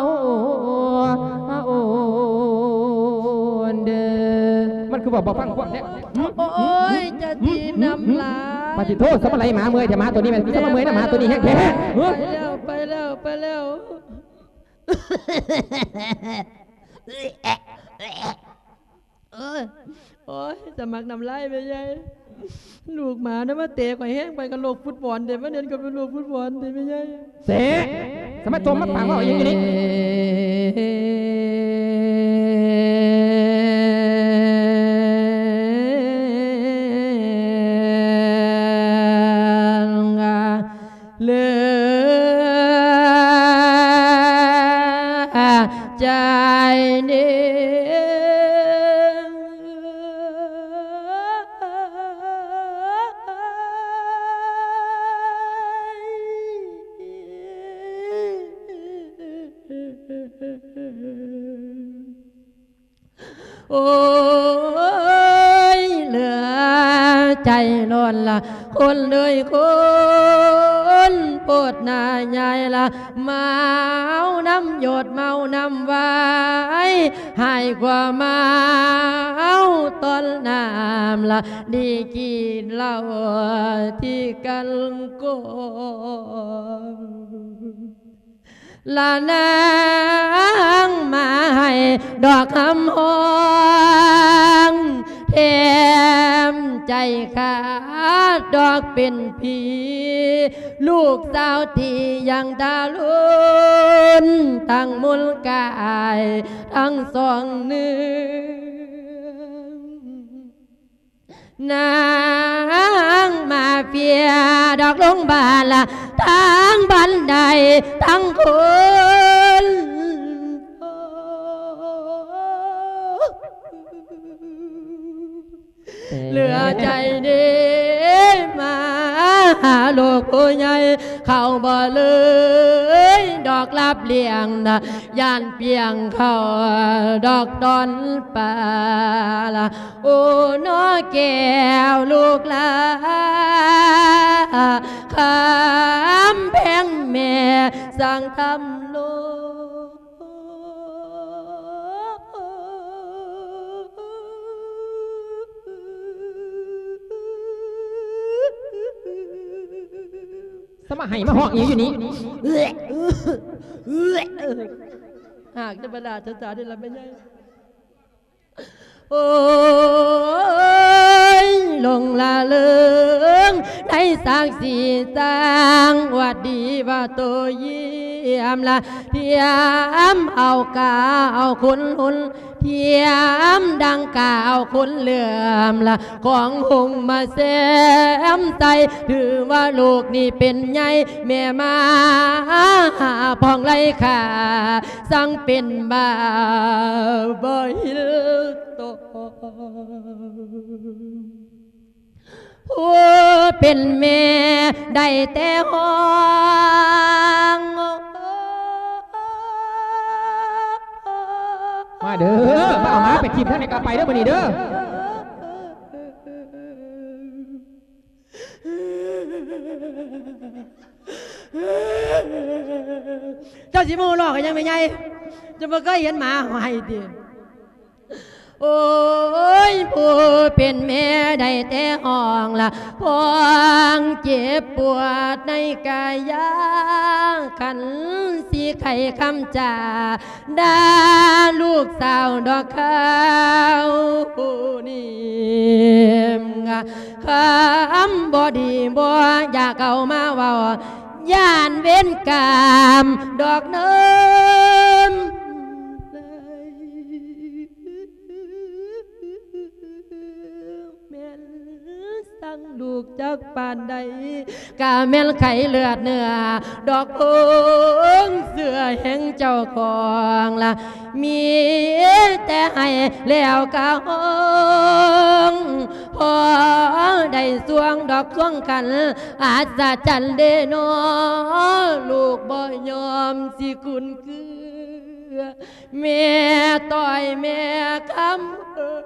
ວໂອນເດີ. ມັນຄືເວົ້າບໍ່ຟັງພວກແທ້? ໂອ້ຍ ຈະຕີນຳຫຼາຍ. ປາຕິໂທ ສະມາໄລໝາເມື່ອຍແທ້ ໝາໂຕນີ້ແມ່ນຄືສະມາເມື່ອຍນຳ ໝາໂຕນີ້ແຮງແທ້. ເອີ ໄປແລ້ວ ໄປແລ້ວ. ເອີຍ ໂອ້ຍ ສະໝັກນ້ຳລາຍແມ່ໃຫຍ່. ລູກໝານະມາເຕະຂ້ອຍແຮງປານກັບລູກຟຸດບອນເດ ມາເຫຼັ້ນກັບລູກຟຸດບອນເດແມ່ໃຫຍ່. ເຕະ ສະມາຈົ່ມມາປາກເວົ້າອີ່ຫຍັງຢູ່ນີ້? ເຫຼືອໃຈເນ. ໂອ້ຍ ເຫຼືອໃຈລ້ນລະ ຄົນເອີຍຄົນ ໂພດໜ້າຍາຍລະ ເມົານຳຢົດເມົານຳວາຍ ຫາຍກວ່າເມົາຕອນນ້ຳລະ ດີກິນເຫຼົ້າທີ່ກັນກອງ. ລະນາງມາໃຫ້ດອກຄຳຮ້ອງ ແຖມໃຈຂາດດອກເປັນຜີ ລູກສາວທີ່ຍັງທາລຸນ ທັງມູນກາຍທັງສອງເນື້ອ. ນາງມາເຟຍດອກລົງບ້ານລະ ທັງບ້ານໃດທັງຄົນ ເຫຼືອໃຈເດ ມາຫາລູກຜູ້ໃຫຍ່ ເຂົາບໍ່ເລີຍດອກລາບລ້ຽງນະ ຢ້ານປ່ຽງເຂົາດອກຕອນປາລະ. ໂອ້ ນອແກ້ວລູກຫຼາ ຄຳແພງແມ່ສ້າງທຳໂລ. ສະມາໄຫ້ມາຮ້ອງອີ່ຫຍັງຢູ່ນີ້? ຫາກຈະມາລາຊະຊາເດລະແມ່ໃຫຍ່. ໂອ້ຍ ຫຼົງລະເລີງໃນສັກສີສັງ ຫວັດດີວ່າໂຕຢ້ຽມລະ ທຽມເອົາກາວຄຸນຮຸນ ທຽມດັ່ງກາວຄຸນເຫຼື້ອມລະ ຂອງຫົງມາແຊມໃສ່ ຖືວ່າລູກນີ້ເປັນໃຫຍ່ ແມ່ມາພອງໄລຄ່າ ສັງເປັນບ່າວບໍ່ຫິວໂຕ. ຜູ້ເປັນແມ່ໄດ້ແຕ່ຮ້ອງ. ມາເດີ ມາເອົາໝາໄປຖິ້ມທາງໃດກໍໄປເດີ ມື້ນີ້ເດີ. ເຈົ້າຊິມາຫົວເລາະກັນຫຍັງແມ່ໃຫຍ່? ເຈົ້າບໍ່ເຄີຍເຫັນໝາເຮົາໄຫ້ຕິ? ໂອ້ຍ ຜູ້ເປັນແມ່ໄດ້ແຕ່ຮ້ອງລະ ພ້ອງເຈັບປວດໃນກາຍາ ຄັນຊິໄຂຄຳຈາ ດ່າລູກສາວດອກເຂົານີ້ ຄຳບໍ່ດີບໍ່ຢາກເອົາມາເວົ້າ ຢ້ານເວນກຳດອກເນີນ ແມ່ນຊັງລູກຈັກປານໃດ ກະແມ່ນໄຂ້ເລືອດເນື້ອ ດອກເພິ່ງເຊື່ອແຫ່ງເຈົ້າຂອງລະ ມີແຕ່ໄຫ້ແລ້ວກະຮ້ອງ ພໍໄດ້ຊ່ວງດອກຊ່ວງຄັນ ອັດສະຈັນເດນໍ ລູກບໍ່ຍອມຊິຄຸ້ນເຄືອ ແມ່ຕ້ອຍແມ່ຄຳເອີຍ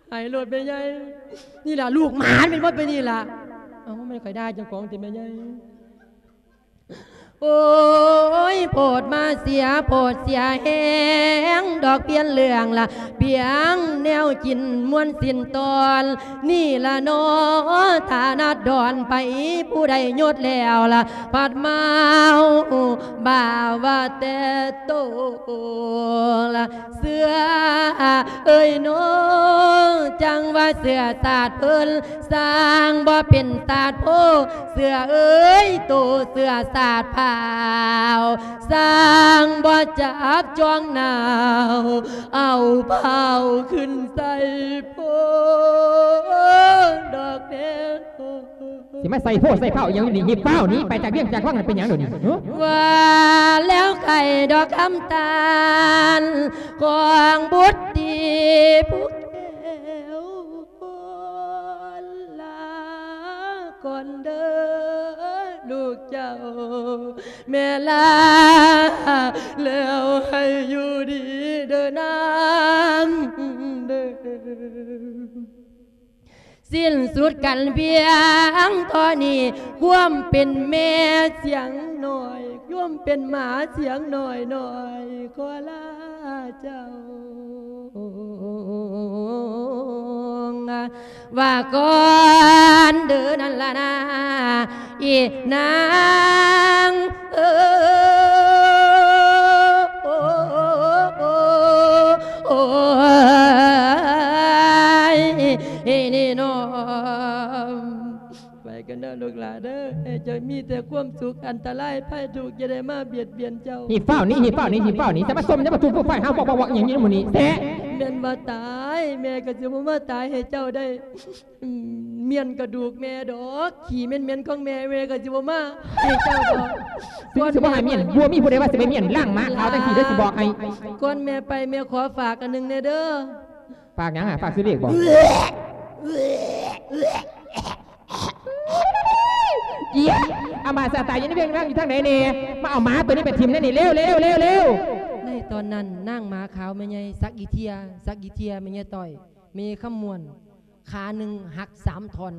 ໄຫ້ໂລດແມ່ໃຫຍ່ ນີ້ລະລູກໝານແມ່ນບໍ່ ເປັນນີ້ລະ ເອົ້າ ແມ່ນຂ້ອຍດ່າເຈົ້າຂອງຕິແມ່ໃຫຍ່ ໂອ້ຍ ໂພດມາເສຍ ໂພດເສຍແຮງ ດອກປ່ຽນເລື່ອງລະ ປ່ຽນແນວກິນມ່ວນສິ້ນຕອນ ນີ້ລະນໍ ຖານະດອນໄປ ຜູ້ໃດຍົດແລ້ວລະ ພັດມາເອົາບ່າວ່າແຕ່ໂຕລະ ເສືອເອີຍໂນ ຈັ່ງວ່າເສືອຊາດເພິ່ນ ສ້າງບໍ່ເປັນຊາດໂພ ເສືອເອີຍໂຕເສືອຊາດພາວ ສ້າງບໍ່ຈັບຈ້ອງໜາວ ເອົາພາວຂຶ້ນໃສ່ໂພດອກແດ່ໂຕ. ຊິມາໃສ່ໂພໃສ່ພາວອີ່ຫຍັງຢູ່ນີ້ ຮີບຟ້າວໜີໄປຈາກວຽງຈາກວັງຫັ້ນ ເປັນຫຍັງດຽວນີ້ ຮະ? ວ່າແລ້ວໄຂ້ດອກຄຳຕານ ຂອງບຸດຕີຜູ້ແກ້ວ ລາກ່ອນເດີລູກເຈົ້າ ແມ່ລາ ແລ້ວໃຫ້ຢູ່ດີເດີນາງເດີ. ສິ້ນສຸດກັນພຽງເທົ່ານີ້ ຄວາມເປັນແມ່ສຽງໜ້ອຍ ຄວາມເປັນໝາສຽງໜ້ອຍໆ ຂໍລາເຈົ້າ ວ່າກ່ອນເດີນັ້ນລະນາ ອີນາງເອີ ໂອ້ຍ ນີ້ນ້ອງ ໄປກັນເດີລູກຫຼາເດີ ໃຫ້ເຈົ້າມີແຕ່ຄວາມສຸກ ອັນຕະລາຍໄພທຸກຢ່າໄດ້ມາບຽດບຽນເຈົ້າ. ຮີບຟ້າວໜີ ຮີບຟ້າວໜີ ຮີບຟ້າວໜີ ຈະມາຊົມ ຈະມາທຸບມາໄຟ ຫາວອກໆຫຍັງຢູ່ນຳໝູ່ນີ້ແທ້. ແມ່ນວ່າຕາຍ ແມ່ກໍຊິບໍ່ມາຕາຍໃຫ້ເຈົ້າໄດ້ ອືມ ມ້ຽນກະດູກແມ່ດອກ ຂີ້ເໝັນໆຂອງແມ່ ແມ່ກໍຊິບໍ່ມາໃຫ້ເຈົ້າດອກ. ຊິບໍ່ໃຫ້ມ້ຽນ ບໍ່ມີຜູ້ໃດວ່າຊິໄປມ້ຽນ ລ້າງໝາຂາວຈັ່ງຊີ້ເດີ ຊິບອກໃຫ້. ກ່ອນແມ່ໄປ ແມ່ຂໍຝາກອັນໜຶ່ງແດ່ເດີ. ຝາກຫຍັງອະ? ຝາກຊື້ເລກບໍ? ອີ ອາມາດຊາຕາຍຢູ່ໃນວຽງວັງຢູ່ທາງໃດແດ່? ມາເອົາໝາໂຕນີ້ໄປຖິ້ມແດ່ນີ້ ເລັວໆໆໆ. ໃນຕອນນັ້ນ ນາງໝາຂາວແມ່ໃຫຍ່ສັກອີເທຍ ສັກອີເທຍ ແມ່ໃຫຍ່ຕ້ອຍ ແມ່ຄຳມ່ວນ ຂາໜຶ່ງຫັກສາມທ່ອນ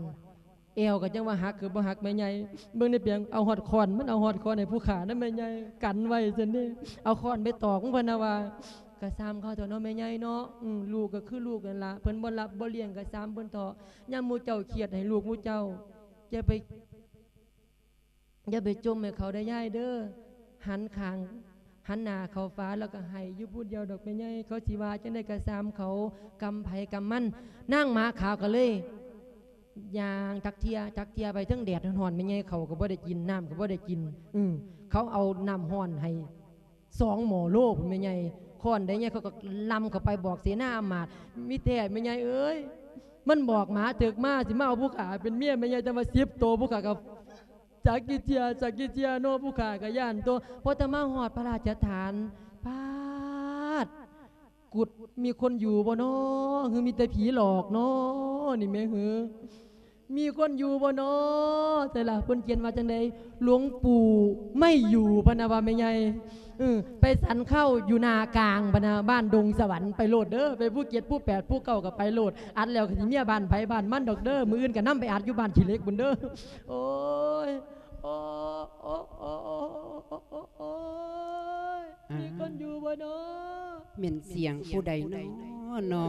ແອວກໍຈັ່ງວ່າຫັກຄືບໍ່ຫັກແມ່ໃຫຍ່ ເບິ່ງໃນປຽງ ເອົາຮອດຄ້ອນ ມັນເອົາຮອດຄ້ອນໃຫ້ຜູ້ຂ້ານຳແມ່ໃຫຍ່ ກັນໄວ້ຊັ້ນເດ້ ເອົາຄ້ອນໄປຕອກມັນ ເພິ່ນນະວ່າ ກະຊ່າງເຂົາເຖາະເນາະແມ່ໃຫຍ່ເນາະ ອື ລູກກໍຄືລູກນັ້ນລະ ເພິ່ນບໍ່ຮັບບໍ່ລ້ຽງກະຊ່າງເພິ່ນເຖາະ ຍາມໝູ່ເຈົ້າຄຽດໃຫ້ລູກໝູ່ເຈົ້າ ຢ່າໄປ ຢ່າໄປຈົ່ມໃຫ້ເຂົາເດີຍາຍເດີ ຫັນຂ້າງ ຫັນໜ້າເຂົ້າຝາ ແລ້ວກໍໄຫ້ຢູ່ຜູ້ດຽວດອກແມ່ໃຫຍ່ ເຂົາຊິວ່າຈັ່ງໃດກໍຊ່າງເຂົາ ກຳໃຜກຳມັນ. ນາງໝາຂາວກໍເລີຍຍ່າງຕັກເທຍ ຕັກເທຍໄປ ເທິງແດດຮ້ອນໆ ແມ່ໃຫຍ່ເຂົ້າກໍບໍ່ໄດ້ກິນ ນ້ຳກໍບໍ່ໄດ້ກິນ ອື ເຂົາເອົານ້ຳຮ້ອນໃຫ້ສອງໝໍ້ໂລພຸ້ນແມ່ໃຫຍ່ ຄ້ອນໃດໃຫຍ່ ເຂົາກໍລຳເຂົ້າໄປບອກເສນາອຳມາດ ມີແທ້ແມ່ໃຫຍ່ເອີຍ ມັນບອກໝາເຖິກມາ ຊິມາເອົາຜູ້ຂ້າເປັນເມຍແມ່ໃຫຍ່ ແຕ່ວ່າສິບໂຕ ຜູ້ຂ້າກໍ ຈັກກີ່ເທື່ອ ຈັກກີ່ເທື່ອເນາະ ຜູ້ຂ້າກໍຢ້ານຕົວະ ພໍແຕ່ມາຮອດພະລາຊະຖານ ປາດ ກຸດ ມີຄົນຢູ່ບໍ່ນໍ ຫຼືມີແຕ່ຜີຫຼອກນໍ ນີ້ແມ່ ຫຼື ມີຄົນຢູ່ບໍ່ນໍ ໃສລະ ເພິ່ນຂຽນວ່າຈັ່ງໃດ ຫຼວງປູ່ໄມ່ຢູ່ ພະນະວ່າແມ່ໃຫຍ່ ເອີ ໄປສັນເຂົ້າຢູ່ໜ້າກາງ ພະນະ ບ້ານດົງສະຫວັນ ໄປໂລດເດີ ໄປພູເຈັດ ພູແປດ ພູເກົ້າ ກໍໄປໂລດ ອັດແລ້ວກໍຊິເມຍບ້ານໃຜບ້ານມັນດອກເດີ ມື້ອື່ນກໍນຳໄປອັດຢູ່ບ້ານຂີ້ເຫຼັກພຸ້ນເດີ ໂອ້ຍ. ໂອ້ ໂອ້ ໂອ້ ໂອ້ ໂອ້ຍ ມີຄົນຢູ່ບໍ່ນໍ? ແມ່ນສຽງຜູ້ໃດນໍ ນໍ?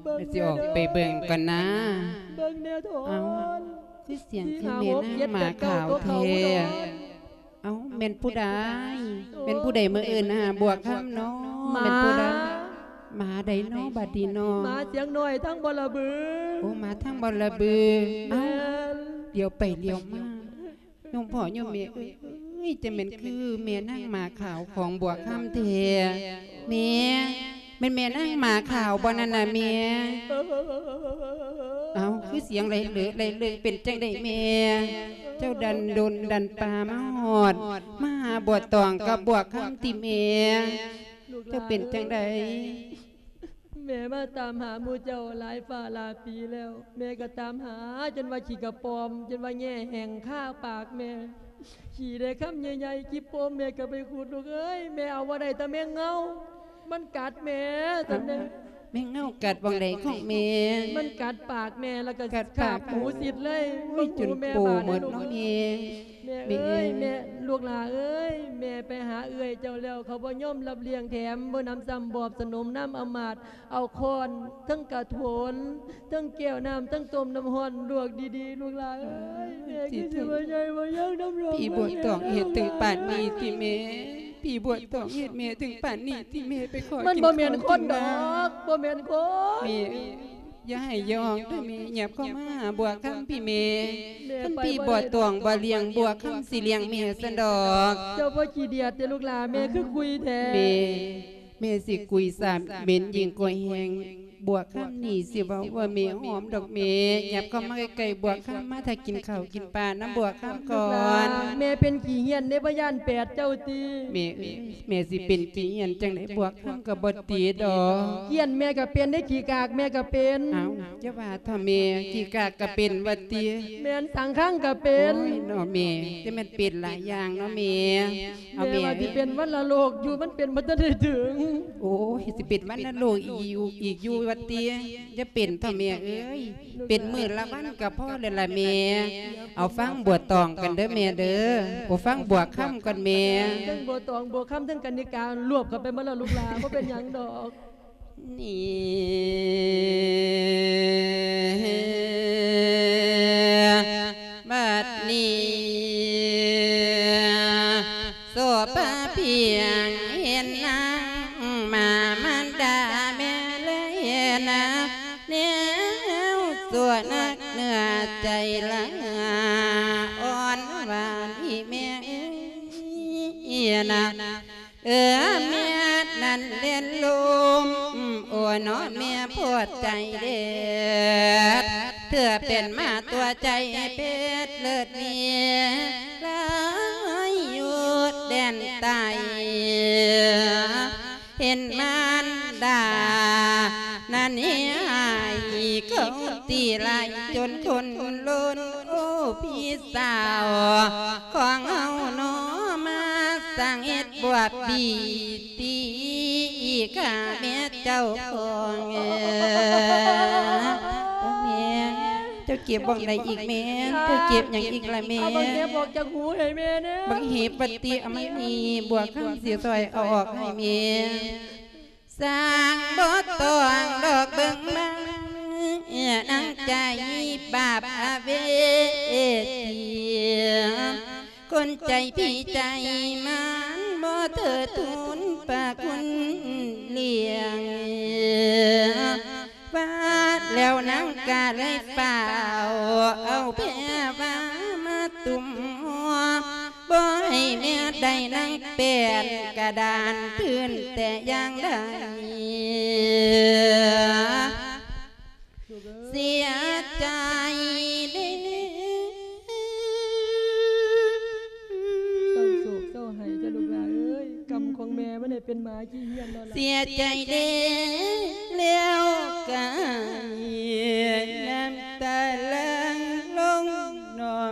ເບິ່ງແນ່ເດີ ຊິອອກໄປເບິ່ງກ່ອນນາ. ເບິ່ງແນ່ໂທນ. ເອົ້າ ຄືສຽງຄືແມ່ນາງໝາຂາວແທ້. ເອົ້າ ແມ່ນຜູ້ໃດ? ເປັນຜູ້ໃດມາເອີ້ນຫາບົວຄຳນໍ? ໝາ ແມ່ນຜູ້ໃດ? ໝາໃດນໍ ບັດນີ້ນໍ? ໝາສຽງນ້ອຍທາງບໍລະບື. ໂອ້ ໝາທາງບໍລະບື. ແມ່ນ. ເອົ້າ ຫຼຽວໄປຫຼຽວມາ ໂຍມພໍ່ໂຍມແມ່ເອີຍ ຈະແມ່ນຄືແມ່ນາງໝາຂາວຂອງບົວຄຳແທ້. ແມ່ ແມ່ນແມ່ນາງໝາຂາວບໍ່ນັ້ນນະແມ່? ເອົ້າ ຄືສຽງໄຫຼເຫຼີໄຫຼເຫຼີ ເປັນຈັ່ງໃດແມ່? ເຈົ້າດັນດົນດັນປ່າມາຮອດ ມາຫາບົວຕອງກັບບົວຄຳຕິແມ່? ເຈົ້າເປັນຈັ່ງໃດ? ແມ່ມາຕາມຫາໝູ່ເຈົ້າຫຼາຍຟ້າຫຼາຍປີແລ້ວ ແມ່ກໍຕາມຫາຈົນວ່າຂີ້ກະປອມ ຈົນວ່າແຍ່ແຫ້ງຄາປາກແມ່ ຂີ້ໄດ້ຄຳໃຫຍ່ໆ ຂີ້ໂປມແມ່ກໍໄປຂຸດ ລູກເອີຍ ແມ່ເອົາບໍ່ໄດ້ແຕ່ແມງເງົາ ມັນກັດແມ່ຊັ້ນເດ້. ແມງເງົາກັດບ່ອນໃດຂອງແມ່? ມັນກັດປາກແມ່ ແລ້ວກໍຄາບຫູຊິດເລີຍ. ໂອ້ຍ ຈົນໂປໝົດເນາະແມ່. ແມ່ເອີຍ ແມ່ ແມ່ ລູກຫຼ້າເອີຍ ແມ່ໄປຫາເອື້ອຍເຈົ້າແລ້ວ ເຂົາບໍ່ຍອມຮັບລ້ຽງແຖມ ບໍ່ນຳຊ້ຳບອບສະໜົມນຳອຳມາດ ເອົາຄ້ອນ ທັງກະໂຖນ ທັງແກ້ວນ້ຳ ທັງຕົ້ມນ້ຳຮ້ອນລວກດີໆ ລູກຫຼ້າເອີຍ ແມ່ຄືຊິບໍ່ໃຫຍ່ບໍ່ຍັງນຳລູກ. ພີ່ບົວຕອງເຮັດເຖິງປານນີ້ຕິແມ່? ພີ່ບົວຕອງເຮັດແມ່ເຖິງປານນີ້ຕິແມ່? ໄປຂໍ ມັນບໍ່ແມ່ນຄົນດອກ ບໍ່ແມ່ນຄົນ. ແມ່ ຢ່າໄຫ້ຢອງເດີແມ່ ຫຍັບເຂົ້າມາຫາບົວຄຳພີ່ແມ່. ຄັນພີ່ບໍ່ຕ້ອງບໍ່ລ້ຽງ ບົວຄຳຊິລ້ຽງແມ່ຊັ້ນດອກ. ເຈົ້າບໍ່ຂີ້ດຽດເດ້ລູກຫຼ້າ ແມ່ຄືຄຸຍແທ້. ແມ່ ແມ່ຊິກຸຍສາເໝັນຍິ່ງກວ່າແຮງ. ບົວຄຳນີ້ຊິເວົ້າວ່າແມ່ຫອມດອກແມ່. ຫຍັບເຂົ້າມາໃກ້ໆ ບົວຄຳ ມາຖ້າກິນເຂົ້າກິນປານຳບົວຄຳກ່ອນ. ລູກຫຼ້າ ແມ່ເປັນຂີ້ຮ້ຽນເດ້ ບໍ່ຢ້ານແປດເຈົ້າຕິ? ແມ່ເອີຍ ແມ່ຊິເປັນຂີ້ຮ້ຽນຈັ່ງໃດ ບົວຄຳກໍບໍ່ຕິດດອກ. ກ້ຽນແມ່ກໍເປັນເດ້ ຂີ້ກາກແມ່ກໍເປັນ. ເອົ້າ ຢ່າວ່າເຖາະແມ່ ຂີ້ກາກກໍເປັນວ່າຕິ? ແມ່ນ ສັງຄັງກໍເປັນ. ໂອ້ຍເນາະແມ່ ຈະແມ່ນເປັນຫຼາຍຢ່າງເນາະແມ່. ເອົາແມ່ ແມ່ວ່າຊິເປັນວັນລະໂລກຢູ່ ມັນເປັນບໍ່ທັນໄດ້ເຖິງ. ໂອ້ຍ ຊິເປັນວັນລະໂລກອີກຢູ່ ອີກຢູ່ວ່າຕິ? ຢ່າເປັນເຖາະແມ່ເອີຍ ເປັນມື້ລະວັນກໍພໍແລ້ວລະແມ່. ເອົາຟັງບົວຕອງກັນເດີແມ່ເດີ. ໂອ້ ຟັງບົວຄຳກ່ອນແມ່. ທັງບົວຕອງ ບົວຄຳ ທັງກັນນິກາ ລວບເຂົ້າໄປໝົດແລ້ວລູກຫຼ້າ ບໍ່ເປັນຫຍັງດອກ. ນີ້ ບັດນີ້ ໂສພາພຽງເຫັນນາງມາມານດາແມ່ເລີຍນາ ແນວຊົ່ວນັກເນື້ອໃຈລະອ່ອນຫວານອີແມ່ເອີຍນາ. ເອີ ແມ່ນັ້ນເຫຼັ້ນລົມ ໂອ້ເນາະແມ່ໂພດໃຈເດັດ ເທື່ອເປັນມາຕົວໃຈເພັດເລີດມີ ລາຍຢູ່ແດນໃຕ້ ເຫັນມານດານັ້ນເຫຍຫາຍ ເຂົາຕີຫຼາຍຈົນຄົນລົ້ນ ໂອ້ ພີ່ສາວຂອງເຮົາເນາະ ມາສ້າງເຮັດບວບບີ ຕີຂ້າແມ່ເຈົ້າຂອງ. ໂອ້ ແມ່ ເຈົ້າເຈັບບ່ອນໃດອີກແມ່? ເຈົ້າເຈັບຫຍັງອີກລະແມ່? ເອົາບັກເຫັບອອກຈາກຫູໃຫ້ແມ່ແດ່. ບັກເຫັບວ່າຕິ? ເອົາມານີ້ ບົວຄຳຊິຊ່ອຍເອົາອອກໃຫ້ແມ່. ສ້າງບໍ່ຕ້ອງດອກເບິ່ງມາ ນາງໃຈບາບອະເວຊີ. ຄົນໃຈຜີໃຈມານ ບໍ່ເທີດທູນພະຄຸນລ້ຽງ ວ່າແລ້ວນາງກະເລີຍຟ້າວ ເອົາແພວາມາຕຸ້ມຫົວ ບໍ່ໃຫ້ແມ່ໄດ້ນາງແປ້ນກະດານພື້ນແຕ່ຢ່າງໃດ. ເສຍໃຈເດ້. ເສົ້າໂສກເສົ້າໄຫ້ເຈົ້າລູກຫຼ້າເອີຍ ກຳຂອງແມ່ມັນໄດ້ເປັນໝາຂີ້ຮ້ຽນແລ້ວລະ. ເສຍໃຈເດ້ ແລ້ວກະໃຫ້ນ້ຳຕາຫຼັ່ງລົງນອງ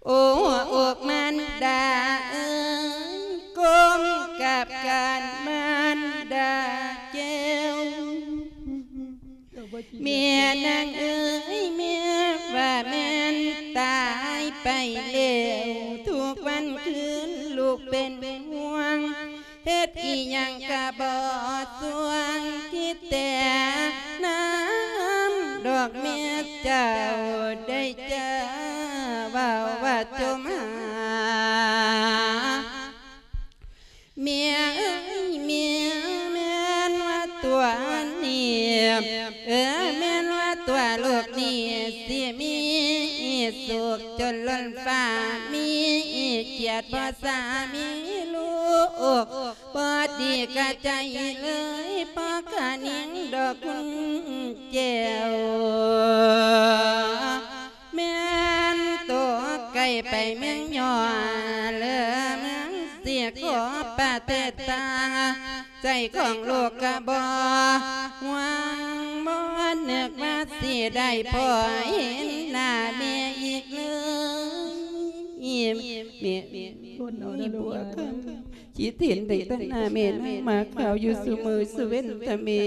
ໆ. ໂອ້ ອົກມານດາເອີຍ ກົມກາບການມານດາແກ້ວ. ແມ່ນາງເອີຍ ແມ່ວ່າແມ່ນ ອີ່ຫຍັງກະບໍ່ຊ່ວງ ຄິດແຕ່ນຳດອກແມ່ເຈົ້າ ໄດ້ເຈົ້າເວົ້າວ່າຈົ່ມຫາ ແມ່ເອີຍ ແມ່ ແມ່ນວ່າຕົວນີ້ ເອີ ແມ່ນວ່າຕົວລູກນີ້ ຊິມີສຸກຈົນລົ້ນຟ້າ ມີກຽດພໍ່ສາມີລູກ ບໍ່ດີກະໃຈເລີຍ ເພາະກະຍິງດອກຄຸນແກ້ວ ແມ່ນຕົກໄກໄປເມືອງຍອດ ເລີເມືອງສີຂໍປະເທດຕ່າງ ໃຈຂອງລູກກະບໍ່ຫວັງ ບໍ່ນຶກວ່າຊິໄດ້ພໍ້ເຫັນໜ້າແມ່ອີກເລີຍ ແມ່ ແມ່ ຄົນເຮົານະລູກເອີຍ ຄິດເຫັນໄດ້ຕໍ່ໜ້າແມ່ນາງໝາຂາວຢູ່ຊຸມື້ຊຸເວັນຕະແມ່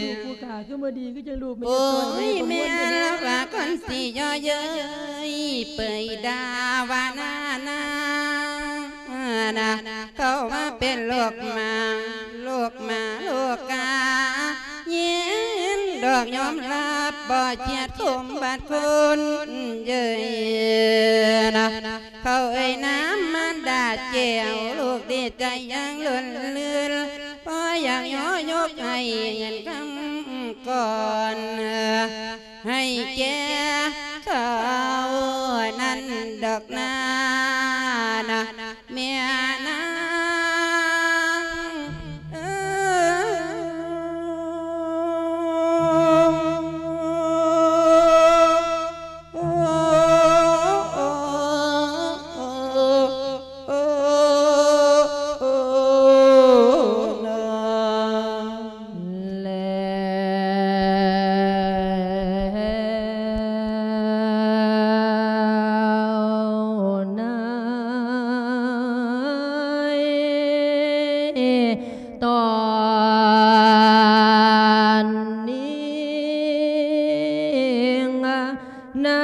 ລູກຜູ້ຂ້າຄືບໍ່ດີ ຄືຈັ່ງລູກແມ່ ໂອ້ຍ ແມ່ລະວ່າຄົນຊິຍໍເຍີ້ຍ ເປີຍດ່າວ່າໜ້ານາງນະ ເຂົາວ່າເປັນໂລກໝາ ໂລກໝາໂລກກາ ຍິນດອກຍອມຮັບ ບໍ່ກຽດຄົມບາດຄົນເຍີ້ຍນະ ເຂົາເອີຍນາມມາດາແກ້ວ ລູກດີໃຈຢ່າງລົ້ນເລື່ນ ເພາະຢາກຍໍຍົກໃຫ້ເງິນຄຳກ່ອນ ໃຫ້ແກ່ເຂົານັ້ນດອກນານະ ແມ່ນາງເອີຍ ແລ້ວນາຍ ຕອນນີ້ ນາ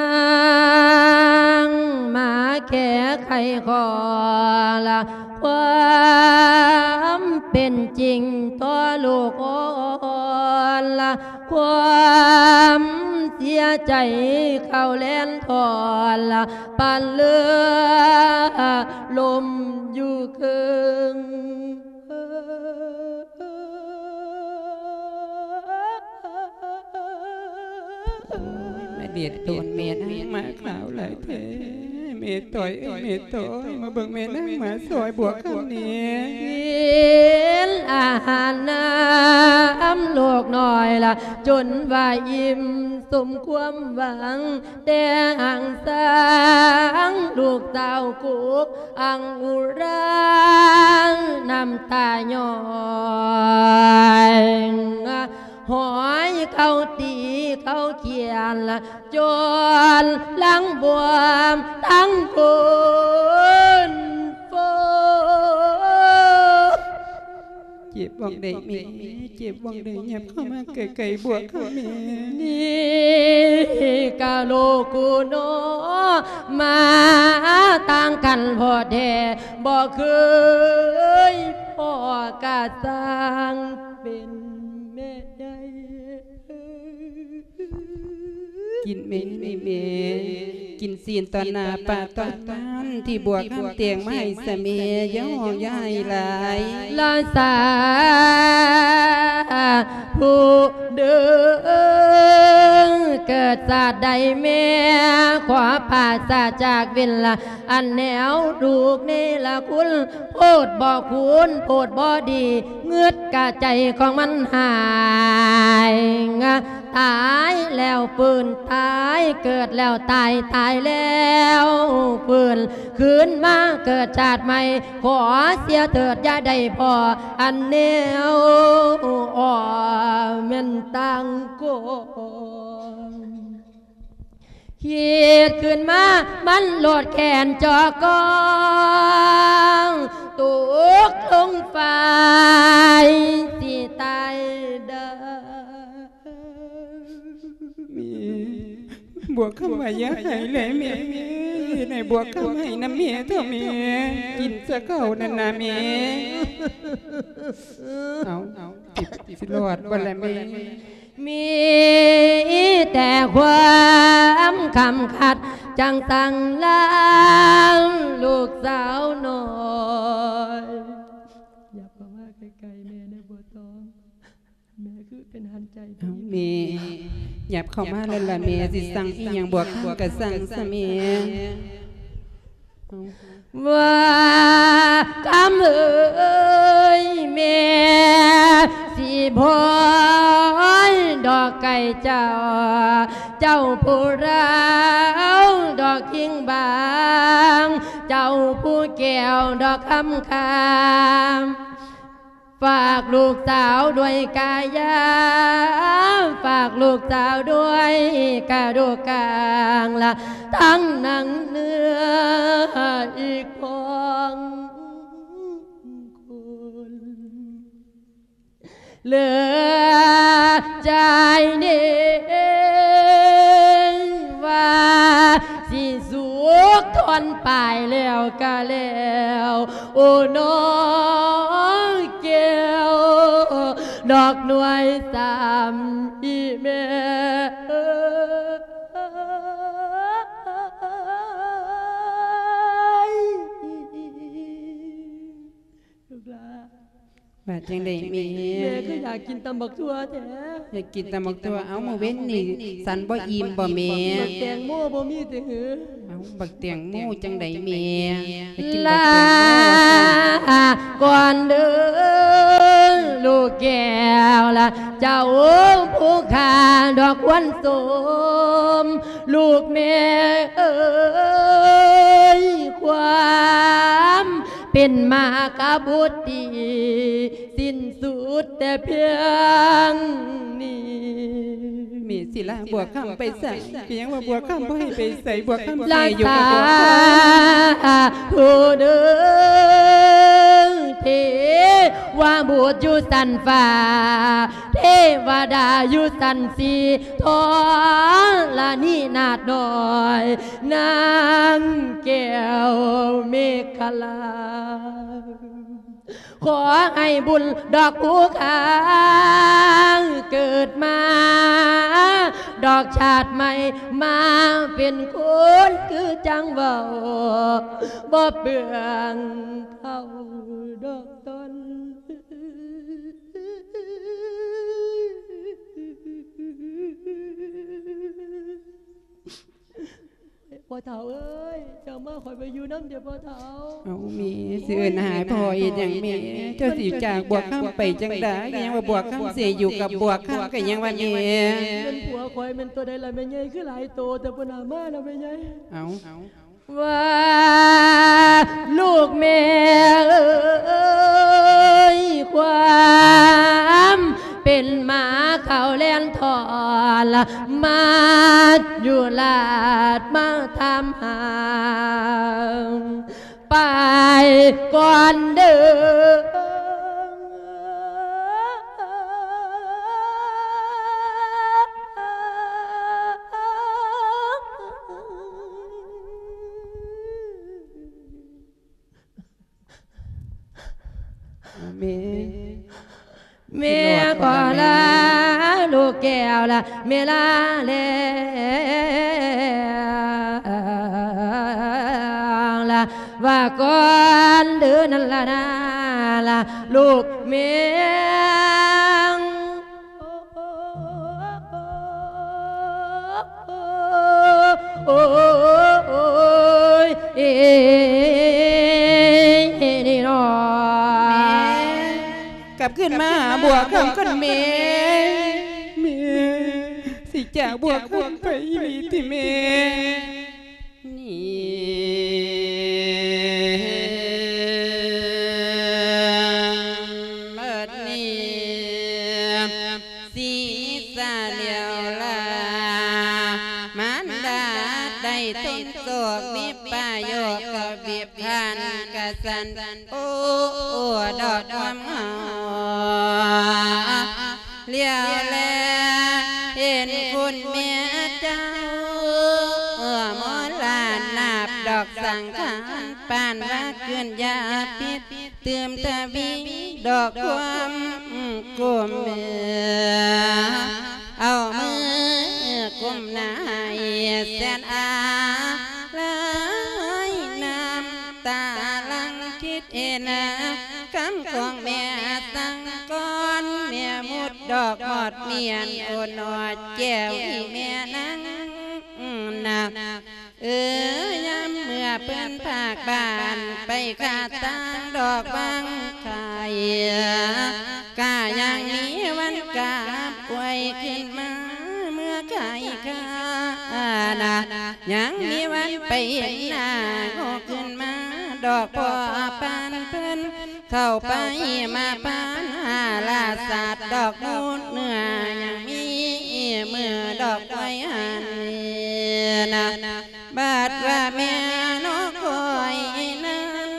ງມາແກ້ໄຂຂໍລະຄວາມເປັນຈິງຕໍ່ລູກອ່ອນລະ ຄວາມເສຍໃຈເຂົ້າແລ່ນຖອນລະ ປານເລືອລົມຢູ່ເຄິ່ງ. ມາເດັດໂຕນແມ່ນາງໝາຂາວຫຼາຍແທ້ ແມ່ຕ້ອຍເອີຍ ແມ່ຕ້ອຍ ມາເບິ່ງແມ່ນາງໝາຊອຍບວກຄຳແດ່. ກິນອາຫານນຳລູກນ້ອຍລະ ຈົນວ່າອີ່ມສົມຄວາມຫວັງ ແຕ່ຫາງສາງລູກສາວກຸກອັງອຸຣາງ ນ້ຳຕາຍ້ອຍ ຫອຍເຂົາຕີເຂົາຂຽນ ຈົນຫຼັງບວມທັງຄົນໂຟ. ເຈັບບ່ອນໃດແມ່ ເຈັບບ່ອນໃດ ຫຍັບເຂົ້າມາໃກ້ໆບວກຄຳແມ່. ນີ້ກະລູກກູນ້ອ ມາຕ່າງກັນພໍແທ້ ບໍ່ເຄີຍພໍ້ກະຊ່າງເປັນແມ່ໃຫຍ່. ກິນແມ່ນີ້ແມ່ ກິນຊີ້ນຕໍ່ໜ້າປ້າຕອນນັ້ນ ທີ່ບວກຄຳແຕ່ງມາໃຫ້ຊະແມ່ ຢ່າຮ້ອງຢ່າໄຫ້ຫຼາຍ ລະສາທຸເດີ ເກີດຊາດໃດແມ່ ຂໍປາສາຈາກເວັນລະ ອັນແນວລູກເນລະຄຸນ ໂພດບໍ່ຄູນ ໂພດບໍ່ດີ ງຶດກະໃຈຂອງມັນຫາຍ ຕາຍແລ້ວຟື້ນຕາຍ ເກີດແລ້ວຕາຍ ຕາຍແລ້ວຟື້ນ ຄືນມາເກີດຊາດໃໝ່ ຂໍເສຍເຖີດຢ່າໄດ້ພໍ້ ອັນແນວອ້ອມແມ່ນຕ່າງຄົນ. ຄິດຂຶ້ນມາມັນໂລດແຂນຈອກອງ ຕົກລົງໄຟຊິຕາຍເດີ. ແມ່ ບວກຄຳວ່າຢ່າໄຫ້ແຫຼະແມ່. ເຮັດໃຫ້ບວກຄຳໃຫ້ນຳແມ່ເຖາະແມ່ ກິນຊະເຂົ້ານັ້ນນະແມ່. ເອົາ ຊິ ຊິລອດບໍ່ລະແມ່? ມີແຕ່ຄວາມຄຳຂັດ ຈັ່ງສັ່ງລາລູກສາວນ້ອຍ. ຫຍັບເຂົ້າມາໃກ້ໆແມ່ແດ່ ບົວຕອງ. ແມ່ຄືເປັນຫັນໃຈ ເອົາແມ່ ຫຍັບເຂົ້າມາແລ້ວລະແມ່ ຊິສັ່ງອີ່ຫຍັງ ບວກຄຳກະສັ່ງຊະແມ່. ວ່າຄຳເອີຍ ແມ່ຊິພອຍດອກໃກ້ເຈົ້າ ເຈົ້າຜູ້ລາວດອກຫິງບາງ ເຈົ້າຜູ້ແກ້ວດອກຄຳຄາ ຝາກລູກສາວດ້ວຍກາຍາ ຝາກລູກສາວດ້ວຍກະດູກກາງລະ ທັງໜັງເນື້ອອີກພອງຄຸນ ເຫຼືອໃຈນີ້ວ່າຊິສຸກທອນປາຍແລ້ວກະແລ້ວ ໂອ້ ນ້ອງແກ້ວ ດອກໜ່ວຍສາມ ອີ່ແມ່ເອີຍ ລູກຫຼ້າ. ວ່າຈັ່ງໃດແມ່? ແມ່ຄືຢາກກິນຕຳບັກຖົ່ວແທ້. ຢາກກິນຕຳບັກຖົ່ວ. ເອົ້າ ມື້ເວັນນີ້ສັນບໍ່ອີ່ມບໍ່ແມ່? ບັກແຕງໂມບໍ່ມີຕິຫື? ເອົ້າ ບັກແຕງໂມຈັ່ງໃດແມ່? ໄປກິນບັກແຕງໂມວ່າຊັ້ນ. ກ່ອນເດີລູກແກ້ວລະ ເຈົ້າຜູ້ຂ້າດອກຄວນສົມ ລູກແມ່ເອີຍ ຄວາມ ເປັນມາກະບຸດດີ ສິ້ນສຸດແຕ່ພຽງນີ້. ແມ່ຊິລາບວກຄຳໄປໃສ? ກະຍັງວ່າບວກຄຳບໍ່ໃຫ້ໄປໃສ ບວກຄຳຊິຢູ່ກັບບວກຄຳ. ລາຊາຜູ້ເດີ ເທວະບຸດຢູ່ຊັ້ນຟ້າ ເທວະດາຢູ່ຊັ້ນສີ່ ທໍລະນີນາດນ້ອຍ ນາງແກ້ວເມຂະລາ ຂໍໃຫ້ບຸນດອກຜູ້ຂ້າ ເກີດມາດອກຊາດໃໝ່ ມາເປັນຄົນຄືຈັ່ງເວົ້າ ບໍ່ເປືອງເຂົ້າດອກຕອນ. ພໍ່ເຖົ້າເອີຍ ເຈົ້າມາ ຂ້ອຍໄປຢູ່ນຳເດີພໍ່ເຖົ້າ. ເອົາແມ່ ຊິເອີ້ນຫາພໍ່ເຮັດຫຍັງແມ່? ເຈົ້າຊິຈາກບວກຄຳໄປຈັ່ງໃດ? ກະຍັງວ່າບວກຄຳຊິຢູ່ກັບບວກຄຳ ກະຍັງວ່າແມ່ ແມ່ນຜົວຂ້ອຍແມ່ນໂຕໃດລະແມ່ໃຫຍ່? ຄືຫຼາຍໂຕແຕ່ ພຸ້ນນະ ມາລະແມ່ໃຫຍ່. ເອົາ ວ່າລູກແມ່ເອີຍ ຄວາມເປັນໝາເຂົ້າແລ່ນທອນລະ ມາຢູ່ລາດມາຖາມຫາ ໄປກ່ອນເດີ. ແມ່ ແມ່ຂໍລາລູກແກ້ວລະ ແມ່ລາແລ້ວລະ ວ່າກ່ອນເດີນັ້ນລະນາລະ ລູກແມ່. ໂອ້ຍ ເອີ ນີ້ເນາະ ແມ່ ກັບຄືນມາຫາບວກຄຳກ່ອນແມ່. ແມ່ ຊິຈາກບວກຄຳໄປອີ່ຫຼີຕິແມ່? ນີ້ ບັດນີ້ ສີສາແລ້ວລາ ມານດາໄດ້ທົນໂສກ ວິບປາໂຍກກະວິບພັນກະສັນ ໂອ້ ດອກຄວາມເຫງົາ ຫຼຽວແລເຫັນຄຸນແມ່ເຈົ້າ ໂອ້ ມໍລານາບ ສັງຂານ ປານວ່າເກີນຢາພິດ ຕື່ມທະວີດອກຄວາມກຸມ ເອົາມືກຸມໜ້າໃຫ້ແສນອາໄລ ນ້ຳຕາຫຼັ່ງຄິດເຫັນ ຄຳຂອງແມ່ສັງກອນ ແມ່ມຸດດອກຮອດມຽນ ໂອນອດແກ້ວອີ່ແມ່ນາງນະ ເອີ ຍາມເມື່ອເພິ່ນພາກບ້ານໄປຄາດທາງດອກບາງໄຂ່ ກະຍັງມີວັນກາບອວຍຂຶ້ນມາເມື່ອໄຂ່ຄານະ ຍັງມີວັນໄປເຫັນໜ້າໂງຂຶ້ນມາ ດອກພໍ່ປານເພິ່ນເຂົ້າໄປມາປານຫາລາສາດດອກມູນເນື້ອ ຍັງມີມື້ດອກໄວ້ຫັນນະ ບາດວ່າແມ່ນອກຄອຍນັ້ນ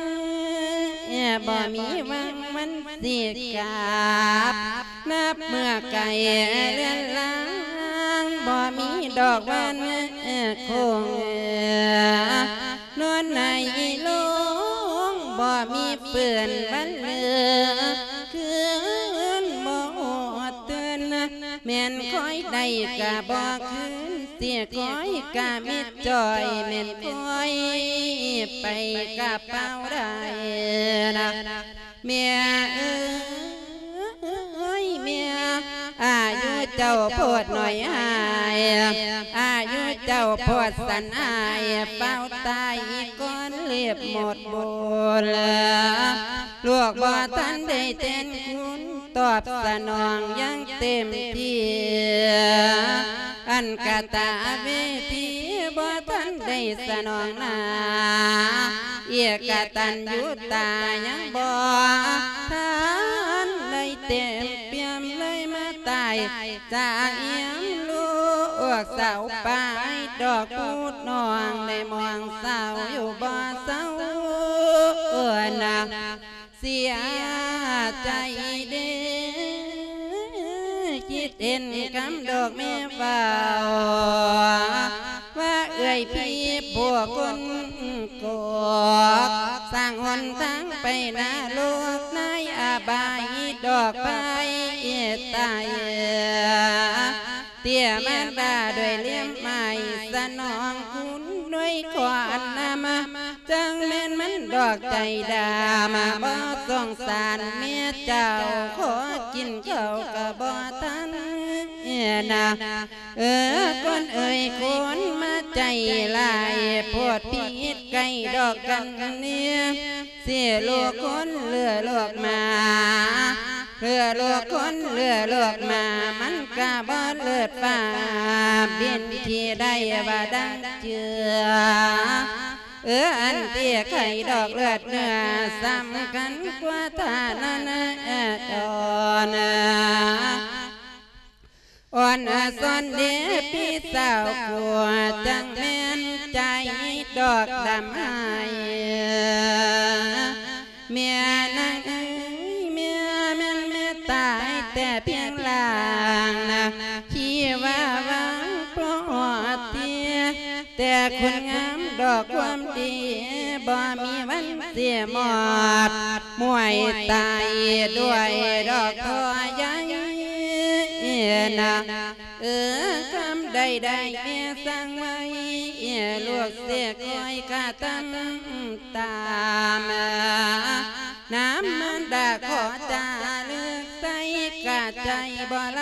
ບໍ່ມີຫວັງມັນຊິກັບ ນັບເມື່ອໄກເລືອນລາງ ບໍ່ມີດອກວັນຄົງ ນອນໃນໂລງ ບໍ່ມີເປື້ອນວັນເຫຼືອ ຄືນບໍ່ຮອດເຕີນ ແມ່ນຄອຍໄດ້ກະບໍ່ຄືນ ຊິຄອຍກະມິດຈ່ອຍ ແມ່ນຄອຍໄປກະເປົ່າໄດ້ນະ ແມ່ເອີຍ ແມ່ ອາຍຸເຈົ້າໂພດໜ້ອຍຫາຍ ອາຍຸເຈົ້າໂພດສັ້ນຫາຍ ຟ້າວຕາຍກ່ອນເລັບໝົດບຸນ ລູກບໍ່ທັນໄດ້ແທນຄຸນ ຕອບສະໜອງຢ່າງເຕັມທີ່ ອັນກະຕະເວທີບໍ່ທັນໄດ້ສະໜອງໜ້າ ເອກະຕັນຍູຕາຍັງບໍ່ທັນໄດ້ເຕັມປ່ຽມ ເລີຍມາຕາຍຈາກອຽມລູກສາວປາຍ ດອກພູດນ້ອງໄດ້ມອງສາວຢູ່ບໍ່ເຊົານະ ເສຍໃຈເດ້ ຄິດເຫັນຄຳດອກແມ່ເວົ້າ ວ່າເອື້ອຍພີ່ຜູ້ຄົນກອກ ສ້າງຫົນທາງໄປນະລົກ ໃນອະບາຍດອກໄຟຕາຍ ເຕ້ຍມາດາດ້ວຍເຫຼັ້ມໄມ້ ສະໜອງຄຸນດ້ວຍຂອນນຳ ຈັ່ງແມ່ນມັນດອກໃຈດຳ ບໍ່ສົງສານເມຍເຈົ້າ ຂໍກິນເຂົ້າກະບໍ່ທັນນະ ເອີ ຄົນເອີຍ ຄົນມາໃຈຫຼາຍ ໂພດຜິດໃກ້ດອກກັນເນຍ ຊິລູກຄົນເຫຼືອລູກໝາ ເຫຼືອລູກຄົນເຫຼືອລູກໝາ ມັນກະບໍ່ເລີດຟ້າ ບິນຂີ່ໄດ້ວ່າດັ່ງເຈື່ອ ເອີ ອັນທີ່ໄຂ່ດອກເລືອດເນື້ອ ສຳຄັນກວ່າທ່ານະນະດອນ ອ່ອນສອນເດພີ່ສາວກົວ ຈັ່ງແມ່ນໃຈດອກດຳຫາຍ ແມ່ນາງເອີຍ ແມ່ແມ່ນແມ່ຕາຍແຕ່ພຽງລ່າງນະ ທີ່ວ່າຫວັງພໍຮອດເທ ແຕ່ຄຸນງາມດອກຄວາມດີ ບໍ່ມີວັນຊິໝົດ ມວຍຕາຍດ້ວຍດອກທໍໃຫຍ່ນະ ເອີ ຄຳໃດໆແມ່ສັ່ງໄວ້ ລູກຊິຄອຍກະທຳຕາມ ນຳມານດາຂໍຈາລຶກໃສ່ ກະໃຈບໍ່ໄຫຼ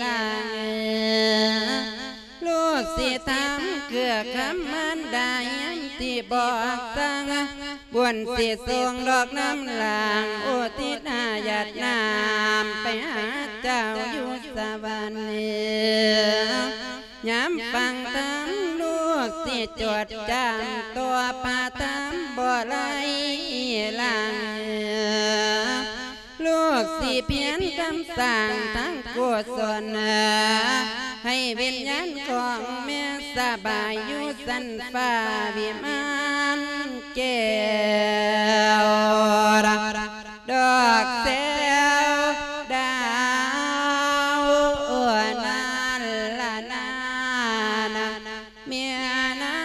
ລາງ ລູກຊິຖາມເກືອຄຳມານດາ ຍາມທີ່ບອກສັ່ງ ບຸນຊິສົ່ງດອກນຳຫຼັງ ອຸທິດໃຫ້ຢາດນ້ຳ ໄປຫາເຈົ້າຢູ່ສະຫວັນ ຍາມຟັງທຳ ລູກຊິຈົດຈຳ ຕໍ່ພະທຳບໍ່ໄຫຼລາງ ລູກຊິພຽນຄຳສ້າງທັງກຸສົນ ໃຫ້ວິນຍານຂອງແມ່ສະບາຍ ຢູ່ຊັ້ນຟ້າວິມານແກ້ວ ດອກແຊວດາວນັ້ນລະນາ ແມ່ນາ.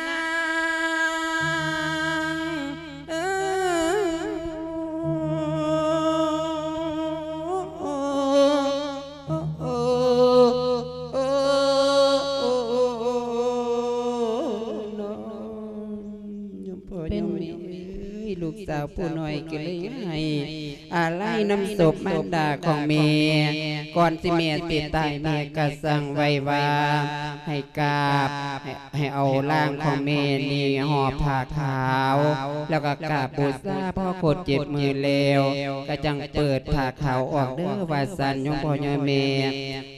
ຜູ້ນ້ອຍກໍເລີຍໃຫ້ອາໄລນຳສົບມານດາຂອງແມ່. ກ່ອນທີ່ແມ່ຊິຕາຍ ແມ່ກໍສັ່ງໄວ້ວ່າໃຫ້ກາບ ໃຫ້ ໃຫ້ເອົາຮ່າງຂອງແມ່ນີ້ຫໍ່ຜ້າຂາວ ແລ້ວກໍກາບບູຊາ. ພໍຄົບເຈັດມື້ແລ້ວ ກໍຈັ່ງເປີດຜ້າຂາວອອກເດີ້ ວ່າຊັ້ນ ໂຍມພໍ່ໂຍມແມ່.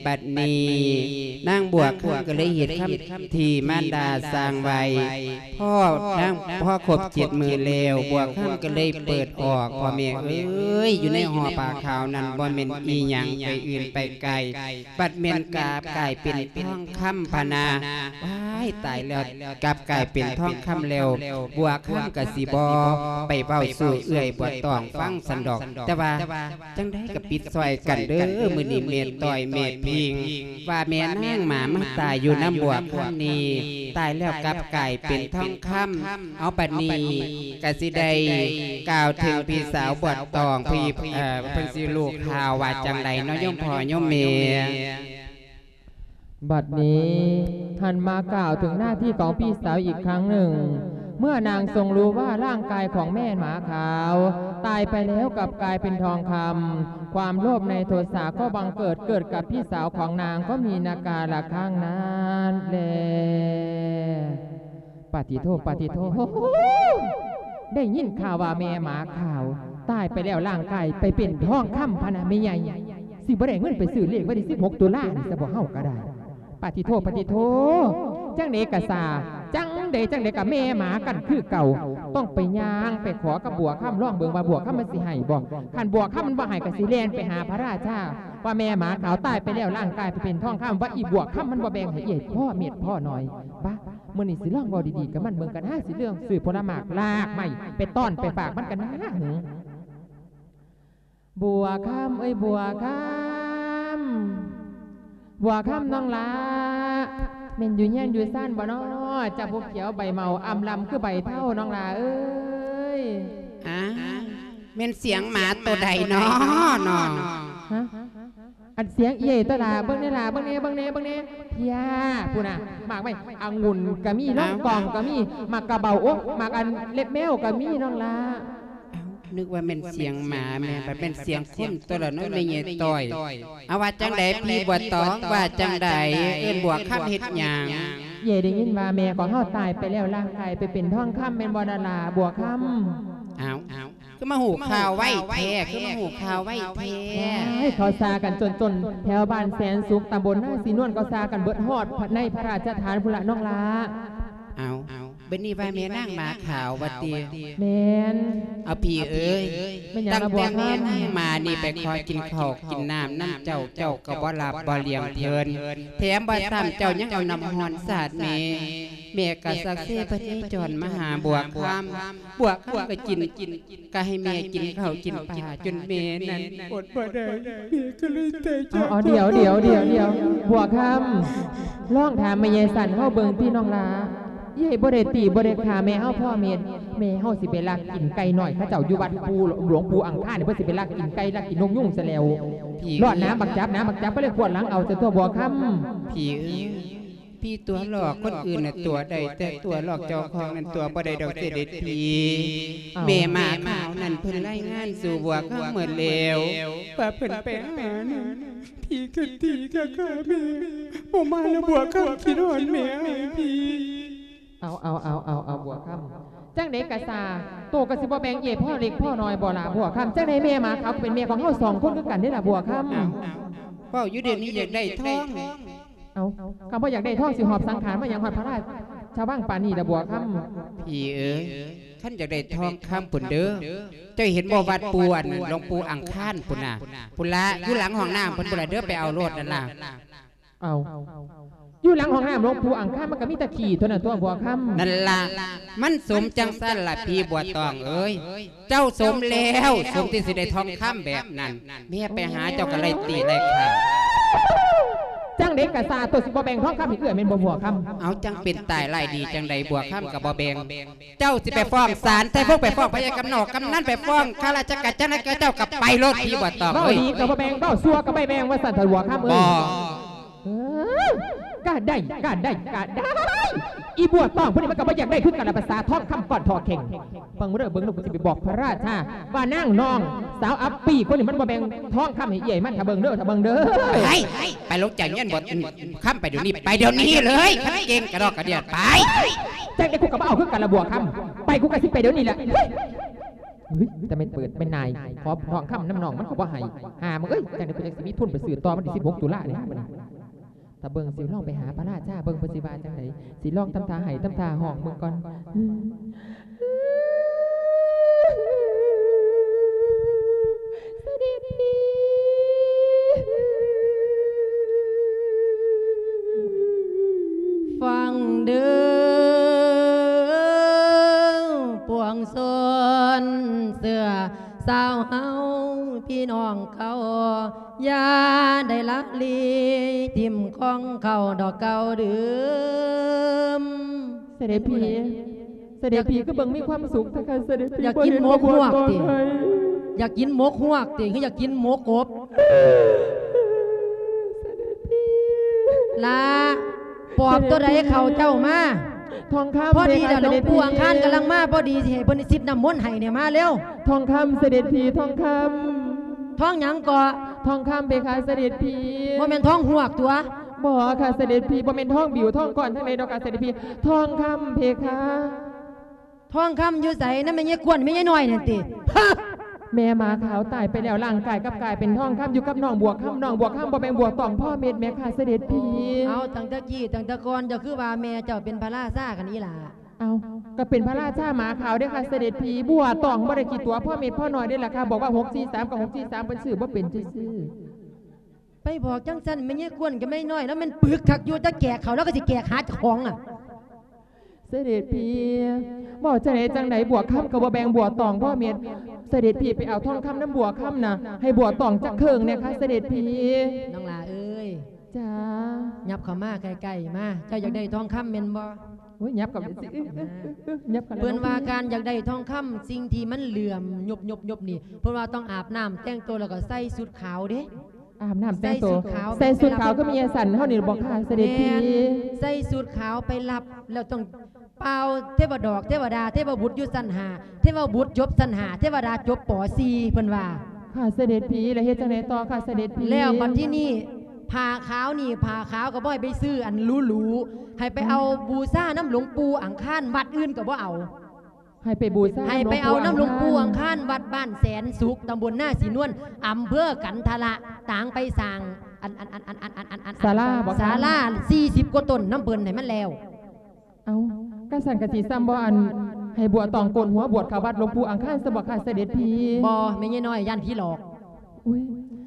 ບັດນີ້ນາງບົວຄຳກໍເລີຍເຮັດຄຳທີ່ມານດາສັ່ງໄວ້. ພໍນາງ ພໍຄົບເຈັດມື້ແລ້ວ ບົວຄຳກໍເລີຍເປີດອອກ. ພໍ່ແມ່ເອີຍ ຢູ່ໃນຫໍ່ຜ້າຂາວນັ້ນ ບໍ່ແມ່ນອີ່ຫຍັງໄປອື່ນໄປໄກ ບັດແມ່ນກາບກາຍເປັນທອງຄຳພະນາ. ວ້າຍ ຕາຍແລ້ວ ກັບກາຍເປັນທອງຄຳແລ້ວ ບົວຄຳກໍຊິບໍ່ໄປເວົ້າສູ່ເອື້ອຍບົວຕອງຟັງຊັ້ນດອກ. ແຕ່ວ່າ ຈັ່ງໃດກໍປິດຊ່ອຍກັນເດີ້ ມື້ນີ້ແມ່ຕ້ອຍແມ່ພິງ ວ່າແມ່ນາງໝາມາຕາຍຢູ່ນຳບົວຄຳນີ້ ຕາຍແລ້ວກັບກາຍເປັນທອງຄຳ. ເອົາ ບັດນີ້ກໍຊິໄດ້ກ່າວເຖິງພີ່ສາວບົວຕອງ ພີ່ ເອີ ເພິ່ນຊິຮູ້ຂ່າວວ່າຈັ່ງໃດເນາະ ໂຍມພໍ່ໂຍມແມ່. ບັດນີ້ຫັນມາກ່າວເຖິງໜ້າທີ່ຂອງພີ່ສາວອີກຄັ້ງໜຶ່ງ. ເມື່ອນາງຊົງຮູ້ວ່າຮ່າງກາຍຂອງແມ່ໝາຂາວຕາຍໄປແລ້ວກັບກາຍເປັນທອງຄຳ, ຄວາມໂລບໃນໂທສາກໍບັງເກີດ ເກີດກັບພີ່ສາວຂອງນາງກໍມີນາກາລະຄັ້ງນັ້ນແລ. ປາຕິໂທ ປາຕິໂທ ໄດ້ຍິນຂ່າວວ່າແມ່ໝາຂາວຕາຍໄປແລ້ວ ຮ່າງກາຍໄປເປັນທອງຄຳພະນະແມ່ໃຫຍ່. ຊິບໍ່ໄດ້ເງິນໄປຊື້ເລກວັນທີສິບຫົກຕຸລານີ້ຊະບໍ່ ເຮົາກໍໄດ້. ປາຕິໂທ ປາຕິໂທ ຈັ່ງໃດກະຊ່າ ຈັ່ງໃດຈັ່ງໃດກະແມ່ໝາກັນຄືເກົ່າ. ຕ້ອງໄປຍ່າງໄປຂໍກັບບົວຄຳ ລອງເບິ່ງວ່າບົວຄຳມັນຊິໃຫ້ບໍ່. ຄັນບົວຄຳມັນບໍ່ໃຫ້ ກະຊິແລ່ນໄປຫາພະລາຊາ ວ່າແມ່ໝາຂາວຕາຍໄປແລ້ວ ຮ່າງກາຍໄປເປັນທອງຄຳ ວ່າອີ່ບົວຄຳມັນບໍ່ແບ່ງໃຫ້ເອື້ອຍພໍເມັດພໍໜ້ອຍ. ບາ ມື້ນີ້ຊິລອງເວົ້າດີໆກັບມັນເບິ່ງກັນນາ ຊິເລື່ອງຊື້ຜົນລະໝາກລາກໄມ້ໄປຕ້ອນໄປຝາກມັນກັນນາ. ບົວຄຳເອີຍ ບົວຄຳ ບົວຄຳນ້ອງຫຼ້າ ແມ່ນຢູ່ເຮືອນຢູ່ຊານບໍ່ນໍ? ເຈົ້າຜູ້ຂຽວໃບເໝົາອຳລຳຄືໃບເທົານ້ອງຫຼ້າເອີຍ. ອ້າ ແມ່ນສຽງໝາໂຕໃດນໍ? ຮະ? ອັນສຽງເອື້ອຍຕົວະຫຼ້າ ເບິ່ງແດ່ຫຼ້າ ເບິ່ງແດ່ ເບິ່ງແດ່ ເບິ່ງແດ່ ເພຍ ພຸ້ນນະ ໝາກໄມ້ອະງຸ່ນກະມີ ລອງກອງກະມີ ໝາກກະເບົາ ໂອ້ ໝາກອັນເລັບແມວກະມີນ້ອງຫຼ້າ. ອ້າວ ນຶກວ່າແມ່ນສຽງໝາ ແມ່ນ ບັດແມ່ນສຽງຄົນຕົວະລະເນາະ ແມ່ໃຫຍ່ຕ້ອຍ. ເອົາ ວ່າຈັ່ງໃດພີ່ບົວຕອງ ວ່າຈັ່ງໃດ ເອີ້ນບົວຄຳເຮັດຫຍັງ? ເອື້ອຍໄດ້ຍິນວ່າແມ່ຂອງເຮົາຕາຍໄປແລ້ວ ຮ່າງກາຍໄປເປັນທອງຄຳ ແມ່ນບໍ່ນະຫຼ້າບົວຄຳ? ອ້າວ ຄືມາຮູ້ຂ່າວໄວແທ້ ຄືມາຮູ້ຂ່າວໄວແທ້. ໂອ້ຍ ເຂົາຊ່າກັນຈົນໆ ແຖວບ້ານແສນສຸກ ຕຳບົນນາສີນວນ ເຂົາຊ່າກັນເບິດ ຮອດໃນພະລາຊະຖານພຸ້ນລະນ້ອງຫຼ້າ. ເອົາ ບັດນີ້ວ່າແມ່ນາງໝາຂາວວ່າຕິ? ແມ່ນ. ເອົາ ພີ່ເອີຍ ແມ່ນຫຍັງລະບົວຄຳ? ຕັ້ງແຕ່ແມ່ນາງໝານີ້ໄປຂໍກິນເຂົ້າກິນນ້ຳນຳເຈົ້າ ເຈົ້າກໍບໍ່ຮັບບໍ່ລ້ຽງເພິ່ນ ແຖມວ່າຊ້ຳເຈົ້າຍັງເອົານ້ຳຮ້ອນສາດແມ່ ແມ່ກໍຊັກເຊພະເນຈອນມາຫາບົວຄຳ ບົວຄຳກໍກິນ ກໍໃຫ້ແມ່ກິນເຂົ້າກິນປາ ຈົນແມ່ນັ້ນອົດບໍ່ໄດ້ ແມ່ກໍເລີຍຕາຍຈາກ. ເອົາ ເອົາ ດຽວ ດຽວ ດຽວ ດຽວ ບົວຄຳ ລອງຖາມແມ່ໃຫຍ່ສັນເຮົາເບິ່ງຕິນ້ອງຫຼ້າ. ເອື້ອຍບໍ່ໄດ້ຕີບໍ່ໄດ້ຂ້າແມ່ເຮົາພໍເມັດ ແມ່ເຮົາຊິໄປລັກກິນໄກ່ນ້ອຍເຂົາເຈົ້າຢູ່ວັດປູ່ ຫຼວງປູ່ອັງຄານນີ້ ເພິ່ນຊິໄປລັກກິນໄກ່ລັກກິນນົກຍຸງຊະແລ້ວ. ພີ່ ລອດໜາບັກຈັບ ໜາບັກຈັບ ກໍເລີຍກວດຫຼັງເອົາຊະຕົວະບົວຄຳ. ພີ່ເອີຍ ພີ່ຕົວະຫຼອກຄົນອື່ນນະຕົວະໄດ້ ແຕ່ຕົວະຫຼອກເຈົ້າຂອງນັ້ນຕົວະບໍ່ໄດ້ດອກເສດເດັດພີ່. ເອົ້າ ແມ່ໝາຂາວນັ້ນເພິ່ນລາຍງານສູ່ບົວຄຳໝົດແລ້ວ ວ່າເພິ່ນໄປຫານັ້ນ ພີ່ກໍຕີກໍຂ້າແມ່ ບໍ່ມາແລ້ວບົວຄຳຄິດຮອດແມ່ອ້າຍພີ່. ເອົາ ເອົາ ເອົາ ເອົາ ເອົາ ບົວຄຳ ຈັ່ງໃດກະຊ່າ ໂຕກໍຊິບໍ່ແບ່ງເອື້ອຍພໍເລັກພໍນ້ອຍບໍ່ລະບົວຄຳ? ຈັ່ງໃດແມ່ໝາຂາວກໍເປັນແມ່ຂອງເຮົາສອງຄົນຄືກັນເດ້ລະບົວຄຳ. ເວົ້າຢູ່ດຽວນີ້ຢາກໄດ້ທອງ. ເອົ້າ ຄັນບໍ່ຢາກໄດ້ທອງ ຊິຫອບສັງຂານມາຫຍັງຮອດພະລາຊະວັງປານນີ້ລະບົວຄຳ? ພີ່ເອີຍ ຄັນຢາກໄດ້ທອງຄຳພຸ້ນເດີ ເຈົ້າເຫັນບໍ່ ວັດປູ່ ອັນ ຫຼວງປູ່ອັງຄານພຸ້ນນະ ພຸ້ນລະ ຢູ່ຫຼັງຫ້ອງນ້ຳພຸ້ນ ພຸ້ນລະເດີ ໄປເອົາໂລດນັ້ນລະ. ເອົ້າ ຢູ່ຫຼັງຫ້ອງນ້ຳຫຼວງປູ່ອັງຄານ ມັນກໍມີແຕ່ຂີ້ເທົ່ານັ້ນຕົວະບົວຄຳ. ນັ້ນລະ ມັນສົມຈັ່ງຊັ້ນລະພີ່ບົວຕອງເອີຍ. ເຈົ້າສົມແລ້ວ ສົມທີ່ຊິໄດ້ທອງຄຳແບບນັ້ນ ແມ່ໄປຫາເຈົ້າກໍໄລ່ຕີໄລ່ຂ້າ. ຈັ່ງໃດກະຊ່າ ໂຕຊິບໍ່ແບ່ງທອງຄຳໃຫ້ເອື້ອຍແມ່ນບໍ່ບົວຄຳ? ເອົາ ຈັ່ງເປັນຕາຍຮ້າຍດີຈັ່ງໃດ ບົວຄຳກໍບໍ່ແບ່ງ. ເຈົ້າຊິໄປຟ້ອງສານໄຊວົງ ໄປຟ້ອງພະຍາກຳນອກກຳນັນ ໄປຟ້ອງຂ້າລາຊະການ ຈັ່ງໃດກໍເຈົ້າກໍໄປໂລດ ພີ່ບົວຕອງເອີຍ. ເວົ້າດີກໍບໍ່ແບ່ງ ເວົ້າຊົ່ວກໍບໍ່ແບ່ງ ວ່າຊັ້ນເຖາະບົວຄຳເອີຍ. ບໍ່ ເອີ ກະໄດ້ ກະໄດ້ ກະໄດ້ ອີ່ບົວຕອງຜູ້ນີ້ມັນກະບໍ່ຢາກໄດ້ຄືກັນລະ ພາສາທອງຄຳກ້ອນທໍ່ແຂງ. ເບິ່ງເດີ ເບິ່ງເດີ ກູຊິໄປບອກພະລາຊາວ່ານາງນ້ອງສາວອັບປີຄົນນີ້ມັນບໍ່ແບ່ງທອງຄຳໃຫ້ເອື້ອຍມັນ. ຖ້າເບິ່ງເດີ ຖ້າເບິ່ງເດີ. ໄປ ໄປລົງຈາກເຮືອນບົວຄຳໄປດຽວນີ້ ໄປດຽວນີ້ເລີຍ. ຄັນເກັ່ງກະດອກກະເດຍ ໄປ. ຈັ່ງໃດກູກະບໍ່ເອົາຄືກັນລະບົວຄຳ. ໄປ ກູກະຊິໄປດຽວນີ້ແຫຼະ. ເຮີ້ຍ ແຕ່ແມ່ນເປີດແມ່ນນາຍ ຂໍທອງຄຳນຳນ້ອງມັນກະບໍ່ໃຫ້. ຫາມຶງເອີຍ ຈັ່ງໃດກູຈັ່ງຊິມີທຶນໄປຊື້ຕໍ່ວັນທີສິບຫົກຕຸລານີ້. ຖ້າເບິ່ງ ຊິລອງໄປຫາພະລາຊາເບິ່ງ ເພິ່ນຊິວ່າຈັ່ງໃດ. ຊິລອງທຳທ່າໄຫ້ ທຳທ່າຮ້ອງເບິ່ງກ່ອນ. ຟັງເດີ ປວງຊົນເຊື້ອຊາວເຮົາ ພີ່ນ້ອງເຂົາ ຢ່າໄດ້ລະລີ ຖິ້ມຂອງເຂົາດອກເກົ່າເດີມ. ສະເດັດພີ່ ສະເດັດພີ່ຄືເບິ່ງມີຄວາມສຸກແທ້ຄະ ສະເດັດພີ່. ຢາກກິນໝົກຮວກຕິ? ຢາກກິນໝົກຮວກຕິ ຄືຢາກກິນໝົກກົບ? ສະເດັດພີ່ ລາ ປອບໂຕໃດເຂົ້າເຈົ້າມາ? ທອງຄຳ ພໍດີລະ ເພຄະ ຫຼວງປູ່ອັງຄານກຳລັງມາພໍດີ ຊິໃຫ້ເພິ່ນຊິດນ້ຳມົນໃຫ້ນີ້ ມາເລັວ. ທອງຄຳ ສະເດັດພີ່ ທອງຄຳ. ທອງຫຍັງເກາະ? ທອງຄຳເພຄະ ສະເດັດພີ່. ບໍ່ແມ່ນທອງຮວກຕົວະ? ບໍ່ຄະ ສະເດັດພີ່. ບໍ່ແມ່ນທອງບິວ ທອງກ້ອນທາງໃດດອກຄະ ສະເດັດພີ່. ທອງຄຳເພຄະ. ທອງຄຳຢູ່ໃສ? ນຳແມ່ຍາຍກວນ ແມ່ຍາຍນ້ອຍນັ້ນຕິ? ແມ່ໝາຂາວຕາຍໄປແລ້ວ ຮ່າງກາຍກັບກາຍເປັນທອງຄຳ ຢູ່ກັບນ້ອງບົວຄຳ. ນ້ອງບົວຄຳບໍ່ແບ່ງບົວຕອງພໍເມັດແມ່ຄະ ສະເດັດພີ່. ເອົາ ຕັ້ງແຕ່ກີ້ຕັ້ງແຕ່ກ່ອນ ເຈົ້າຄືວ່າແມ່ເຈົ້າເປັນພະລາຊາກັນອີ່ຫຼ້າ? ເອົາ ກະເປັນພະລາຊາໝາຂາວເດ້ຄະ ສະເດັດພີ່. ບົວຕອງບໍ່ໄດ້ຂີ້ຕົວະພໍເມັດພໍໜ້ອຍເດ້ລະຄະ. ບອກວ່າຫົກສີ່ສາມກະຫົກສີ່ສາມ ເພິ່ນຊື້ບໍ່ເປັນຊື່ໆ. ໄປບອກຈັ່ງຊັ້ນ ແມ່ຍາຍກວນກັບແມ່ຍາຍນ້ອຍລະແມ່ນປຶກຄັກຢູ່ ແຕ່ແກກເຂົາລາວກະຊິແກກຫາເຈົ້າຂອງອະ. ສະເດັດພີ່ ເວົ້າຈັ່ງໃດຈັ່ງໃດ ບົວຄຳກະບໍ່ແບ່ງບົວຕອງພໍເມັດ. ສະເດັດພີ່ໄປເອົາທອງຄຳນຳບົວຄຳນະ ໃຫ້ບົວຕອງຈັກເຄິ່ງແດ່ຄະ ສະເດັດພີ່. ນ້ອງຫຼ້າເອີຍ. ຈ້າ. ຫຍັບເຂົ້າມາໃກ້ໆມາ. ເຈົ້າຢາກໄດ້ທອງຄຳແມ່ນບໍ່? ໂອ້ຍ ຫຍັບເຂົ້າໄປຊິ ຫຍັບເຂົ້າ. ເພິ່ນວ່າການຢາກໄດ້ທອງຄຳ ສິ່ງທີ່ມັນເຫຼື້ອມຍົບໆໆນີ້ ເພິ່ນວ່າຕ້ອງອາບນ້ຳແຕ່ງໂຕ ແລ້ວກະໃສ່ຊຸດຂາວເດ້. ອາບນ້ຳແຕ່ງໂຕ ໃສ່ຊຸດຂາວ ໃສ່ຊຸດຂາວຄືແມ່ຍາຍສັນເຮົານີ້ບໍ່ຄະ ສະເດັດພີ່? ແມ່ນ ໃສ່ຊຸດຂາວໄປຮັບ ແລ້ວຕ້ອງ ເປົ່າເທວະດອກ ເທວະດາ ເທວະບຸດຢູ່ຊັ້ນຫ້າ ເທວະບຸດຈົບຊັ້ນຫ້າ ເທວະດາຈົບ ປໍສີ່ ເພິ່ນວ່າ. ຄະ ສະເດັດພີ່. ແລ້ວເຮັດຈັ່ງໃດຕໍ່ຄະ ສະເດັດພີ່? ແລ້ວບັດທີນີ້ ຜ້າຂາວນີ້ ຜ້າຂາວກະບໍ່ໃຫ້ໄປຊື້ອັນຫຼູໆ ໃຫ້ໄປເອົາ ອືມ ບູຊານຳຫຼວງປູ່ອັງຄານ ວັດອື່ນກະບໍ່ເອົາ. ໃຫ້ໄປບູຊາ ໃຫ້ໄປເອົານຳຫຼວງປູ່ອັງຄານ ວັດບ້ານແສນສຸກ ຕຳບົນນາສີນວນ ອຳເພີກັນທະລະ ຕາງໄປສ້າງ ອັນ ອັນ ສາລາບໍ່ຄະ? ສາລາສີ່ສິບກວ່າຕົ້ນນຳເພິ່ນໃຫ້ມັນແລ້ວ. ເອົ້າ ກະຊັ້ນກະຊິຊ່ຳບໍ່ ອັນ ໃຫ້ບົວຕອງໂກນຫົວບວດເຂົ້າວັດຫຼວງປູ່ອັງຄານຊະບໍ່ຄະ ສະເດັດພີ່? ບໍ່ ແມ່ຍາຍນ້ອຍຢ້ານຜີຫຼອກ. ອຸ້ຍ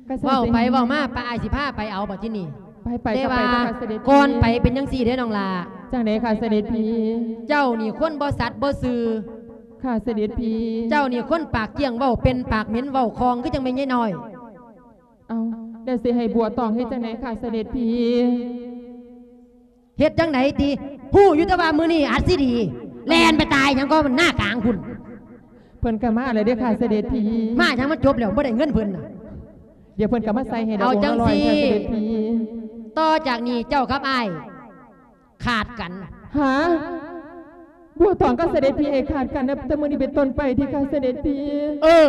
ກະຊັ້ນ ເວົ້າໄປເວົ້າມາ ປ້າອ້າຍຊິພາໄປເອົາບັດທີນີ້. ໄປ ໄປ ແຕ່ວ່າກ່ອນໄປເປັນຈັ່ງຊີ້ເດ້ນ້ອງຫຼ້າ. ຈັ່ງໃດຄະ ສະເດັດພີ່? ເຈົ້ານີ້ຄົນບໍ່ສັດບໍ່ຊື່. ຄະ ສະເດັດພີ່. ເຈົ້ານີ້ຄົນປາກກ້ຽງ ເວົ້າເປັນປາກເໝັນເວົ້າຄ່ອງ ຄືຈັ່ງແມ່ຍາຍນ້ອຍ. ເອົ້າ ແລ້ວຊິໃຫ້ບົວຕອງເຮັດຈັ່ງໃດຄະ ສະເດັດພີ່? ເຮັດຈັ່ງໃດຕິ? ຮູ້ຢູ່ແຕ່ວ່າມື້ນີ້ອັດຊີດີ ແລ່ນໄປຕາຍຫຍັງກໍໜ້າກາງພຸ້ນ. ເພິ່ນກະມາແລ້ວເດ້ຄະ ສະເດັດພີ່. ມາຫຍັງ ມັນຈົບແລ້ວ ບໍ່ໄດ້ເງິນເພິ່ນນະ. ດຽວເພິ່ນກະມາໃສ່ໃຫ້ດອກ. ເອົາຈັ່ງຊີ້ ຫ້າຮ້ອຍຄະ ສະເດັດພີ່. ຕໍ່ຈາກນີ້ເຈົ້າກັບອ້າຍຂາດກັນ. ຫາ? ບົວຕອງກັບສະເດັດພີ່ໃຫ້ຂາດກັນ ນັບແຕ່ມື້ນີ້ເປັນຕົ້ນໄປຕິຄະ ສະເດັດພີ່? ເອີ.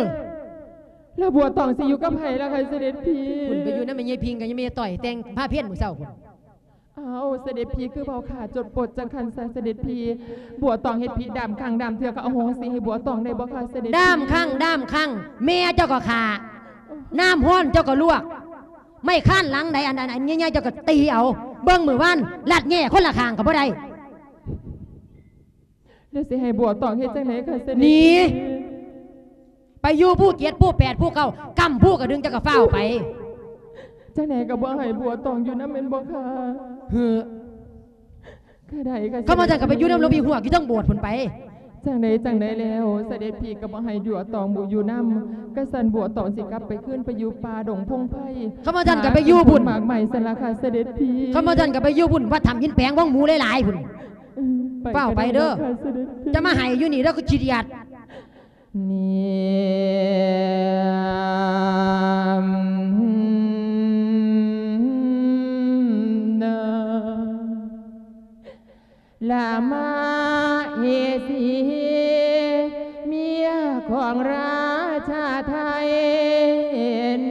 ແລ້ວບົວຕອງຊິຢູ່ກັບໃຜລະຄະ ສະເດັດພີ່? ພຸ້ນ ໄປຢູ່ນຳແມ່ຍາຍພິງກັບຍາຍແມ່ຍາຍຕ້ອຍ ແຕ່ງພາເພັນມື້ເຊົ້າພຸ້ນ. ອ້າວ ສະເດັດພີ່ ຄືເວົ້າຂ້າຈົນປົດຈັ່ງຊັ້ນຊະ ສະເດັດພີ່? ບົວຕອງເຮັດຜິດດ້າມຄັ້ງດ້າມເທື່ອ ກະອະໂຫສິໃຫ້ບົວຕອງໄດ້ບໍ່ຄະ ສະເດັດພີ່? ດ້າມຄັ້ງດ້າມຄັ້ງ ແມ່ເຈົ້າກະຂ້າ ນ້ຳຮ້ອນເຈົ້າກະລວກ ໄມ້ຄານຫຼັງໃດ ອັນ ອັນ ອັນໃຫຍ່ໆ ເຈົ້າກະຕີເອົາ. ເບິ່ງມື້ວານ ລັດແງ່ຄົນລະຂ້າງກະບໍ່ໄດ້. ແລ້ວຊິໃຫ້ບົວຕອງເຮັດຈັ່ງໃດຄະ ສະເດັດພີ່? ໜີ ໄປຢູ່ພູເຈັດ ພູແປດ ພູເກົ້າ ກຳພູກະດຶງ ເຈົ້າກະຟ້າວໄປ. ຈັ່ງໃດກະບໍ່ໃຫ້ບົວຕອງຢູ່ນຳແມ່ນບໍ່ຄະ? ເຮີ ກະໄດ້ຄະ. ຄັນວ່າຊັ້ນກະໄປຢູ່ນຳຫຼວງພີ່ຮວກ ຢູ່ເທິງໂບດພຸ້ນໄປ. ຈັ່ງໃດຈັ່ງໃດແລ້ວ ສະເດັດພີ່ກະບໍ່ໃຫ້ບົວຕອງຢູ່ນຳ. ກະຊັ້ນບົວຕອງຊິກັບໄປຄືນໄປຢູ່ປ່າດົງພົງໄພ. ຄັນວ່າຊັ້ນກະໄປຢູ່ພຸ້ນ ຫາກິນຕົ້ນໝາກໄມ້ຊັ້ນລະຄະ ສະເດັດພີ່. ຄັນວ່າຊັ້ນກະໄປຢູ່ພຸ້ນ ວັດຖ້ຳຫີນແປງ ວັງໝູຫຼາຍໆພຸ້ນ. ອືມ ໄປ ຟ້າວໄປເດີ. ກະໄດ້ດອກຄະ ສະເດັດພີ່. ຈະມາໃຫ້ຢູ່ນີ້ ລາວກະຂີ້ດຽດ. ນີ້ນາ ລະມະເຫສີ ເມຍຂອງລາຊາໄທ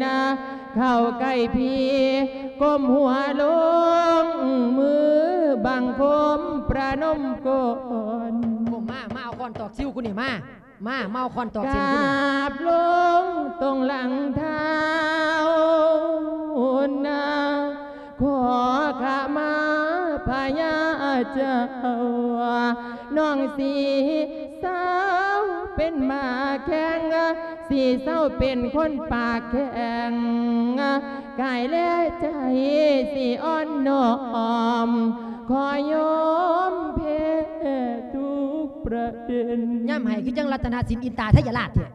ນະ ເຂົ້າໃກ້ພີ່ ກົ້ມຫົວລົງ ມືບັງຄົມປະນົມກ່ອນ ກົ້ມມາ ມາເອົາຄ້ອນຕອກຊິວກູນີ້ ມາ ມາ ມາເອົາຄ້ອນຕອກຊິວກູນີ້ ກາບລົງຕົງຫຼັງທ້າວນະ ຂໍຂະມາພະຍາເຈົ້າ ນ້ອງຊິເຊົາເປັນໝາແຂ້ງ ຊິເຊົາເປັນຄົນປາກແຂງ ກາຍແລະໃຈຊິອ່ອນນ້ອມ ຂໍຍອມແພ້ທຸກປະເດັນ. ຍາມໄຫ້ຄືຈັ່ງລັດຕະນະສິນອິນຕາໄທຍະລາດແທ້.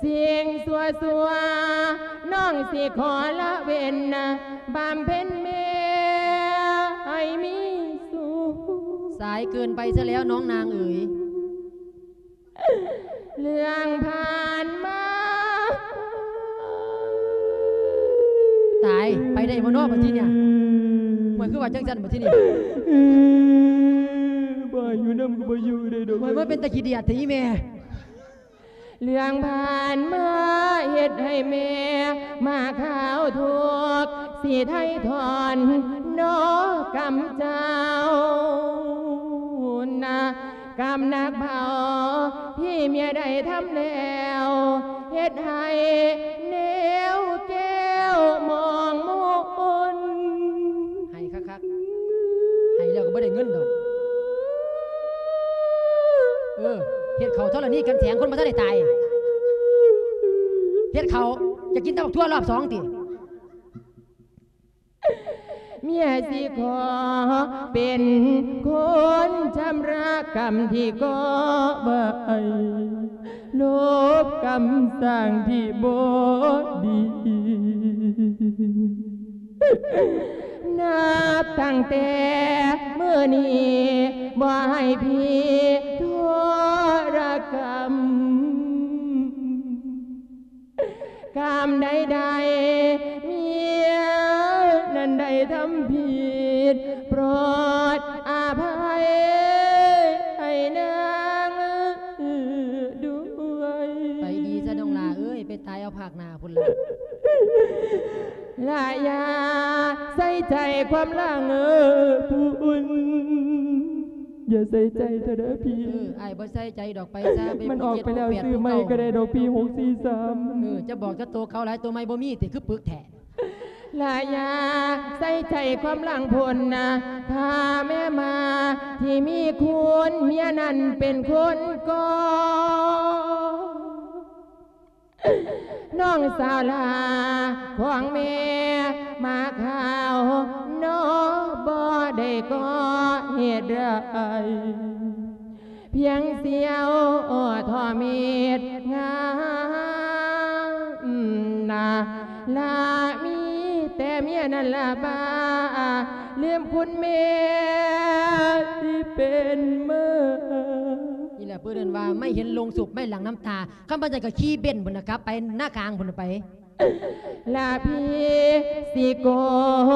ສິ່ງຊົ່ວໆ ນ້ອງຊິຂໍລະເວັ້ນ ບຳເພັນແມ່ໃຫ້ມີສຸກ. ສາຍເກີນໄປຊະແລ້ວນ້ອງນາງເອີຍ. ເລື່ອງຜ່ານມາ ຕາຍ ໄປໄດ້ບໍ່ນໍບັດທີນີ້? ມັນຄືວ່າຈັ່ງຊັ້ນບັດທີນີ້? ບໍ່ໃຫ້ຢູ່ນຳກໍບໍ່ຢູ່ໄດ້ດອກ. ມັນ ມັນເປັນຕາຂີ້ດຽດແທ້ອີ່ແມ່. ເລື່ອງຜ່ານມາເຮັດໃຫ້ແມ່ມາຄາວທຸກ ຊິໄຖ່ຖອນນໍກຳເຈົ້ານະ ກຳໜັກເບົາທີ່ເມຍໄດ້ທຳແລ້ວ ເຮັດໃຫ້ແນວແກ້ວມອງມົນ. ໃຫ້ຄັກໆ ໃຫ້ແລ້ວກໍບໍ່ໄດ້ເງິນດອກ. ເອີ ເຮັດເຂົ້າທໍລະນີກັນແສງ ຄົນບໍ່ທັນໄດ້ຕາຍ. ເຮັດເຂົ້າ ຈະກິນແຕ່ບັກຖົ່ວລອບສອງຕິ? ເມຍຊິຂໍເປັນຄົນຊຳລະກຳທີ່ກໍ່ໄວ້ ລົບກຳສ້າງທີ່ບໍ່ດີ. ນັບຕັ້ງແຕ່ມື້ນີ້ ບໍ່ໃຫ້ພີ່ທໍລະກຳ. ກຳໃດໆ ເມຍນັ້ນໄດ້ທຳຜິດ ໂປດອະໄພໃຫ້ນາງດ້ວຍ. ໄປດີຊະນ້ອງຫຼ້າເອີຍ ໄປຕາຍເອົາພາກໜ້າພຸ້ນລະ. ລະຢ່າໃສ່ໃຈຄວາມຫຼັງຜູ້ອື່ນ ຢ່າໃສ່ໃຈເທື່ອເດີພີ່. ເອີ ອ້າຍບໍ່ໃສ່ໃຈດອກ ໄປຊະ. ມັນອອກໄປແລ້ວ ຊື້ໃໝ່ກໍໄດ້ດອກພີ່ ຫົກສີ່ສາມ. ເອີ ຈະບອກຈະໂຕເກົ່າຫຼາຍ ໂຕໃໝ່ບໍ່ມີຕິ ຄືປຶກແທ້. ລະຢ່າໃສ່ໃຈຄວາມຫຼັງພຸ້ນນະ ຖ້າແມ່ມາທີ່ມີຄຸນ ເມຍນັ້ນເປັນຄົນກໍ່. ນ້ອງສາວຫຼ້າຂອງແມ່ມາຂາວນໍ ບໍ່ໄດ້ກໍ່ເຫດຮ້າຍ ພຽງສ່ຽວທໍ້ເມັດງາມນະ ລະມີແຕ່ເມຍນັ້ນລະບ້າ ລືມຄຸນແມ່ທີ່ເປັນເມີ. ນີ້ແຫຼະເພິ່ນເອີ້ນວ່າ ໄມ່ເຫັນໂລງສົບ ໄມ້ຫຼັງນ້ຳຕາ. ຄັນບໍ່ຈັ່ງກໍຂີ່ເບັນພຸ້ນນະ ກັບໄປນາກາງພຸ້ນນະໄປ. ລະພີ່ຊິໂກ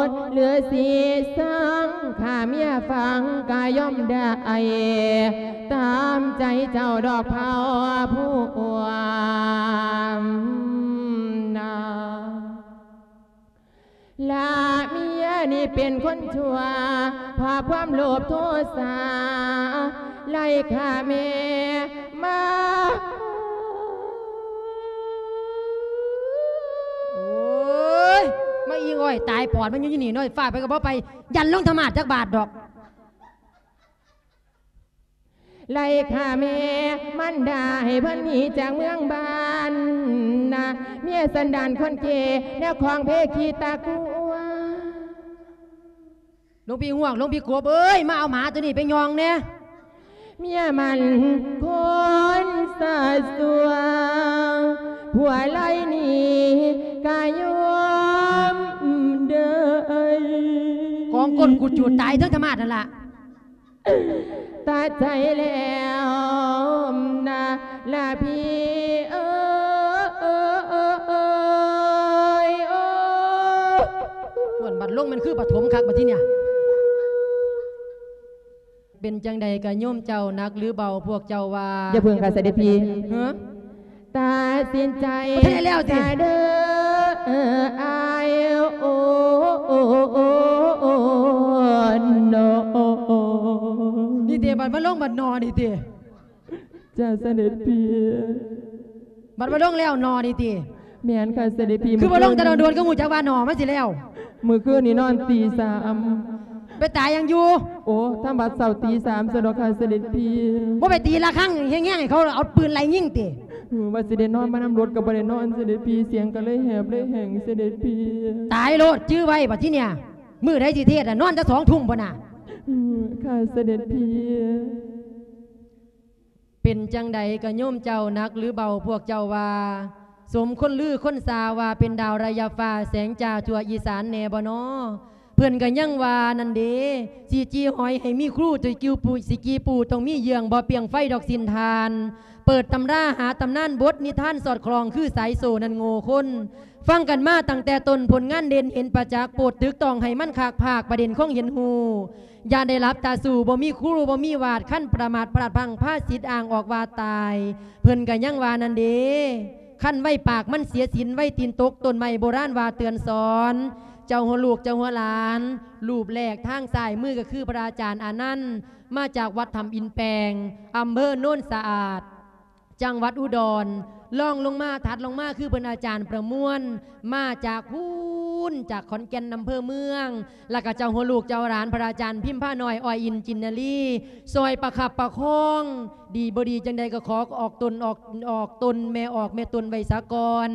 ດ ຫຼື ຊິຊັງ ຂ້າເມຍຟັງກະຍອມໄດ້ ຕາມໃຈເຈົ້າດອກເຜົ່າພວມນາ. ລະເມຍນີ້ເປັນຄົນຊົ່ວ ເພາະຄວາມໂລບໂທສາ ໄລ່ຂ້າແມ່ມາ. ໂອ້ຍ ມາອີງອ້ອຍຕາຍປອດມັນຢູ່ນີ້ເນາະ ຟ້າວໄປກໍບໍ່ໄປ ຢ້ານລົງທຳມາດຈັກບາດດອກ. ໄລ່ຂ້າແມ່ມັນດາໃຫ້ເພິ່ນໜີຈາກເມືອງບ້ານນະ ເມຍສັນດານຄົນເກ ແນວຂອງເພຂີ້ຕາກົວ. ຫຼວງພີ່ຫວກ ຫຼວງພີ່ກົບເອີຍ ມາເອົາໝາໂຕນີ້ໄປຍ່ອງແດ່. ເມຍມັນຄົນສາຊົວ ຜົວໄລ່ໜີກະຍອມເດີ. ກອງກົ້ນກູດຈູດຕາຍເທິງທຳມາດນັ້ນລະ. ຕັດໃຈແລ້ວນະລະພີ່ເອີຍ ໂອ້ຍ ໂອ້ຍ ໂອ້ຍ. ອ້ວນບັດລົງແມ່ນຄືປະຖົມຄັກບັດທີເນີ້ຍ. ປັນຈັ່ງໃດກະໂຍມເຈົ້າ ໜັກຫຼືເບົາ ພວກເຈົ້າວ່າ? ຢ່າເພິ່ງຄ່ະ ເສດັດພີ່. ຮະ? ຕັດສິນໃຈ ບໍ່ທັນໄດ້ແລ້ວຕິ? ສາເດີ ອ້າຍ ໂອ ໂອ ໂອ ໂອ ໂນ. ນີ້ຕິ ບັດມາລົງບັດໜໍນີ້ຕິ? ຈ້າ ເສດັດພີ່. ບັດມາລົງແລ້ວໜໍນີ້ຕິ? ແມ່ນຄ່ະ ເສດັດພີ່. ຄືບໍ່ລົງແຕ່ດົນໆ ຄືຮູ້ຈັກວ່າໜໍມັນຊິແລ້ວ? ມື້ຄືນນີ້ນອນຕີສາມ. ໄປຕາຍຫຍັງຢູ່? ໂອ້ ທຳວັດເຊົ້າຕີສາມຊັ້ນດອກຄ່ະ ເສດັດພີ່. ບໍ່ໄປຕີລະຄັງແຮງໆ ໃຫ້ເຂົາເອົາປືນໄລ່ຍິງຕິ? ວ່າຊິໄດ້ນອນມານຳລົດກໍບໍ່ໄດ້ນອນ ເສດັດພີ່. ສຽງກໍເລີຍແຫບເລີຍແຫ້ງ ເສດັດພີ່. ຕາຍໂລດ ຈື່ໄວ້ບັດທີເນີ້ຍ ມື້ໃດຊິເທດນະ ນອນແຕ່ສອງທຸ່ມພຸ້ນນະ. ອື ຄ່ະ ເສດັດພີ່. ເປັນຈັ່ງໃດກະໂຍມເຈົ້າ ໜັກຫຼືເບົາ ພວກເຈົ້າວ່າ? ສົມຄົນລືຄົນຊາວ່າເປັນດາວໄລຍະຟ້າ ແສງຈ້າທົ່ວອີສານແດ່ບໍ່ນໍ? ເພິ່ນກະຍັງວ່ານັ້ນເດ ຊິຈີ່ຫອຍໃຫ້ມີຄູ ຊິກິວປູ ຊິກີ່ປູຕ້ອງມີເຍື່ອງ ບໍ່ປ່ຽງໄຟດອກສິ້ນທ່ານ. ເປີດຕຳລາຫາຕຳນານບົດນິທານສອດຄ່ອງ ຄືສາຍໂສ້ນັ້ນໂງ່ຄົນ. ຟັງກັນມາຕັ້ງແຕ່ຕົ້ນ ຜົນງານເດັ່ນເຫັນປະຈັກ ໂປດຕຶກຕ້ອງໃຫ້ມັນຄັກພາກ ປະເດັນຄອງເຫັນຮູ້. ຢ່າໄດ້ຫຼັບຕາສູ້ ບໍ່ມີຄູ ບໍ່ມີວາດ ຄັນປະມາດພລາດພລັ້ງ ພາສິດອ້າງອອກວ່າຕາຍ. ເພິ່ນກະຍັງວ່ານັ້ນເດ ຄັນໄວປາກມັນເສຍສິນ ໄວຕີນຕົກຕົ້ນໄມ້ ໂບລານວ່າເຕືອນສອນ. ເຈົ້າຫົວລູກເຈົ້າຫົວຫຼານ ຮູບແລກທາງຊ້າຍມືກະຄືພະອາຈານອານັນ ມາຈາກວັດຖ້ຳອິນແປງ ອຳເພີໂນນສະອາດ ຈັງຫວັດອຸດອນ. ລອງລົງມາ ຖັດລົງມາຄືເພິ່ນອາຈານປະມວນ ມາຈາກພຸ້ນ ຈາກຂອນແກ່ນ ອຳເພີເມືອງ. ລະກະເຈົ້າຫົວລູກເຈົ້າຫຼານ ພະອາຈານພິມພານ້ອຍ ອ້ອຍອິນຈິນນາລີ ຊ່ອຍປະຄັບປະຄອງ. ດີບໍ່ດີຈັ່ງໃດກໍຂໍອອກຕົນ ອອກ ອອກຕົນ ແມ່ອອກແມ່ຕົນໄວ້ສາກ່ອນ.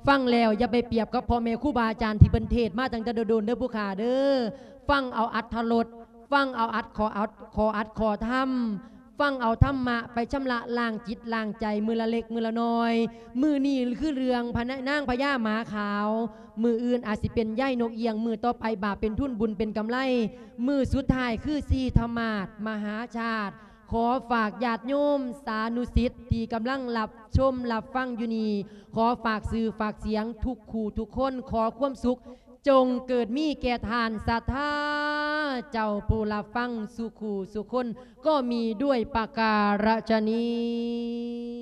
ຟັງແລ້ວຢ່າໄປປຽບກັບພໍ່ແມ່ຄູບາອາຈານທີ່ເພິ່ນເທດມາຕັ້ງແຕ່ດົນໆ ເດີຜູ້ຂ້າເດີ. ຟັງເອົາອັດຖະລົດ ຟັງເອົາອັດ ຂໍອັດ ຂໍອັດ ຂໍທຳ. ຟັງເອົາທຳມະໄປຊຳລະລ້າງຈິດລ້າງໃຈ ມື້ລະເລັກມື້ລະນ້ອຍ. ມື້ນີ້ຄືເລື່ອງພະນາ ນາງພະຍາໝາຂາວ, ມື້ອື່ນອາດຊິເປັນຍາຍນົກອຽງ, ມື້ຕໍ່ໄປບາບເປັນທຶນ ບຸນເປັນກຳໄລ, ມື້ສຸດທ້າຍຄືສີທະມາດມະຫາຊາດ. ຂໍຝາກຍາດໂຍມສານຸສິດທີ່ກຳລັງຮັບຊົມຮັບຟັງຢູ່ນີ້, ຂໍຝາກຊື່ຝາກສຽງທຸກຄູ່ທຸກຄົນ. ຂໍຄວາມສຸກ ຈົ່ງເກີດມີແກ່ທ່ານສັດທາເຈົ້າຜູ້ຮັບຟັງສູ່ຄູ່ສູ່ຄົນ ກໍມີດ້ວຍປະກາລະຊະນີ້.